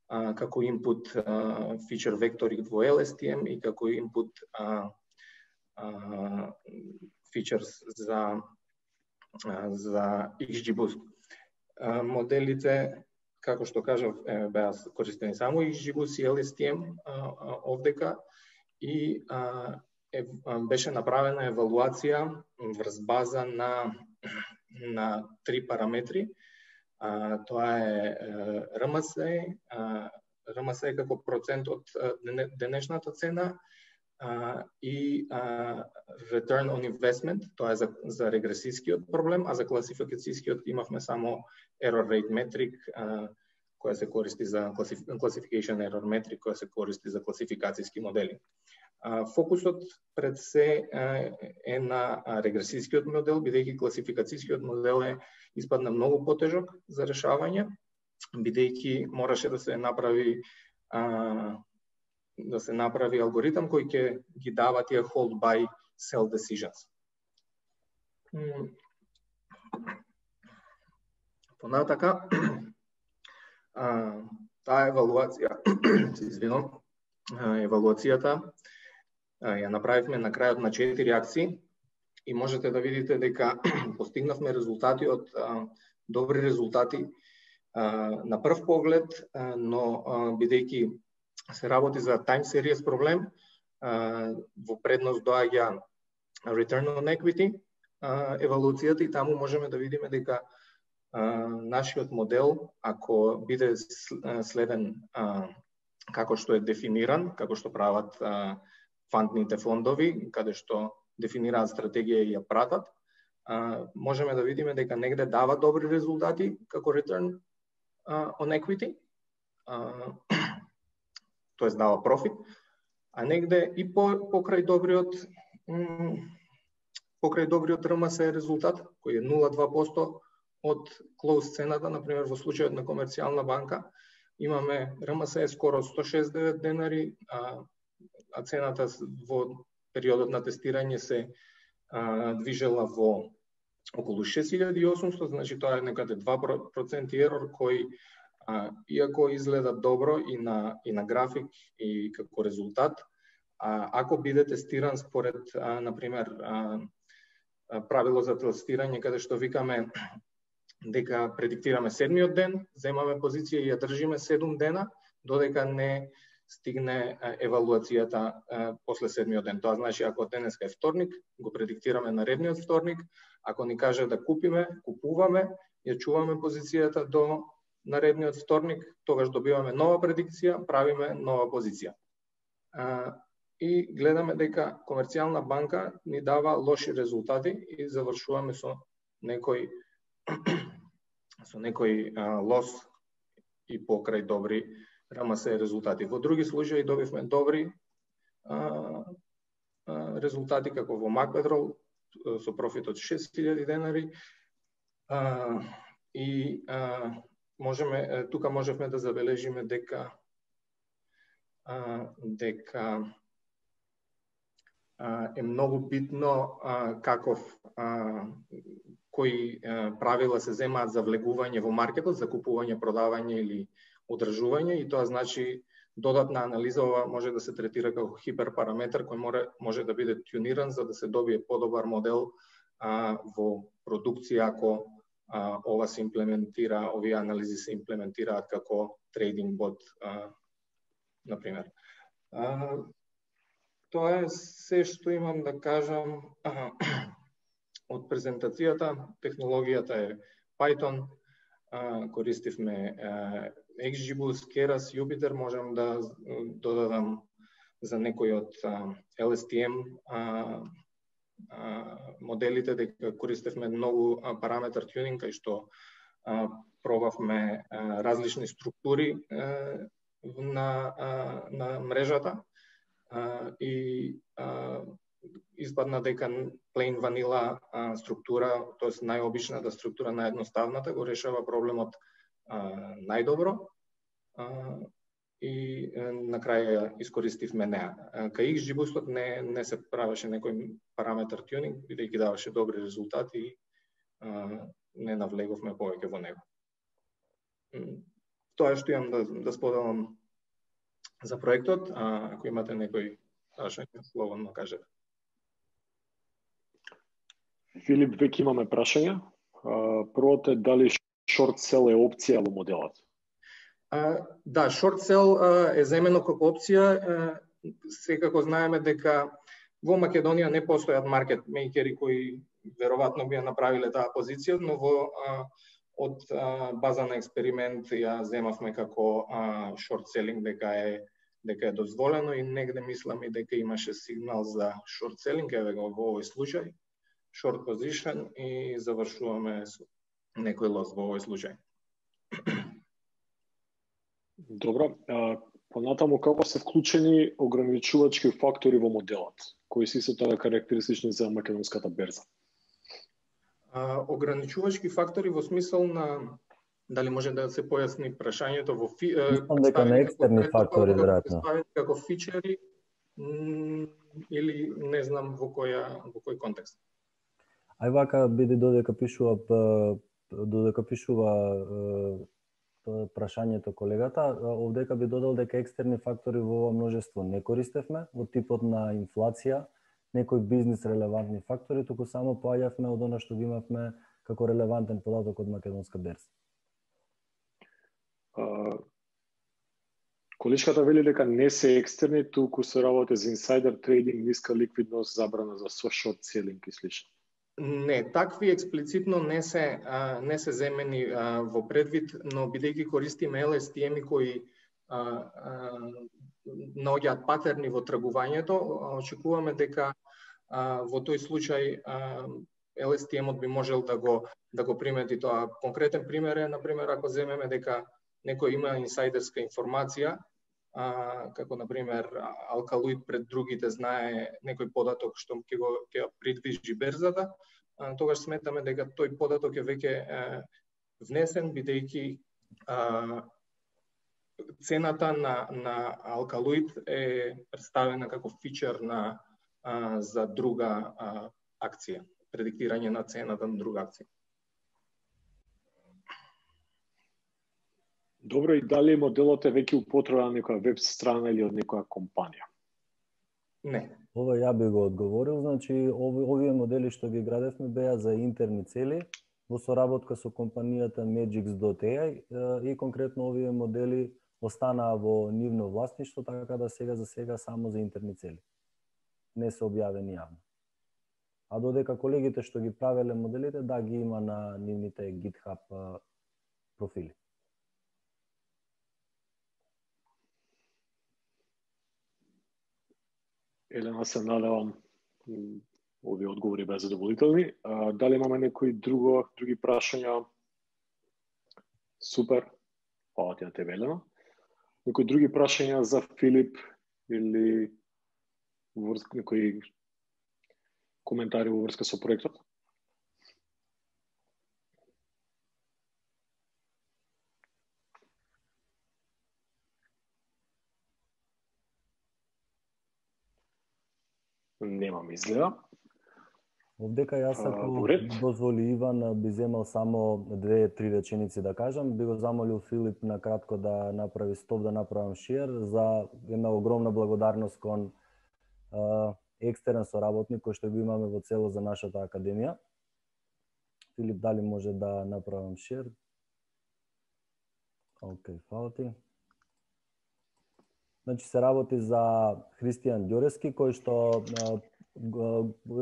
Uh, како input uh, feature vectori во Ел Ес Ти Ем и како input uh, uh, features за uh, за Икс Джи Boost. Uh, моделите, како што кажав, беа користени само Икс Джи Boost и Ел Ес Ти Ем uh, овдека и uh, е, беше направена евалуација врз база на на три параметри. А, тоа е Р Ем С, а, Р Ем С како процент од денешната цена а, и а, Return on Investment, тоа е за, за регресискиот проблем, а за класификацијскиот имавме само Error Rate Metric, а, која се користи за Classification Error Metric, која се користи за класификацијски модели. А, фокусот пред се а, е на регресискиот модел, бидејќи класификацијскиот модел е испадна многу потежок за решавање, бидејќи мораше да се направи а, да се направи алгоритам кој ќе ги дава тие hold by sell decisions. Понатака, а, таа евалуација, се извинувам, евалуацијата ја направивме на крајот на четири акции и можете да видите дека постигнавме резултати од а, добри резултати а, на прв поглед, а, но а, бидејќи се работи за time series проблем, а, во предност доаѓа return on equity а, еволуцијата и таму можеме да видиме дека а, нашиот модел, ако биде следен а, како што е дефиниран, како што прават а, фандните фондови, каде што дефинираат стратегија и ја пратат, а, можеме да видиме дека негде дава добри резултати како return а, on equity, тоест дава профит, а негде и по, покрај добриот покрај добриот Р Ем С резултат, кој е нула целу две проценти од close цената, например во случајот на комерцијална банка, имаме Р Ем С е скоро сто шеесет и девет денари, а, а цената во периодот на тестирање се а, движела во околу шест илјади и осумстотини, значи тоа е некаде два проценти ерор кој а, иако изгледа добро и на и на график и како резултат, а, ако биде тестиран според а, на пример а, правило за тестирање каде што викаме дека предиктираме седмиот ден, земаме позиција и ја држиме седум дена додека не стигне евалуацијата а, после седмиот ден. Тоа значи ако денеска е вторник, го предиктираме наредниот вторник, ако ни каже да купиме, купуваме, ја чуваме позицијата до наредниот вторник, тогаш добиваме нова предикција, правиме нова позиција. А, и гледаме дека комерцијална банка ни дава лоши резултати и завршуваме со некој со некој а, лос и покрај добри ар ем ес резултати. Во други случаи добивме добри а, а, резултати, како во Макбедрол, со профит од шест илјади денари. А, и а, можеме, тука можевме да забележиме дека а, дека а, е многу битно а, каков а, кои а, правила се земаат за влегување во маркетот, за купување, продавање или одржување, и тоа значи додатна анализа. Ова може да се третира како хиперпараметар кој може, може да биде тюниран за да се добие подобар модел а, во продукција ако а, ова се имплементира, овие анализи се имплементираат како трейдинг бот, а, например. А, тоа е се што имам да кажам а, од презентацијата. Технологијата е Python, а, користивме а, екс джи Boost, Keras, Jupyter. Можам да додадам за некои од ел ес ти ем а, а, моделите дека користевме многу параметар тюнинг, кај што а, пробавме а, различни структури а, на, а, на мрежата а, и а, испадна дека plain vanilla а, структура, тоест најобичната структура, наједноставната, го решава проблемот а, најдобро а, и а, на крај ја искористивме неа. Кај екс джи Boost не, не се правеше некој параметар тюнинг, бидејќи даваше добри резултати и а, не навлеговме повеќе во него. Тоа е што имам да, да споделам за проектот. А, ако имате некој прашање, слободно кажете. Филип, веќе имаме прашања. Првото е дали short sell е опција во моделот? А, да, short sell а, е земено како опција. А, секако знаеме дека во Македонија не постојат маркет мейкери кои веројатно би ја направиле таа позиција, но во а, од а, база на експеримент ја земавме како а, short selling дека е дека е дозволено и негде мислам и дека имаше сигнал за short selling, еве го во овој случај, short position, и завршуваме со некој лос во овој случај. Добро. А, понатаму како се вклучени ограничувачки фактори во моделот, кои си се тоа карактеристични за македонската берза? А, ограничувачки фактори во смисол на дали може да се појасни прашањето во фи... Мислам дека на екстерни фактори веројатно. Како фичери или не знам во која во кој контекст. Ај вака биде додека пишува додека пишува прашањето колегата, овдека би додал дека екстерни фактори во ова множество не користевме, во типот на инфлација, некои бизнис релевантни фактори, туку само поаѓавме од она што ги имавме како релевантен податок од македонска берза. Uh, колишката вели дека не се екстерни, туку се работи за инсайдер трейдинг, ниска ликвидност, забрана за шорт селинг и слично. Не, такви експлицитно не се а, не се земени а, во предвид, но бидејќи користиме ел ес ти ем-и кои а, а, наоѓаат патерни во тргувањето, очекуваме дека а, во тој случај а, ел ес ти ем-от би можел да го да го примети тоа. Конкретен пример е, например, ако земеме дека некој има инсайдерска информација, а, како например Алкалоид пред другите знае некој податок што ќе го ќе придвижи берзата, а, тогаш сметаме дека тој податок е веќе е, внесен, бидејќи а, цената на на Алкалоид е представена како фичер на а, за друга а, акција, предиктирање на цената на друга акција. Добро, и дали моделот е веќе употреба на некоја веб страна или од некоја компанија? Не. Ова ја би го одговорил, значи ови, овие модели што ги градевме беа за интерни цели во соработка со компанијата Magix dot A I и конкретно овие модели останаа во нивно власништво, така да сега за сега само за интерни цели. Не се објавени јавно. А додека колегите што ги правеле моделите, да, ги има на нивните GitHub профили. Елена, се надевам овие одговори беа задоволителни. А, дали имаме некои друго, други прашања? Супер. Фала ти на тебе, Елена. Некои други прашања за Филип или некои коментари во врска со проектот? Немам изгледа. Овдека јас ако дозволи Иван би земал само две-три реченици да кажам, би го замолил Филип на кратко да направи стоп, да направам шер за една огромна благодарност кон а, екстерен соработник кој што го имаме во цело за нашата академија. Филип, дали може да направам шер? Океј, фала ти. Значи се работи за Христијан Ѓорески, кој што а,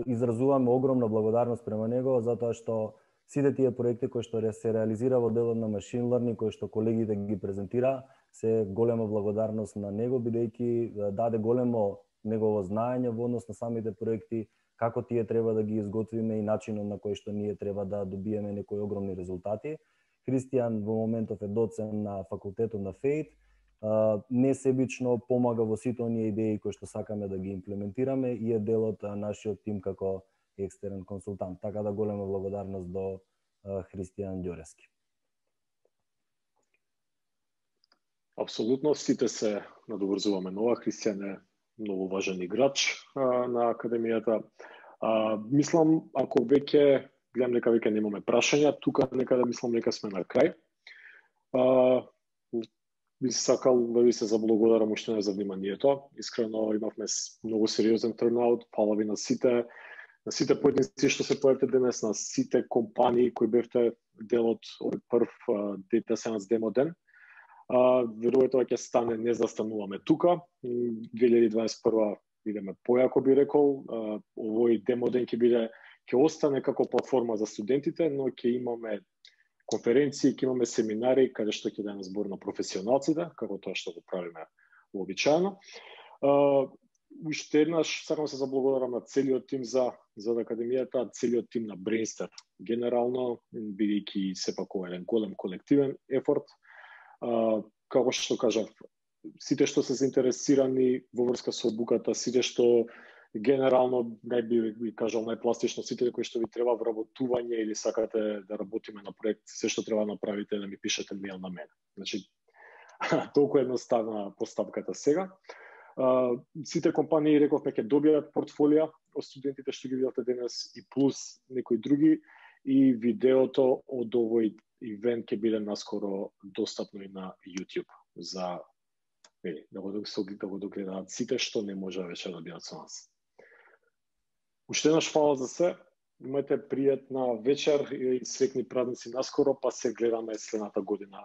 изразуваме огромна благодарност према него, затоа што сите тие проекти кои што се реализира во делот на машин лернинг, кои што колегите ги презентира, се голема благодарност на него, бидејќи даде големо негово знаење во однос на самите проекти, како тие треба да ги изготвиме и начинот на кој што ние треба да добиеме некои огромни резултати. Христијан во моментов е доцент на факултетот на ФЕИТ, несебично помага во сите оние идеи кои што сакаме да ги имплементираме и е дел од нашиот тим како екстерен консултант. Така да голема благодарност до Христијан Ѓорески. Апсолутно, сите се надоврзуваме на ова. Христијан е многу важен играч а, на академијата. А, мислам, ако веќе гледам дека веќе немаме прашања, тука некаде мислам дека сме на крај. А, би сакал да ви се заблагодарам уште за вниманието. Искрено имавме многу сериозен турнаут. Фала ви на сите, на сите поединци што се појавите денес, на сите компании кои бевте дел од овој прв Data Science демо ден. Верувајте дека ќе стане, не застануваме тука. две илјади дваесет и прва идеме појако, би рекол. Овој демо ден ќе биде, ќе остане како платформа за студентите, но ќе имаме конференции, ќе имаме семинари каде што ќе дадеме збор на професионалците, како тоа што го правиме вообичаено. Уште еднаш сакам да се заблагодарам на целиот тим за за академијата, целиот тим на Brainster генерално, бидејќи сепак ова е еден голем колективен ефорт. Како што кажав, сите што се заинтересирани во врска со обуката, сите што генерално, нај би ви кажал најпластично, сите кои што ви треба вработување или сакате да работиме на проект, се што треба да направите да ми пишете мејл на мене. Значи, толку едноставна постапката сега. Uh, сите компании, рековме, ќе добијат портфолија од студентите што ги видовте денес и плюс некои други, и видеото од овој ивент ќе биде наскоро достапно и на YouTube за ели, да го да го догледаат сите што не може веќе да бидат со нас. Уште еднаш фала за се, имајте пријатна вечер и среќни празници наскоро, па се гледаме следната година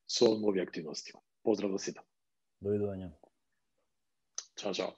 со нови активности. Поздрав до сите. Довидување. Чао, чао.